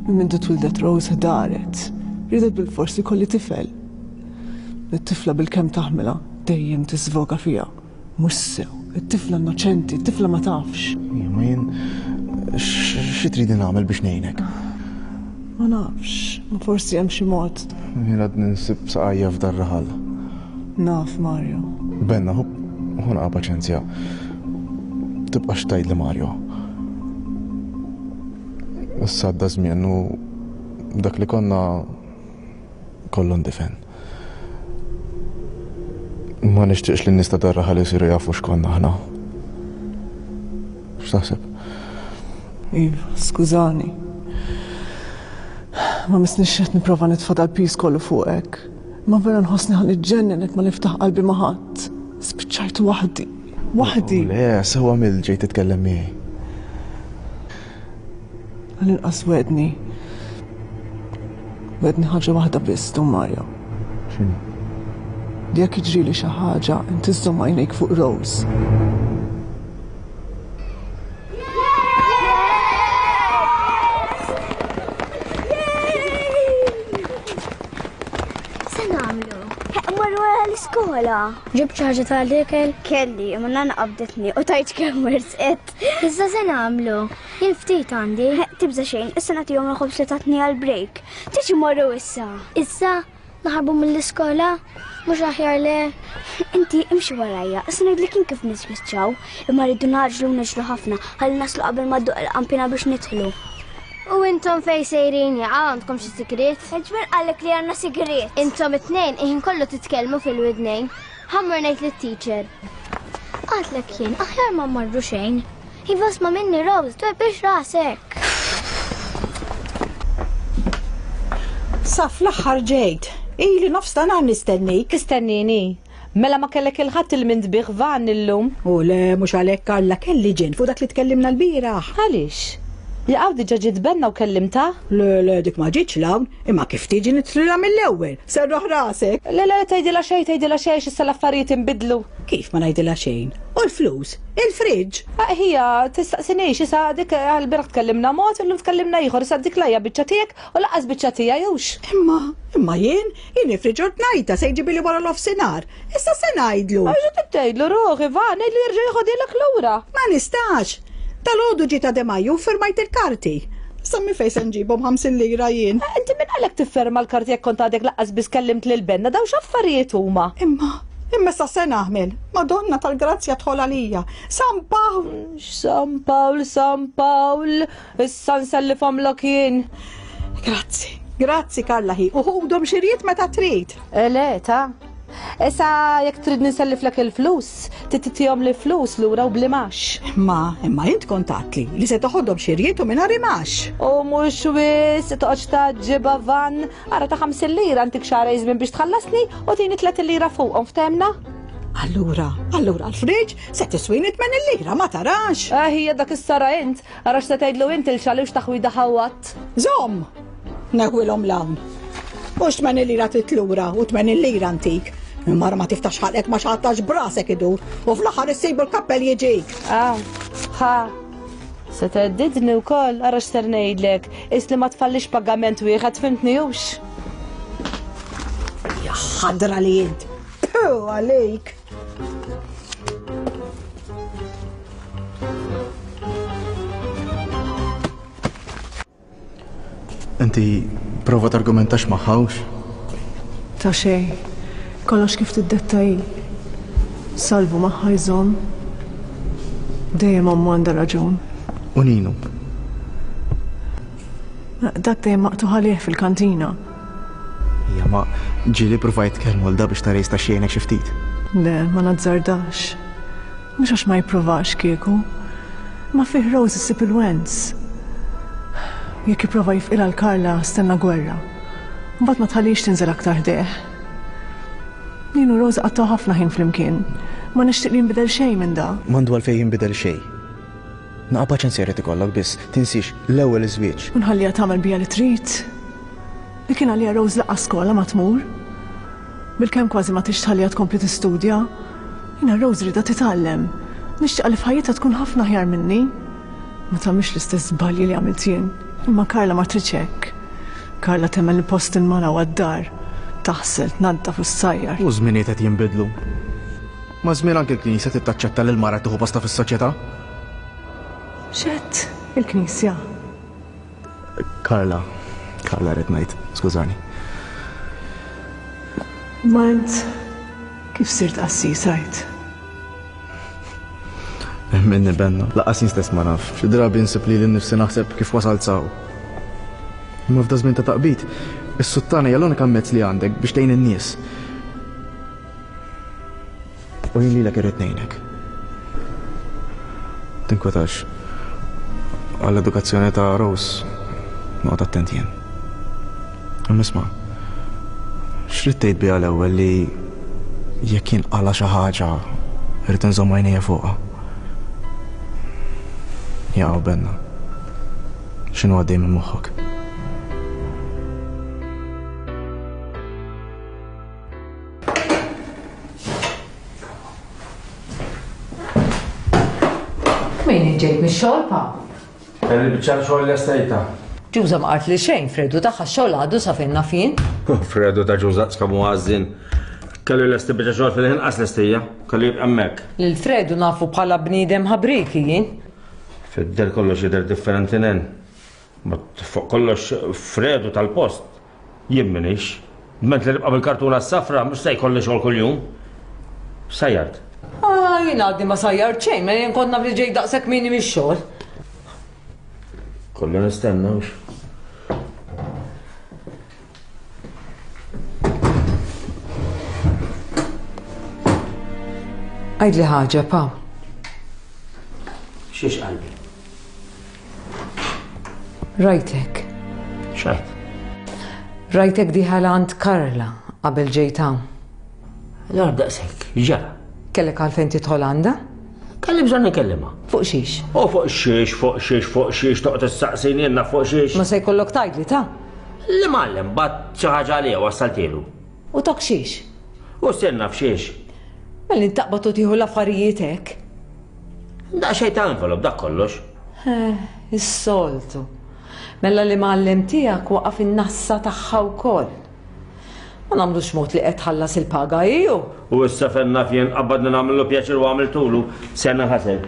Minn mindu twildet Rose daret. Ridet bilfors li kolli tifel. It-tifla bilkemm taħmilha dejjem tisvoga fiha. Mhux sew, it-tifla innoċenti, it-tifla ma tafx. Ja, ma jien xi tridi nagħmel biex ngħinek? Ma nafx, ma forsi hemm xi mod. Jien għadni nsib saqajja f'dar raħal. Naf, Mario. Benna, ħu naqa' paċenzja. Tibqax tgħidli Mario. Issa għadda żmien u dak li konna kollu ndifen. Ma nixtieqx li n-nies ta' dar raħal isiru jafu x'konna aħna. X'taħseb? Iva, skużani. Ma misnix qed nipprova nitfa' dal-piż kollu fuqek. Ma vera nħossni ħa niġġennen jekk ma niftaħ qalbi ma' ħadd. Spiċċajt waħdi. Waħdi. Le, sewa mill ġejt titkellem miegħi. Għall-inqas wedni. Wedni ħaġa waħda biss, Dun Mario. X'inhi? Li jekk jiġrili xi ħaġa, inti żżomm għajnejk fuq Rose. Se nagħmlu? Mmorru wara l-iskola. Ġibt xi ħaġa tal-ikel? Kelli, imma nana qabditni u tajt kemm wersqet. Iżda se nagħmlu? Jien ftit għandi. Tibża xejn, issa nagħtihom il-ħobż li tatni għall-break. Tiġi mmorru issa. Issa naħarbu mill-iskola? Mhux aħjar le. Inti imxi warajja, issa ngħidlek jien kif nispiċċaw, imma rridu naġlu u niġru ħafna ħalli naslu qabel ma dduq il-qampina biex nidħlu. U intom fej sejrin jaqa' għandkom xi sigriet? Ġbir qallek li għandna sigriet. Intom it-tnejn iħin kollu titkellmu fil-widnejn. Ħammur ngħid lit-teacher. Qatlek jien, aħjar ma mmorru xejn. Iva sma' minni Rose, twebbix rasek. Sa fl-aħħar ġejt. Ili nofs ta' nhar nistennik. Tistennini? Mela ma kellek il-ħadd il-mindbih van illum. U le mhux għalhekk Karla kelli ġen fuq dak li tkellimna l-bieraħ. Għaliex? Jaqaw diġà ġiet Benna u kellimtha? Le, le, dik ma ġietx l'hawn, imma kif tiġi nitrilha mill-ewwel. Serraħ rasek. Le, le, tgħidilha xejn, tgħidilha xejn, issa l-affarijiet inbidlu. Kif ma ngħidilha xejn? U l-flus? Il-friġġ? Ah, Ħija, tistaqsinix, issa dik għal-bieraħ tkellimna mod, illum tkellimna ieħor, issa dik lajja biċċa tiegħek u lanqas biċċa tiegħi hux. Imma, imma jien, jien il-friġġ ordnajta se jġibili wara l-offsinar. Issa se ngħidlu. Għax tgħidlu ruħi, va, ngħidlu jerġa' jieħodilek lura. Ma nistax. Dalgħodu ġiet De Maju firmajt il-karti. Sammi fejn se nġibhom ħamsin lira jien. Eh, Inti min għalek tifferma l-karti jekk kont għadek lanqas biss kellimt lil Benna, daw x'affarijiet huma. Imma, imma sa se naħmel. Madonna tal-Grazzja tħol għalija. San Pawl. San Pawl, San Pawl, issa nsellifhomlok jien. Grazzi, grazzi Karla ħi. U ħudhom xiriet meta trid. Eh, Le, ta' Issa jekk trid niselliflek il-flus, titihom li flus lura u bl-imgħax. Imma, imma int kont għedtli li se toħodhom xiriet u mingħajr imgħax. U mhux wis, toqgħodx taġġiba van, ara ta' ħamsin lira ntik xahar żmien biex tħallasni u tini tletin lira fuqhom ftehemna? Allura, allura l-friġ se tiswini tmenin lira ma tarax. Ah, hija dak is-sara int, ara x'se tgħidlu int il-xali u x'taħwida ħawat. Żomm, neħwilhom l'hawn. Mhux tmenin lira titlura u tmenin lira antik. Imma ma tiftax ħalqek ma xattax brasek idur u fl-aħħar issibu l-kappell jiġik. Ah, ha. Se theddidni wkoll, ara x'ser ngħidlek, is li ma tfallix pagament wieħed fimtni hux. Ja ħadra li int. Puh, għalik. Inti prova targumentax magħha hux? Ta' xej, kollox kif tiddetta hi. Salvu magħha jżomm. Dejjem ommu għandha raġun. U Ninu? Dak dejjem maqtugħ għalih fil-kantina. Ija ma ġieli provajt tkellmu l da biex tara jista' xejnek xi ftit. Le, ma nazzardax. Mhux għax ma jippruvax kieku. Ma fih Rose issib il-wens. Jekk jipprova jifqilha l-Karla stenna gwerra. Mbagħad ma tħallix tinżel aktar ħdejh. Ninu Rose qattgħu ħafna ħin flimkien. Ma nixtieq li jinbidel xejn minn da. M'għandu għalfejn jinbidel xejn. Naqa' paċenzja jrid ikollok biss, tinsiex l-ewwel iż-żwieġ. U nħalliha tagħmel bija li trid. Li kien għalija Rose lanqas skola ma tmur. Bilkemm kważi ma tix tħalliha tkompli tistudja. Jiena Rose rridha titgħallem. Nixtieq li f'ħajjitha tkun ħafna aħjar minni. Ma tagħmilx l-istess żbalji li għamilt jien. Imma Karla ma tridx hekk. Karla temmen li post il-mara huwa d-dar. Taħsel, tnaddaf u ssajjar. U żminijiet qed jinbidlu. Ma żmien anke l-Knisja trid taċċetta lil mara tieħu posta fis-soċjetà. X'għedt il-Knisja. Karla, Karla rrid ngħid, skużani. Ma int kif sirt qassis għid? Minni Benna, lanqas jien stess ma naf. Xi drabi nsib li nnifsi naħseb kif wasalt s'hawn. Imma f'da żmien ta' taqbid, is-suttana hija l-unika mezz li għandek biex tgħin in-nies. U jien lilek irrid ngħinek. Tinkwetax. Għall-edukazzjoni ta' Rose noqgħod attent jien. Imma isma' x'rid tgħid biha l-ewwel li jekk jinqala xi ħaġa irrid inżomm għajnejja fuqha. Jaqgħu Benna. X'inhu għaddej minn moħħok? Min ġejt mix-xogħol pa? Kelli biċċa xogħol lestejta. Ġuża ma qalt li xejn, Fredu tagħha x-xogħol għadu sa fejn naf jien. Fredu ta' Ġuża skamu għażin. Kellu lesti biċċa xogħol fil-ħin qas lestija, kellu jibqa' hemmhekk. Lil Fredu nafu bħala bniedem ħabriki jien. Fid-der kollox jidher differenti nen. Ma fuq kollox Fredu tal-post jien minix. Ment li nibqa' bil-kartuna s-safra mhux se jkolli xogħol kuljum. Sajjart. Ah, jien għadni ma sajjart xejn, ma jien kont naf li ġej daqshekk minni mix-xogħol. Kollu nistenna hux. Għidli ħaġa, pa. Xiex qalbi? Rajtek. X'għedt? Rajtek dieħel għand Karla qabel ġejt hawn. Allora daqshekk, ġara. Kellek għalfejn tidħol għandha? Kelli bżonn inkellimha. Fuq xiex? U fuq xiex, fuq xiex, fuq xiex, toqgħod issaqsini jenna fuq xiex. Ma se jkollok tgħidli ta'. L-imgħallem bat xi ħaġa għalija wassaltielu. U tak xiex? U stenna f'xiex. Mela intaqbad u tieħu l-affarijiet hekk. Daqsxejn ta' envelop dak kollox. Eh, is-soltu. Mela l-imgħallem tiegħek waqaf in-nassa tagħha wkoll. Ma nagħmlux mod li qed tħallas il-paga iju. U issa fenna fjen qabadna nagħmlu pjaċir u għamiltulu sena ħasel.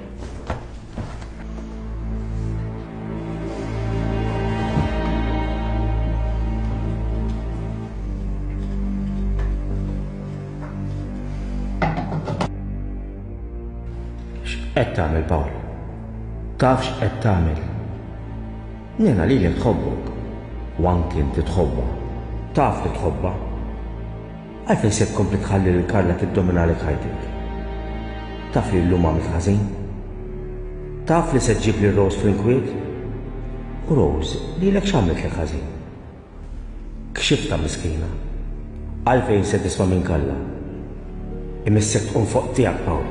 X'qed tagħmel Pawl? Taf x'qed tagħmel? Nena lilek tħobbok. U anki inti tħobbha. Taf li tħobbha. Għalfejn se tkompli tħalli lil Karla tiddominalek ħajtek? Taf li llum għamilt ħażin? Taf li se ġġib lil Rose fl-inkwiet? U Rose, lilek x'għamlitlek ħażin? Kxiftha miskina. Għalfejn se tisma' minn Karla? Imissek tqum fuq tiegħek Pawl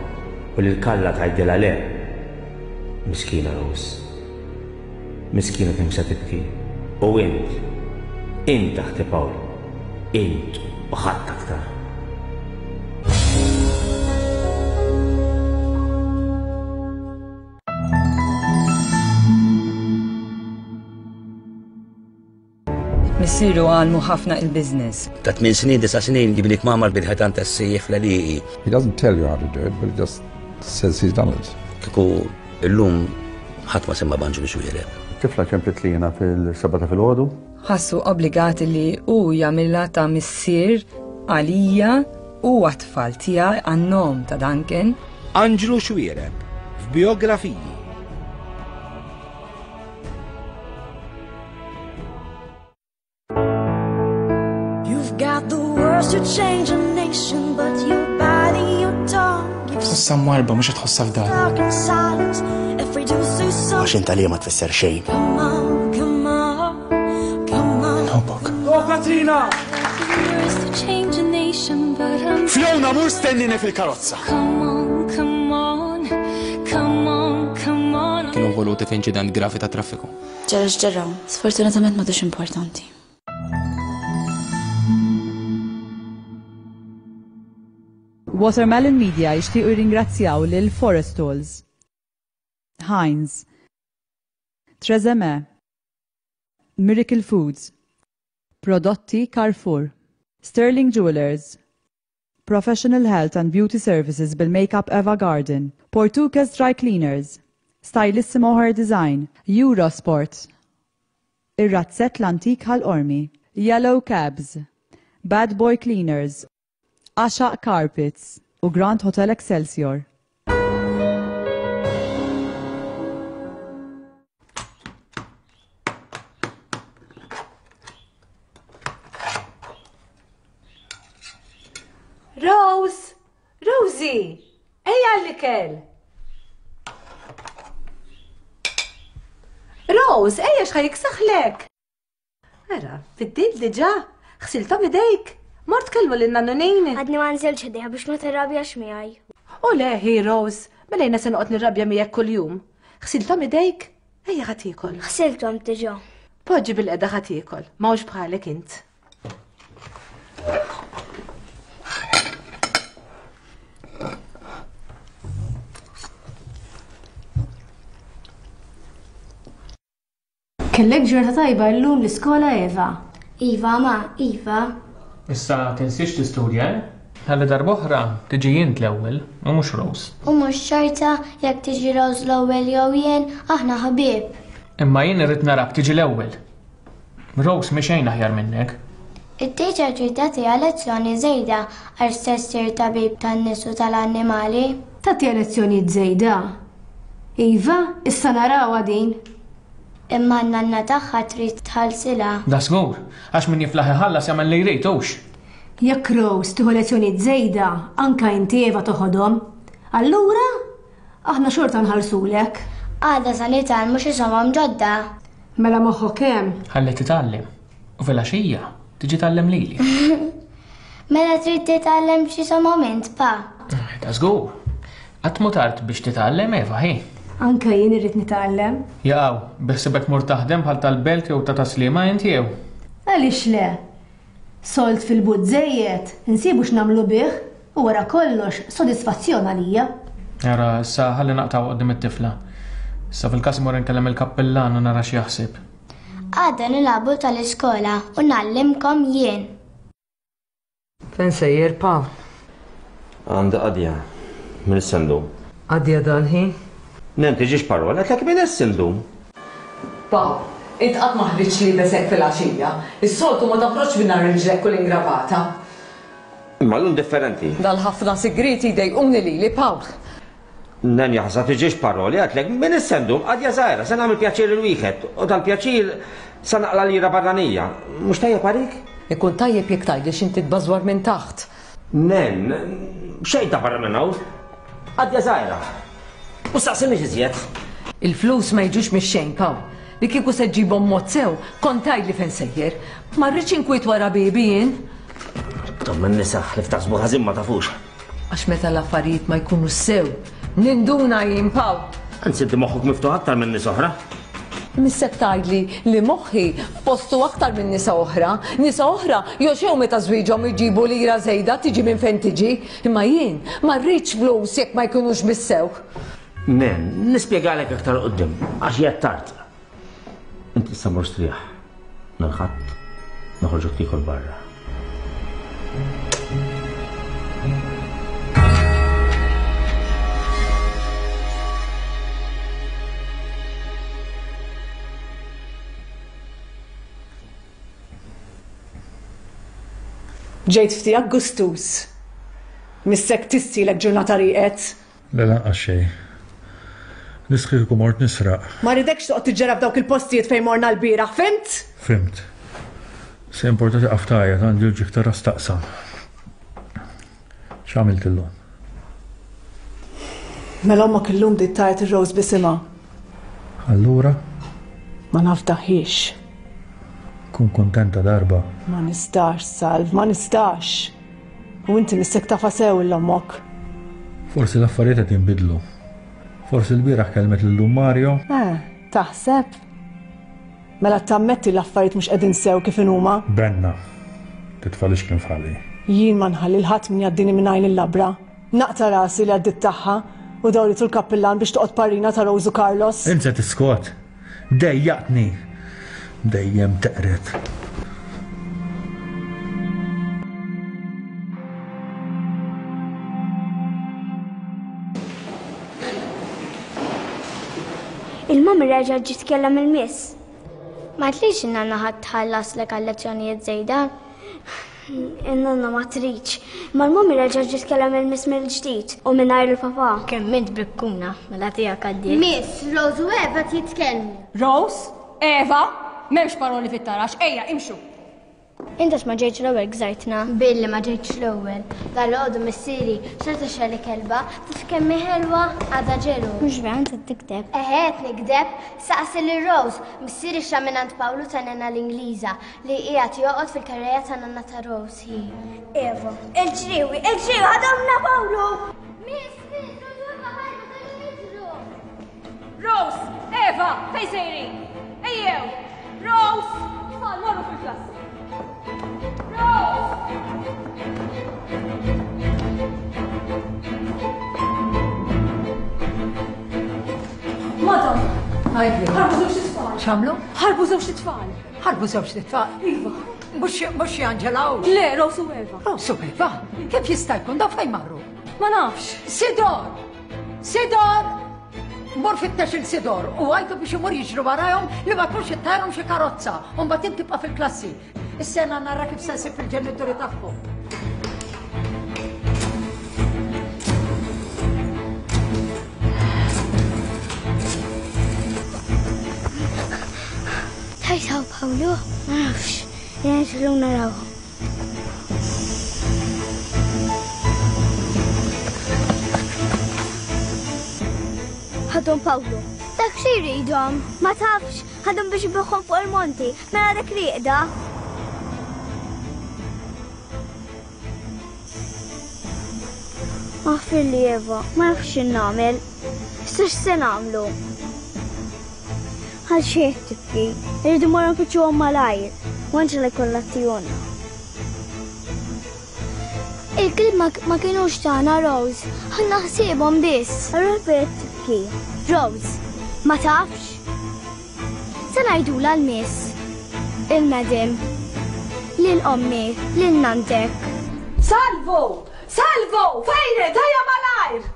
u lil Karla tgħidilha le. Miskina Rose. Miskina kemm se tibki. U int, int taħti Pawl. Int u ħadd aktar. Missieru għallmu ħafna il-biznis. Ta' tmien snin, disa' snin jibni kmamar bil-ħetan tas-sejjef l-għalieqi. He doesn't tell you how to do it, but he just says he's done it. Kieku illum ħadd ma semma b'Anġlu Xuereb. Tifla ċemplet li jiena fil-seba ta' filgħodu. Ħassu obbligati li hu jagħmilha ta' missier għalija u għat-tfal tiegħi għan-nom ta' Duncan. Anġlu Xuereb f'Biografiji. You've got the words to change a nation, but you're biting your tongue. You've Tħossha mwarba mhux qed tħossha f'dar. stuck in silence. Afraid to say Għax something. int għalija ma tfisser xejn. Come on, come on, come on. Nħobbok. Oh, Katrina! Words to change a nation, but I'm Fiona, mur stennini fil-karozza. Come on, come on, come on, come on. Kienu involuti f'inċident gravi ta' traffiku. Ġara x'ġara, sfortunatament m'għadux importanti. Watermelon Media jixtiequ jirringrazzjaw lil Forestols, Heinz, Trezeme, Miracle Foods, Prodotti Carrefour, Sterling Jewelers, Professional Health and Beauty Services bil-Makeup Eva Garden, Portuguese Dry Cleaners, Stylissimo Hair Design, Eurosport, Ir-Razzett l-Antik Ħal Qormi, Yellow Cabs, Bad Boy Cleaners, Għaxaq Carpets u Grand Hotel Excelsior. Rose! Rosie! Ejja l-ikel! Rose, ejja x'ħa jiksaħlek! Ara, fid-dil diġà, ħsilthom idejk. Mort kellmu lil nannunin. Għadni ma nżilx ħdejha biex ma tirrabjax miegħi. U le, hi Rose, mela jiena se noqgħod nirrabja miegħek kuljum. Ħsilthom idejk? Ejja ħa tiekol. Ħsilthom diġà. Poġġi bil-qeda ħa tiekol, ma hux bħalek int. Kellek ġurnata tajba llum l-iskola Eva. Iva, ma, Iva. Issa tinsiex tistudja, eh? Ħalli darb'oħra tiġi int l-ewwel u mhux Rose. U mhux ċerta jekk tiġi Rose l-ewwel jew jien, aħna ħbieb. Imma jien irrid narak tiġi l-ewwel. Rose mhi xejn aħjar minnek. It-teacher trid tagħtiha lezzjoni żejda għax se ssir tabib tan-nies u tal-annimali. Tagħtiha lezzjonijiet żejda. Iva, issa narawha din. Imma n-nanna tagħha trid tħallsilha. Da żgur, għax min jiflaħ iħallas jagħmel li jrid hux. Jekk Rose tieħu lezzjonijiet żejda, anka inti Eva toħodhom. Allura, aħna xorta nħallsulek. Għada sa nitgħallmu xi somom ġodda. Mela moħħok hemm. Ħalli titgħallem. U fil-għaxija tiġi tgħallem lili. Mela trid titgħallem xi somom int pa. Da żgur. Qatt mhu tard biex titgħallem, Eva, ħi. Anke jien irrid nitgħallem. Jaqaw, biħsibek mur taħdem bħal tal-belt jew ta' taslima inti jew? Għaliex le? Sold fil-but żejjed, insibu x'nagħmlu bih u wara kollox sodisfazzjon għalija. Ara, issa ħalli naqtgħu quddiem it-tifla. Issa fil-każ imur inkellem il-kappillan u nara x'jaħseb. Għada nilagħbu tal-iskola u ngħallimkom jien. Fejn sejjer, Pawl? Għandi qadja. Min issa ndum? Qadja dal-ħin? Nen tiġix parola, għedtlek min issa ndum. Pawl, int qatt ma ħriġt liebes hekk filgħaxija. Is-soltu ma toħroġx mingħajr riġlek u l-ingravata. Imma llum differenti. Dal-ħafna sigrieti jdejquni lili, Pawl. Nen jaħseb tiġix paroli, għedtlek min issa ndum, qadja żgħira, se nagħmel pjaċir lil wieħed u dal-pjaċir se naqla' lira barranija. Mhux tajjeb għalik? Ikun tajjeb jekk tgħidli x'inti tbażwar minn taħt. Nen, xejn ta' barra minn hawn. Qadja żgħira. U staqsinix iżjed. Il-flus ma jiġux mix-xejn, Pawl. Li kieku se ġġibhom mod sew, kont tgħidli fejn sejjer. Ma rridx inkwiet wara biebi jien. Tom in-nisa li ftaħsbu ħażin ma tafux. Għax meta l-affarijiet ma jkunu sew, ninduna jien, Pawl. Anzi, inti moħħok miftuħ aktar minn nies oħra. Missek tgħidli li moħħi f'postu aktar minn nisa oħra. Nisa oħra joxew meta żwieġhom iġibu lira żejda tiġi minn fejn tiġi. Imma jien ma rridx flus jekk ma jkunux bissew. Nen, nispjegalek aktar quddiem, għax hija tard. Inti issa mur strieħ. Nhar Ħadd noħorġuk tiekol barra. Ġejt ftijak gustus. Missek tistilek ġurnata rieqed. Le lanqas xejn. Nisħi kieku mort nisraq. Ma rridekx toqgħod tiġġera f'dawk il-postijiet fejn morna l-bieraħ, fimt? Fimt. Se importa tiqaf tgħajjat għandi l-ġieħ ta' ras taqsam. X'għamilt illum? Mela ommok illum bdiet tgħajjat ir-Rose bisimha. Allura? Ma nafdaħiex. Kun kuntenta darba. Ma nistax, Salv, ma nistax. U inti missek tafa sew l-ommok. Forsi l-affarijiet qed jinbidlu. Forsi l-bieraħ kellmet lil Dun Mario. Eh, taħseb? Mela tammetti l-affarijiet mhux qegħdin sew kif inhuma? Benna, titfalix kien fali. Jien ma nħalli l-ħadd min jgħaddini minn għajn il-labra. Naqta' rasi li għaddit tagħha u dawritu l-kappillan biex toqgħod parrina ta' Rose u Carlos. Int se tiskot. Dejjaqtni. Dejjem teqret. Il-mami reġa' ġiet tkellem il-miss. Ma tlix in-nanna ħadd tħallaslek għal lezzjonijiet żejda. In-nanna ma tridx. Ma l-mami reġa' ġiet tkellem il-miss mill-ġdid u mingħajr il-papà. Kemm int bikkuna, mela tiegħek għaddiet. Miss, Rose u Eva jitkellmu. Rose, Eva, m'hemmx paroli fit-tarax, ejja, imxu. Int għax ma ġejtx l-ewwel gżajtna. Billi ma ġejtx l-ewwel. Dalgħodu missieri xorta xalli kelba, taf kemm hi ħelwa għadha ġelu. Mhux vera int qed tikdeb. Eħe qed nikdeb, saqsi lil Rose, missieri xtra mingħand Pawlu ta' nanna l-Ingliża li qiegħed joqgħod fil-karriera ta' nanna ta' Rose hi. Eva, il-ġriewi, il-ġriewi ħadhomna Pawlu! Miss, miss, Rose u Eva ħarbu telgħu jiġru. Rose, Eva, fejn sejrin? Ejjew! Rose, tfal morru fil-klassi. Rose! Madam! Għidli. Ħarbu żewġ tfal. X'għamlu? Ħarbu żewġ tfal. Ħarbu żewġ tfal? Iva. Mhux mhux Angela u? Le, Rose u Eva. Rose u Eva? Kif jista' jkun daw fejn marru? Ma nafx. Sidor! Sidor! Mur fittex il-Sidor u għajtu biex imur jiġru warajhom li ma tkunx ittajrhom xi karozza u mbagħad int tibqa' fil-klassi. Is-sena nara kif se nsib il-ġenituri tagħhom. Tajtaw Pawlu? Ma nafx. Jien xlu narawhom. Ħadhom Pawlu. Dak xi jridhom? Ma tafx, ħadhom biex ibiħhom fuq il-monti, mela dak rieqda. Aħfirli Eva, ma nafx x'nagħmel. Issa x'se nagħmlu? Għal xejn tibki, irridu morru nfittxuhom malajr, u Anġela jkollha tijuna. Il-klib ma kienux tagħna Rose, ħanna ħsiebhom biss. Allura qed tibki. Rose, ma tafx? Se ngħidulha l-miss, il-madam, lil ommi, lil nantek. Salvu! Salvu! Fejn int? Ejja malajr!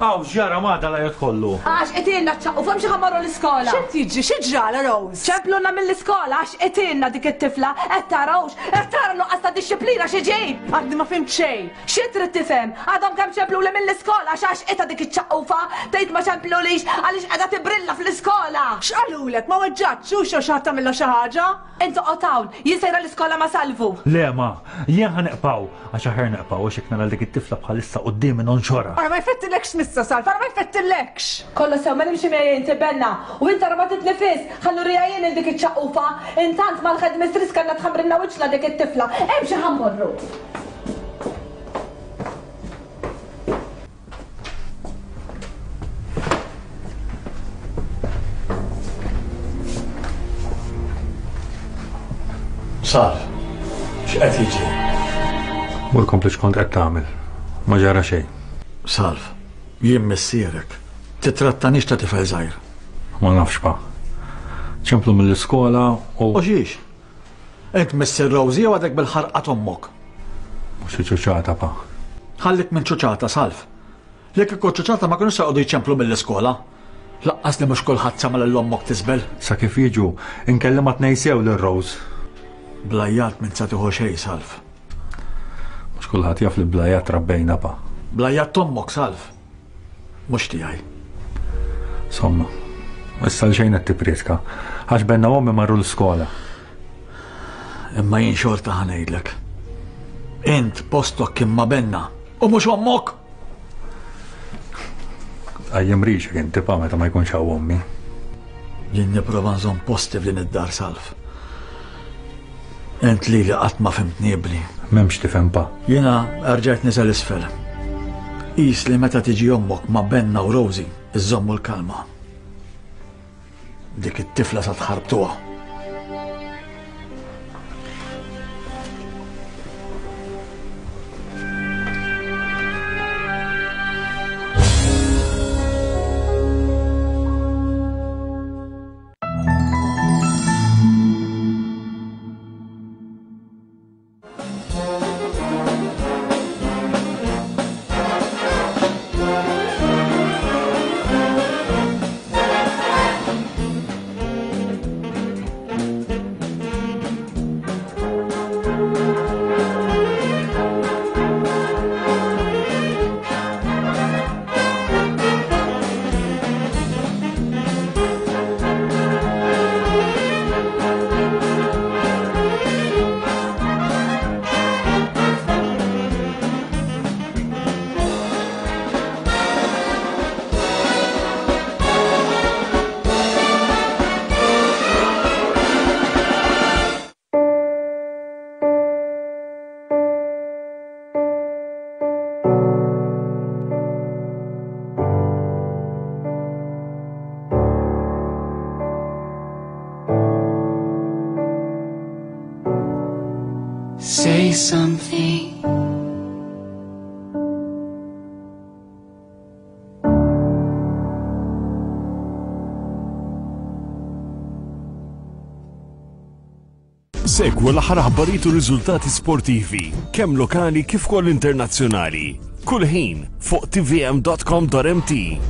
Aw, x'ġara ma dal għajat kollu? Għax qtilna ċ-ċaqqu, fhim xi ħa mmorru l-iskola. X'qed jiġri? Xi ġrala Rose? Ċemplulna mill-iskola għax qtilna dik it-tifla, qed tarawx, qed tara nuqqas ta' dixxiplina xi ġib. Għadni ma fimt xejn. Xi trid tifhem? Għadhom kemm ċempluli mill-iskola għax għax qitha dik iċ-ċaqqufa, tgħid ma ċemplulix għaliex qiegħda tibrilla fl-iskola. X'qalulek? Ma weġġatx hux jew xi ħadd tagħmilha xi ħaġa? Int oqgħod hawn, jien sejra l-iskola ma' Salvu. Le ma, jien ħa neqpaw, għax aħjar neqpaw għax jekk nara dik it-tifla bħalissa quddiemi nonxorha. Ara ma jfettilekx missa Salv, ara ma jfettillekx. Kollox sew, ma nimxi miegħi inti Benna, u int ara ma titlifis, ħa nuriha jien lil dik iċ-ċaqqufa, intant mal-headmistress kellna tħammrilna wiċċna dik it-tifla. Imxi ħa mmorru. Salv, x'qed jiġri? Mur kompli x'kont qed tagħmel. Ma ġara xejn. Salv, jien missierek. Titrattanix ta' tifel żgħir. Ma nafx pa. Ċemplu mill-iskola u. U xiex? Int missier Rosie jew għadek bil-ħarqa t'ommok? Mhux xi ċuċata pa. Ħallik minn ċuċata, Salv. Jekk ikun ċuċata ma kinux se jqogħdu jċemplu mill-iskola. Laqqas li mhux kulħadd sama lil ommok tisbel. Sa kif jiġu, inkellem ma tnejsew lil Rose. Blajjat minn sa tieħu xejn, Salv. Mhux kulħadd jaf li blajjat rabbejna pa. Blajjat t'ommok, Salv. Mhux tiegħi. Insomma, issa l xejn qed tipprietka. Għax Benna u ommi marru l-iskola. Imma jien xorta ħa ngħidlek. Int postok kien ma' Benna u mhux ommok. Għajjem rixek inti pa meta ma jkunx hawn ommi. Jien nipprova nżomm posti f'din id-dar, Salv. Int li li qatt ma fimtni ibni. M'hemmx tifhem pa. Jiena rġajt niżel isfel. Qis li meta tiġi ommok ma' Benna u Rosie, iżommu l-kalma. Dik it-tifla sa tħarbtuha. Say something. Segwu l-aħħar aħbarijiet u riżultati sportivi, kemm lokali kif ukoll internazzjonali. Kull ħin fuq T V M dot com dot M T.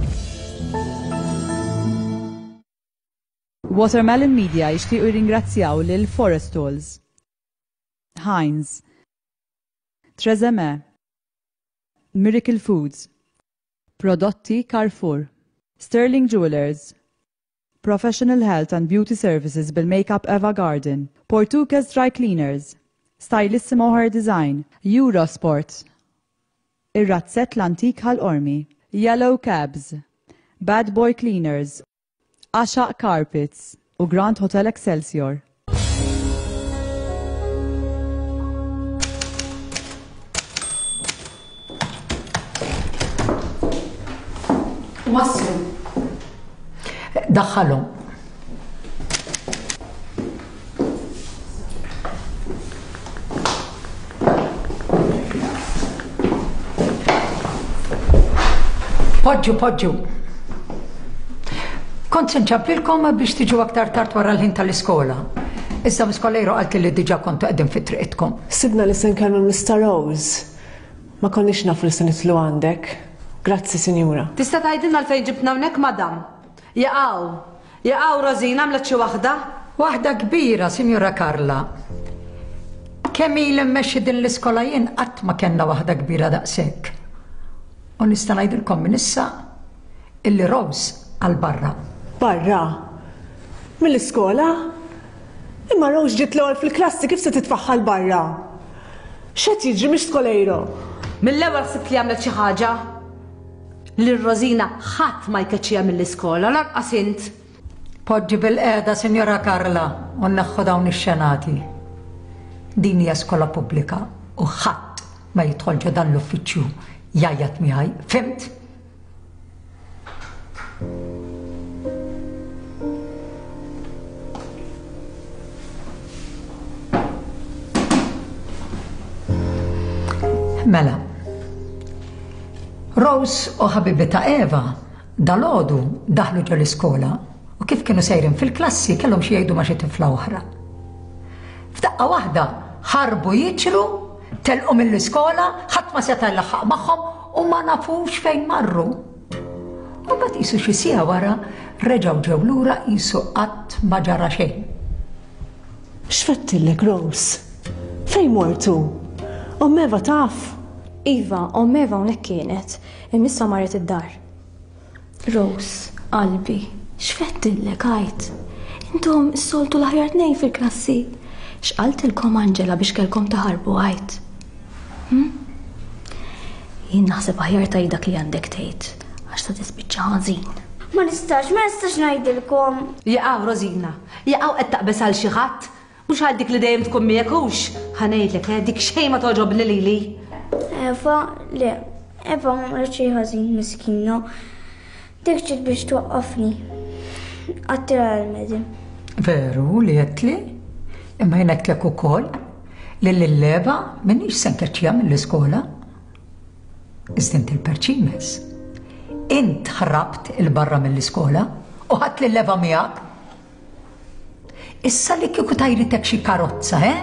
Watermelon Media jixtiequ jirringrazzjaw lil Forestalls, Heinz, Trezeme, Miracle Foods, Prodotti Carrefour, Sterling Jewelers, Professional Health and Beauty Services bil-Makeup Eva Garden, Portuguese Dry Cleaners, Stylissimo Hair Design, Eurosport, Ir-Razzett l-Antik Ħal Qormi, Yellow Cabs, Bad Boy Cleaners, Għaxaq Carpets u Grand Hotel Excelsior. Waslu. Daħħalhom. Poġġu, poġġu. Kont se nċampilkom biex tiġu aktar tard wara l-ħin tal-iskola. Iżda Miss Coleiro qaltli li diġà kontu qegħdin fi triqitkom. Sibna li se nkellmu Mister Rose. Ma konniex nafu li se nitlu għandek. Grazzi, sinjura. Tista' tgħidilna għalfejn ġibtna hawnhekk, madam? Jaqgħu. Jaqgħu Rosina għamlet xi waħda? Waħda kbira, Sinjura Carla. Kemm ili mmexxi din l-iskola jien qatt ma kellna waħda kbira daqshekk. U nista' ngħidilkom minn issa illi Rose għal barra. Barra? Mill-iskola? Imma Rose ġiet l-ewwel fil-klassi, kif se titfaħħal barra? X'qed jiġri mhix Coleiro? Mill-ewwel ħsibt li għamlet xi ħaġa. Lil Rosina ħadd ma jkeċċiha mill-iskola, lanqas int. Poġġi bil-qiegħda, Sinjora Carla, u nneħħu dawn ix-xenati. Din hija skola pubblika u ħadd ma jidħol ġo dan l-uffiċċju jgħajjat miegħi, fimt? Mela, Rose u ħabibi ta' Eva dalgħodu daħlu ġo l-iskola u kif kienu sejrin fil-klassi kellhom xi jgħidu ma' xi tifla oħra. F'daqqa waħda ħarbu jiġru, telqu mill-iskola, ħadd ma seta' jlaħħaq magħhom u ma nafux fejn marru. U mbagħad qisu xi siegħa wara reġgħu ġew lura qisu qatt ma ġara xejn. X'fettillek, Rose? Fejn mortu? Omm Eva taf? Iva, omm Eva hawnhekk kienet, imma issa marret id-dar. Rose, qalbi, x'fettillek għajt? Intom is-soltu l-aħjar tnejn fil-klassi. X'qaltilkom Angela biex kellkom taħarbu għajt? Hm? Jien naħseb aħjar tgħid dak li għandek tgħid, għax ta' tispiċċa ħażin. Ma nistax, ma nistax ngħidilkom. Jaqgħu Rosina, jaqgħu qed taqbeż għal xi ħadd. Mhux għal dik li dejjem tkun miegħek hux. Ħa ngħidlek, eh, dik xejn ma toġobni lili. Eva, le, Eva ma għamlet xejn ħażin miskina. Dik ġiet biex twaqqafni. Għattila l-medim. Veru li għedtli, imma jien għedtlek ukoll li lil-Eva m'iniex se nkeċċiha mill-iskola. Iżda inti l-perċimes. Int ħrabt il-barra mill-iskola u ħadt lil Eva miegħek. Issa li kieku tajritek xi karozza, eh?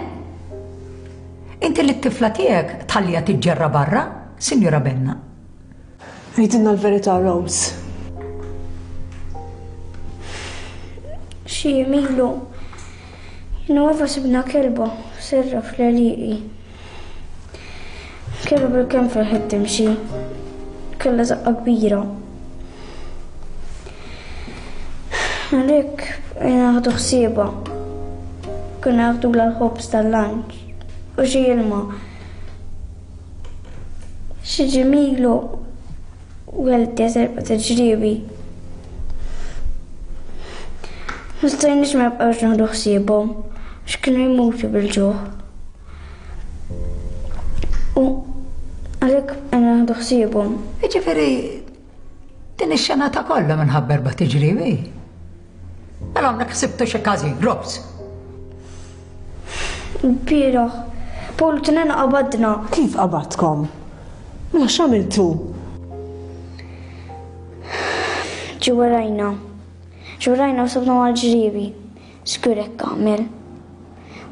Inti li t-tifla tiegħek tħallija tiġġerra barra, Sinjura Benna. Għidilna l-verità, Rose. Xi jemilu. Jien u Eva sibna kelba serra fl-għelieqi. Kelba bil-kemm felħet timxi. Kellha żaqqa kbira. Għalhekk bqajna naħdu ħsiebha. Konna naħdulha l-ħobż tal-lanċ u xi ilma. Xi ġimilu weldet erba' ta' ġriewi. Ma stajniex ma nibqgħux naħdu ħsiebhom għax kienu jmutu bil-ġuħ. U għalhekk bqajna naħdu ħsiebhom. Jiġifieri din ix-xena ta' kollha minħabba erba' tiġriewi. Mela hawnhekk ħsibtu xi każin, Rose. Bieraħ, Paul Tinena qabadna. Kif qabadkom? Mela x'għamiltu? Ġi warajna. Ġi warajna u sabna mal-ġriewi. Żgur hekk għamel.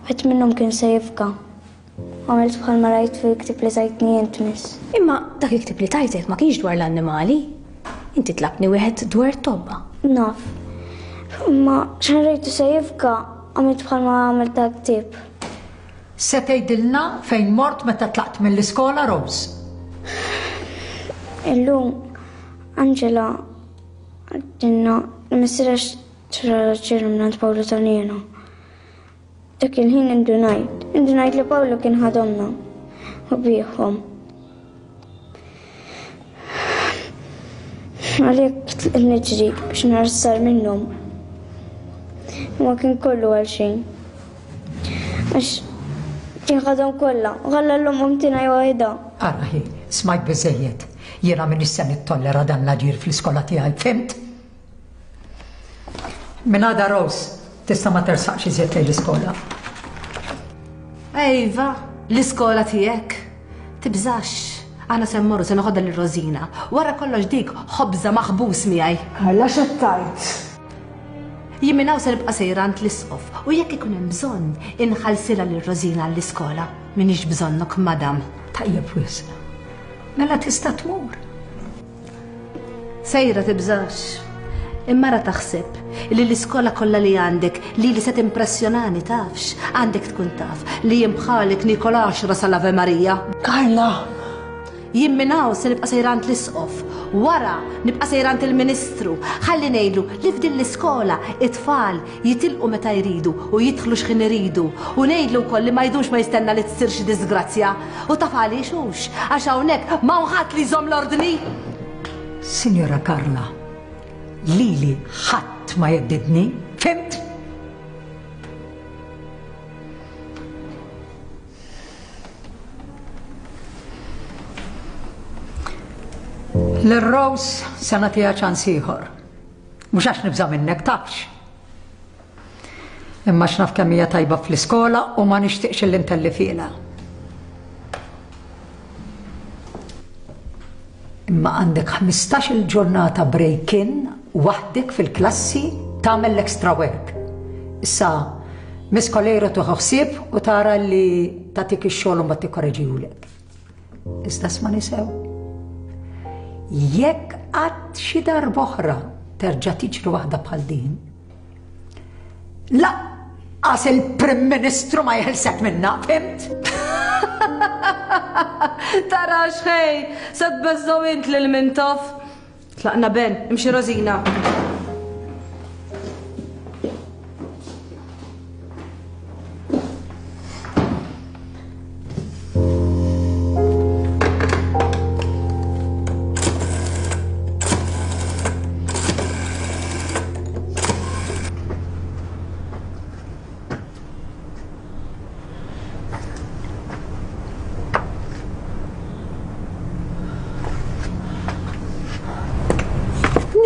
Wieħed minnhom kien se jifka. Għamilt bħalma rajt fil-ktieb li tajtni int, miss. Imma dak il-ktieb li tajtek ma kienx dwar l-annimali. Inti tlabtni wieħed dwar it-tobba. Naf. Imma x'ħin rajtu se jifka, għamilt bħalma għamilt dak ktieb. Se tgħidilna fejn mort meta tlaqt mill-iskola, Rose? Illum Angela għadilna li missierha xtrala ċirru mingħand Pawlu Tanina. Dak il-ħin indunajt, indunajt li Pawlu kien ħadomna u bieħhom. Għalhekk tlaqt niġri biex nara x'sar minnhom. Imma kien kollu għal xejn. Għax kien ħadhom kollha, u ħalla l-omm tingħi waħedha. Ara hi, smajt biżejjed. Jiena m'iniex se nittollera dan l-aġir fl-iskola tiegħi, fhimt? Minn għada Rose, tista' ma tersaqx iżjed lejn l-iskola. Ejva, l-iskola tiegħek. Tibżax. Aħna se mmorru se noħodha lil Rosina. Wara kollox dik ħobża maħbus miegħi. Karla x'qed tgħid? Jien minn hawn se nibqa' sejra għand l-isqof u jekk ikun hemm bżonn inħallsilha lil Rosina għall-iskola. M'iniex bżonnok, madam. Tajjeb wisq. Mela tista' tmur. Sejra tibżax. Imma ra taħseb li l-iskola kollha li għandek li li se timpressjonani tafx, għandek tkun taf li jien bħalek niekol għaxra sal-Ave Maria. Karla! Jien minn hawn se nibqa' sejra għand l-isqof, wara nibqa' sejra għand il-Ministru, ħalli ngħidlu li f'din l-iskola it-tfal jitilqu meta jridu u jidħlu x'ħin iridu u ngħidlu wkoll li ma jdumx ma jistenna li tsir xi disgrazzja. U taf għaliex hux, għax hawnhekk m'hawn ħadd li jżomm l-ordni. Sinjora Karla, lili ħadd ma jheddidni, fhimt? Lil Rose se nagħtiha ċans ieħor. Mhux għax nibża' minnek tafx. Imma x'naf kemm hija tajba fl-iskola u ma nixtieqx illi ntelli fiela. Imma għandek ħmistax-il ġurnata break-in waħdek fil-klassi tagħmel l-extra work. Issa, Miss Coleiro tieħu ħsieb u tara li tagħtik ix-xogħol u mbagħad tikkoreġihulek. Iżda smani sew. Jekk qatt xi darba oħra terġa' tiġri waħda bħal din, laqqas il-Prim Ministru ma jeħilsek minna, fhimt? Tara x'ħej, se tbeżżgħu int lil Mintoff. Tlaqna Ben, imxi Rosina.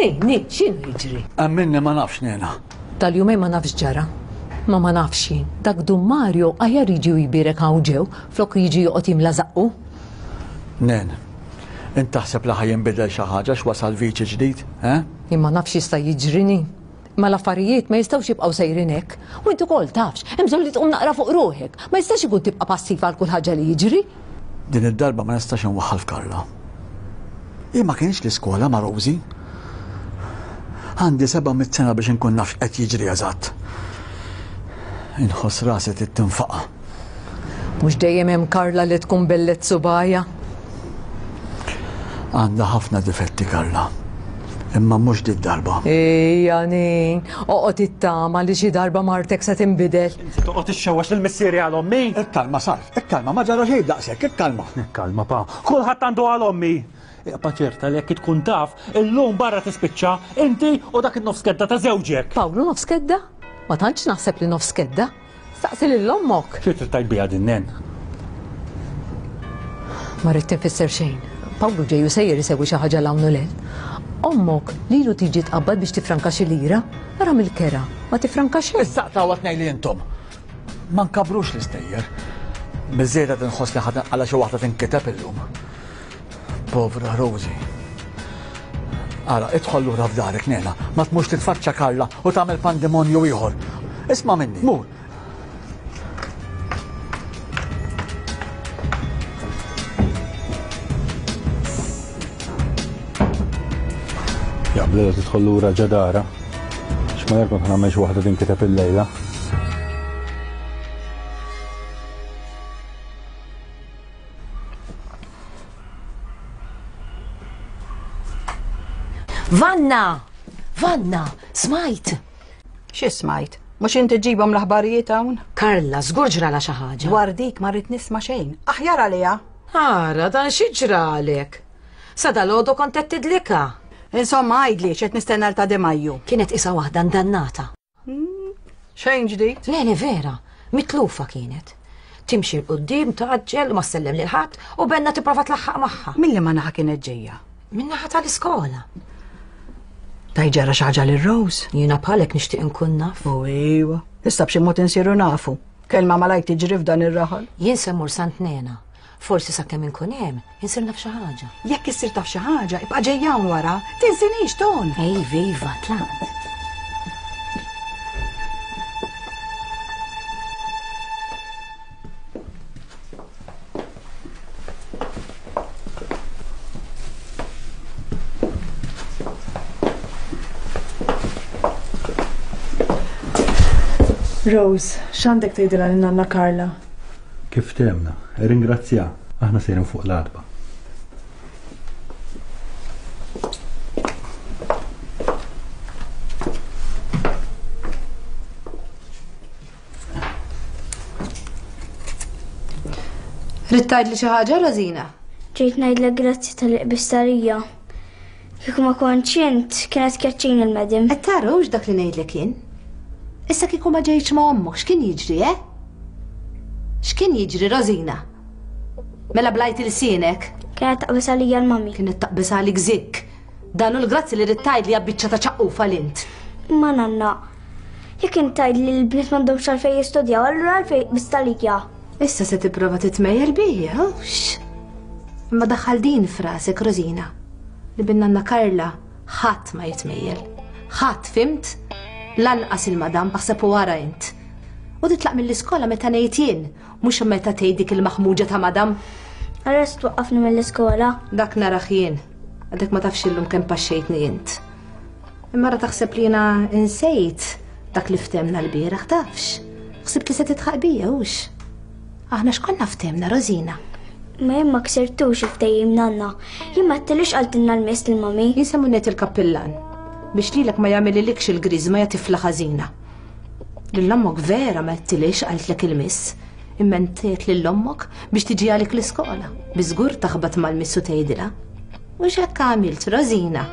Ni, ni, x'inhu jiġri? Amminni ma nafx nena. Tal-jumejn ma nafx ġara. Ma ma nafx jien. Dak Dun Mario aħjar jiġi u jbierek hawn ġew, flok jiġi joqgħod jimla żaqqu. Nen, int taħseb li ħa jinbidel xi ħaġa x'wasal viċi ġdid, eh? Jien ma nafx jista' jiġrini. Ma l-affarijiet ma jistgħux jibqgħu sejrin hekk. U int ukoll tafx, hemm bżonn li tqum naqra fuq ruħek. Ma jistax ikun tibqa' passiva għal kull ħaġa li jiġri. Din id-darba ma nistax inwaħħal f'Karla. Hi ma kienx l-iskola ma' Rosie. Għandi seba' mitt sena biex inkun naf x'qed jiġri eżatt. Inħoss rasi trid tinfaqa'. Mhux dejjem hemm Karla li tkun bellet subajja. Għandha ħafna difetti Karla. Imma mhux dit darba. Ejja nin, oqgħod ittama li xi darba martek se tinbidel. Inti toqgħod ixxewwax lil missieri għal ommi. Ikkalma Salv, ikkalma, ma ġara xejn daqshekk, ikkalma. Ikkalma pa. Kulħadd għandu għal ommi. Iqba' ċerta li jekk tkun taf, illum barra tispiċċa inti u dak in-nofs kedda ta' żewġek. Pawlu nofs kedda? Ma tantx naħseb li nofs kedda. Staqsi lil ommok. Xi trid tgħid biha din nen? Ma rrid tinfisser xejn. Pawlu ġej u sejjer isewwi xi ħaġa 'l hawn u 'l hemm. Ommok lilu tiġi tqabbad biex tifranka xi lira, ara mill-kera, ma tifranka xejn. Issa tawha tnejn li intom. Ma nkabrux l-istejjer. Biżżejjed qed inħoss li ħadd għala xi waħda tinkiteb illum. Povra Rosie. Ara, idħol lura f'darek, nena. Ma tmux titfaċċa Karla u tagħmel pandemonju ieħor. Isma' minni, mur. Jaqblu tidħol lura ġadara. X'ma kont nagħmel xi waħda tinkiteb illejla. Vanna! Vanna! Smajt! Xi smajt? Mhux inti ġibhom l-aħbarijiet hawn? Karla, żgur ġrala xi ħaġa. Dwar dik ma rrid nisma' xejn. Aħjar għaliha. Ara, dan xi ġralek? Sa dalgħodu kont qed tidlika. Insomma, għidli x'qed nistenna l ta' De Majju. Kienet isa waħda ndannata. Xejn ġdid? Le, le vera, mitlufa kienet. Timxi 'l quddiem tgħaġġel u ma ssellem lil ħadd u Benna tipprova tlaħħaq magħha. Min liema naħa kienet ġejja? Min-naħa tal-iskola. Taj ġara xi ħaġa lil Rose? Jiena bħalek nixtieq inkun naf. U iwa, issa b'xi mod insiru nafu. Kelma malajr tiġri f'dan ir-raħal. Jien se mmur Sant Nena. Forsi sakemm inkun hemm, insir naf xi ħaġa. Jekk issir taf xi ħaġa, ibqa' ġejja hawn wara, tinsinix ton. Iva, iva, tlaqt. Rose, x'għandek tgħidilha lil nanna Carla? Kif temna, ringrazzja, aħna sejrin fuq l-għatba. Ridt tgħidli xi ħaġa, Rosina? Ġejt ngħidlek grazzi tal-qbistarija. Kieku ma kontx int, kienet tkeċċini l-madam. Qed tara hux dak li ngħidlek jien? Issa kieku ma ġejtx ma' ommok, x'kien jiġri, eh? X'kien jiġri, Rosina? Mela blajt ilsienek? Kienet taqbis għalija l-mami. Kienet taqbis għalik zik. Dan hu l-grazzi li ridt tgħidli biċċa ta' ċaqqufa l-int. Ma nanna, jekk int tgħidli li l-bniet m'għandhomx għalfejn jistudjaw, allura għalfejn qbist għalija. Issa se tipprova titmejjel bija, hux? Imma daħħal din f'rasek, Rosina, li bin nanna Carla ħadd ma jitmejjel. Ħadd, fimt? Lanqas il-madam, aħseb u wara int. U titlaq mill-iskola meta ngħid jien, mhux meta tgħid dik il-maħmuġa ta' madam. Arrest twaqqafni mill-iskola. Dak naraħ jien. Għadek ma tafx illum kemm paxxejtni int. Imma ra taħseb li jiena insejt dak li ftemna l-bieraħ tafx. Ħsibt li se titħaq bija hux. Aħna x'konna ftemna, Rosina? Ma jien ma ksirtux il-ftehim nanna. Jien ma għedtilix qaltilna l-miss lill-mami. Jien se ngħid il-kappillan biex lilek ma jagħmililekx il-griżma ja tifla ħażina. Lil ommok vera ma għedtilix qaltlek il-miss, imma ntejt lil ommok biex tiġi għalik l-iskola. Biżgur taħbat mal-miss u tgħidilha. U x'hekk għamilt, Rosina?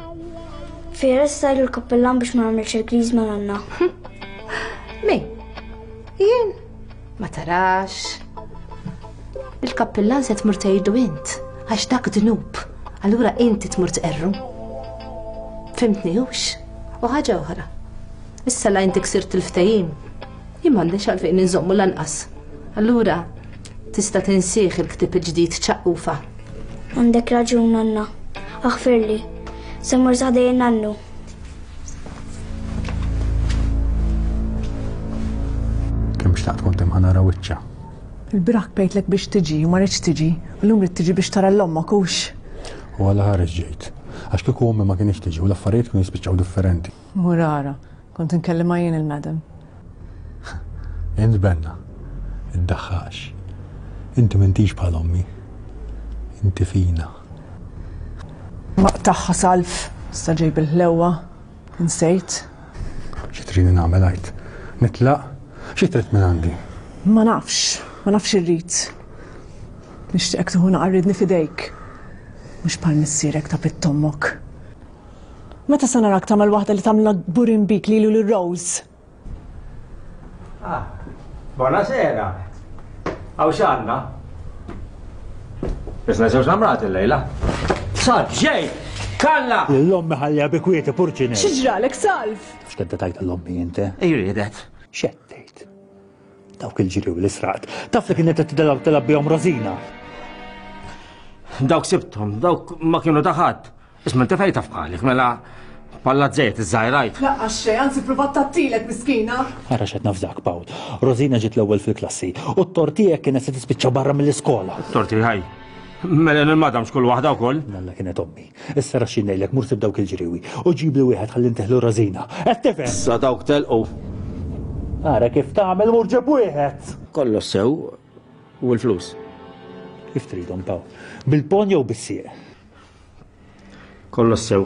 Vera se tgħidu l-kappillan biex ma nagħmilx il-griżma nanna. Min? Jien? Ma tarax. Il-kappillan se tmur tgħidu int, għax dak dnub. Allura inti tmur tqerru. Fimtni hux? U ħaġa oħra. Issa la inti ksirt il-ftehim, jien m'għandix għalfejn inżommu lanqas. Allura tista' tinsieħ il-ktieb il-ġdid ċaqqufa. Għandek raġun nanna. Aħfirli. Se mmur sa ħdejn nannu. Kemm xtaqt kont hemm ħa nara wiċċha. Il-bieraħ bejtlek biex tiġi u ma ridx tiġi, u llum rid tiġi biex tara l-ommok hux. U għala ħares ġejt. Għax kieku ommi ma kienx tiġi u l-affarijiet kienu jispiċċaw differenti. Murara, kont inkellimha jien il-madam. Int Benna, iddaħħax. Inti m'intix bħal ommi. Inti fina. Maqtagħha Salv, issa ġej bil-ħlewwa, insejt. Xi tridni nagħmel għid? Nitlaq? Xi trid minn għandi? Ma nafx, ma nafx irrid. Nixtieqek tieħu naqarridni f'idejk. Mhux bħal missierek ta' pittommok. Meta se narak tagħmel waħda li tagħmilha kburin bik lilu lil Rose? Ah, buonasera. Hawn x'għandna? Isna żewġ namrat illejla. Salv, ġej! Kalla! L-ommi ħallija bi kwieti purċini. Xi ġralek, Salv? X'kedda tajt l-ommi inti? Ejridet. X'qed tgħid? Dawk il-ġiri u l-israq. Taf li kienet qed tidilgħu tilgħab bihom Rosina. Dawk sibthom, dawk ma kienu ta' ħadd. Isma' inti fejn taf bħalik, mela palla żejt iż-żgħirajt. Laqqas xejn, anzi provat tattilek miskina. Ara x'qed nafżak, Pawl. Rosina ġiet l-ewwel fil-klassi u t-tortijek kienet se tispiċċa barra mill-iskola. Torti ħaj. Mela il-madam xkull waħda wkoll. Nalla kienet ommi. Issa ra xi ngħidlek mur sib dawk il-ġriwi u ġib li wieħed ħalli nteħlu Rosina. Qed tifhem? Issa dawk telqu. Ara kif tagħmel mur ġib wieħed. Kollox sew u l-flus. Kif tridhom, Pawl? Bil-pon jew bis-sieq? Kollox sew.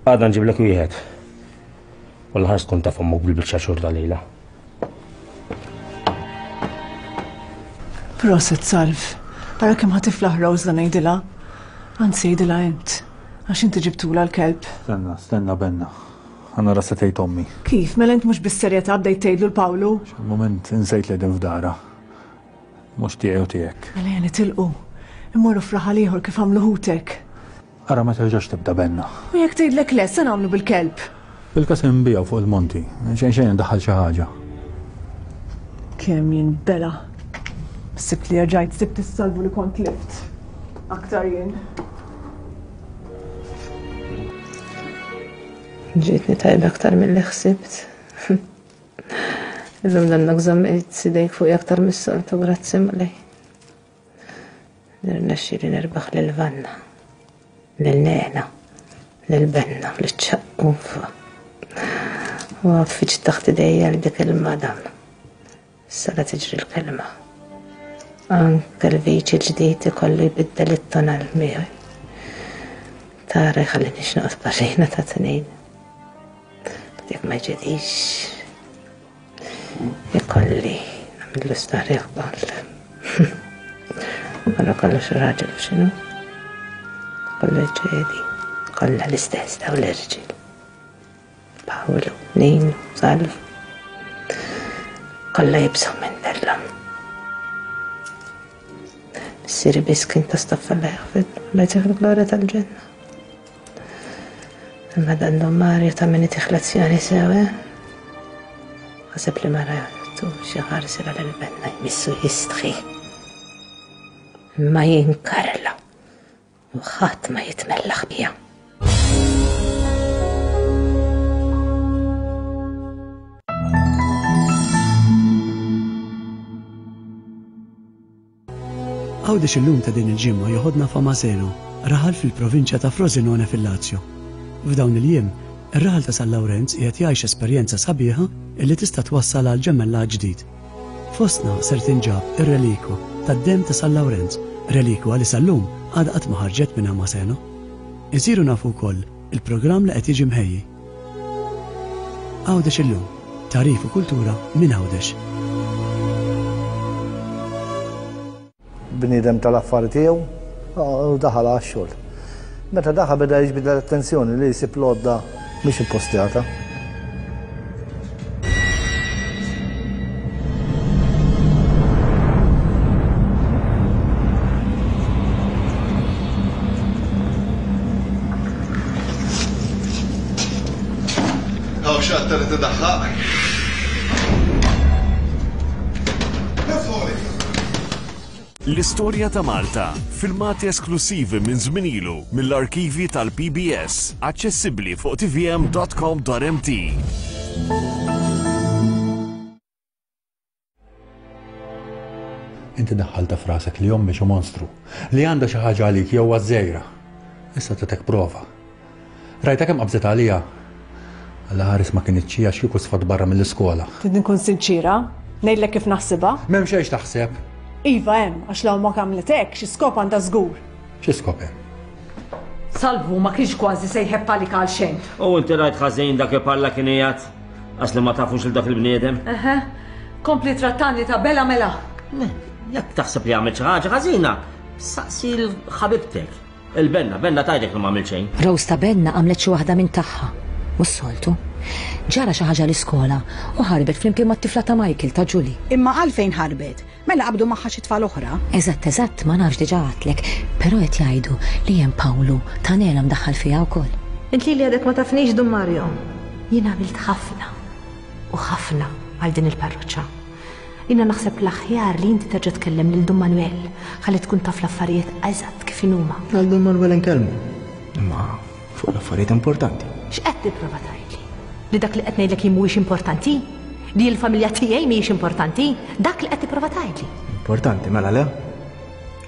Għada nġiblek wieħed. U l-ħars tkun taf ommok bil-biċċa xhur tal-lejla. Proset, Salv. Ara kemm ħa tiflaħ Rose la ngħidilha. Anzi għidilha int. Għax inti ġibtula l-kelb. Stenna, stenna Benna. Ħa nara se tgħid ommi. Kif, mela int mhux bis-serjetà bdejt tgħidlu 'l Pawlu? Moment insejt li qegħdin f'dara. Mhux tiegħi u tiegħek. Mela ejja nitilqu. Immorru f'raħal ieħor kif għamlu ħutek. Ara ma terġax tibda benna. U jekk tgħidlek le, se nagħmlu bil-kelb. Bil-każ inbiegħu fuq il-monti. Xejn xejn indaħħal xi ħaġa. Kemm jien bela. Sibt li rġajt sibt is-salvu li kont lift. Aktar jien. Ġietni tajba aktar milli ħsibt. Illum dannak żammejt idejk fuqi aktar mis-soltu, grazzi Mulej. Nirnexxieli nirbaħ lil Vanna, lil Nena, lil Benna, lil Ċaqqufa. U għaffiġ taħt idejja li dik il-madam. Issa la tiġri l-kelma. Anke l-viċi l-ġdid ikollu jbiddel it-tonal miegħi. Tara jħallinix noqgħod barrina ta' tnejn. Jekk ma jġedix, ikolli nagħmillu storja wkoll. Wara kollox raġel x'inhu? Kollu jġedi, kollha l-istess daw l-irġiel. Pawlu, Ninu, Salv. Kollha jibżgħu minn dellhom. Missieri biss kien ta' staffa la jaħfid, la jtih il-glorja tal-ġenna. Imma dan Don Mario ta' min itih lezzjoni sew, eh? Ħaseb li mara jgħattu xi ħarsila lil Benna jmissu jistħi. Imma jien Karla u ħadd ma jitmellaħ bija. Għawdex illum ta' din il-ġimgħa joħodna f'Amaseno, raħal fil-provinċja ta' Frosinone fil-Lazio. F'dawn il-jiem, ir-raħal ta' San Lawrenz qiegħed jgħix esperjenza sabiħa illi tista' twassal għal ġemellaġġ ġdid. Fostna ser tinġab ir-relikwa tad-demm ta' San Lawrenz, relikwa li sal-lum għadha qatt ma ħarġet minn Amaseno. Insiru nafu wkoll il-programm li qed jiġi mħejji. Għawdex illum, tagħrif u kultura minn Għawdex. Bniedem tal-affari tiegħu u daħal għax-xogħol. Meta daħal beda jiġbid l-attenzjoni li jsib l-għodda mhix ippostjata. Hawn xatta li tidaħħaq. L-istorja ta' Malta, filmati esklusivi minn żmien ilu mill-arkivi tal-P B S, aċċessibbli fuq T V M dot com dot M T. Inti daħħalta f'rasek li ommi xi monstru, li għandha xi ħaġa għalik jew għażejra. Issa tatek prova. Rajta kemm qabżet għalija. Alla ħares ma kinitx hija xi kieku sfat barra mill-iskola. Trid nkun sinċira, ngħidlek kif naħsibha. M'hemm xejn taħseb. Iva hemm, għax law ma għamlet hekk, xi skop għandha żgur. Xi skop hemm? Salvu ma kienx kważi se jħebb għalik għal xejn. U inti rajt ħażin dak il-parla kien qiegħed, għax li ma tafux il dak il-bniedem. Eħe, kompli trattani ta' bela mela. Ne, jekk taħseb li għamilt xi ħaġa ħażina, saqsi l-ħabibtek. Il-Benna, Benna tgħidlek li ma għamilt xejn. Rose ta' Benna għamlet xi waħda minn tagħha. Mhux soltu. Ġara xi ħaġa l-iskola u ħarbet flimkien mat-tifla ta' Michael ta' Julie. Imma għalfejn ħarbet? Mela qabdu magħha xi tfal oħra? Eżatt, eżatt, ma nafx diġà għadtlek, però qed jgħidu li hemm Pawlu ta' Nela mdaħħal fiha wkoll. Int li għadek ma tafnix Dun Mario. Jien għamilt ħafna u ħafna għal din il-parroċċa. Jiena naħseb l-aħjar li inti terġa' tkellem lil Dun Manuel ħalli tkun taf l-affarijiet eżatt kif inhuma. Għal Dun Manuel inkellmu. Imma fuq l-affarijiet importanti. X'qed tipprova tgħidli? Li dak li qed ngħidlek jien mhuwiex importanti? Li l-familja tiegħi mhijiex importanti? Dak li qed tipprova tgħidli. Importanti, mela le?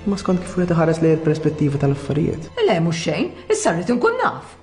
Ma skont kif wieħed iħares lejn il-perspettiva tal-affarijiet. Le mhux xejn, issa rrid inkun naf.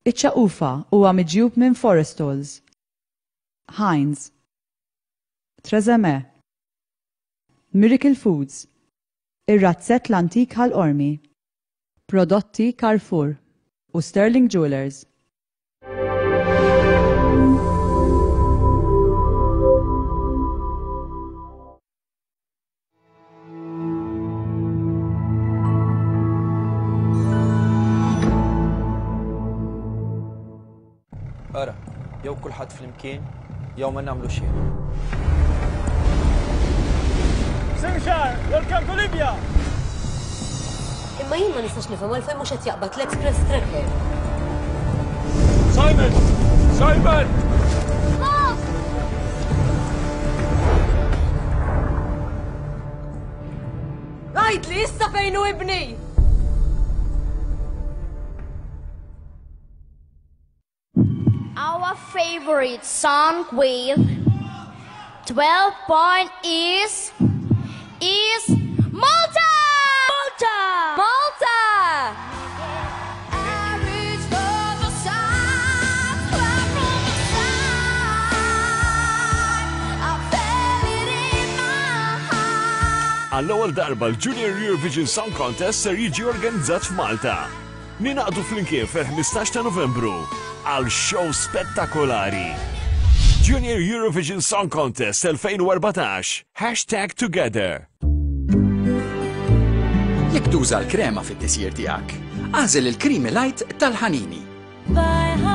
Iċ-ċaqufa huwa miġjub minn Forestalls, Heinz, Trezeguet, Miracle Foods, Ir-Razzett l-Antik Ħal Qormi, Prodotti Carrefour u Sterling Jewelers. Ara, jew kulħadd flimkien, jew ma nagħmlu xejn. Simshar, welcome to Libya! Imma jien ma nistax nifhem għalfejn mhux qed jaqbad l-Express Tracker. Simon! Simon! Għidli issa fejn hu ibni! Our favorite song with twelve point is is Malta! Malta! Malta! I reach for the stars, cry from the sky. I felt it in my heart. Għall-ewwel darba l-Junior Eurovision Song Contest ser jiġi organizzat f'Malta. Ninaqdu flimkien fil-ħmistax ta' Novembru għal show spettakolari. Junior Eurovision Song Contest elfejn u erbatax. Hashtag Together. Jekk tuża l-krema fit-tisjir tiegħek, agħżel il-Creamy Light tal-Ħanini. Bye.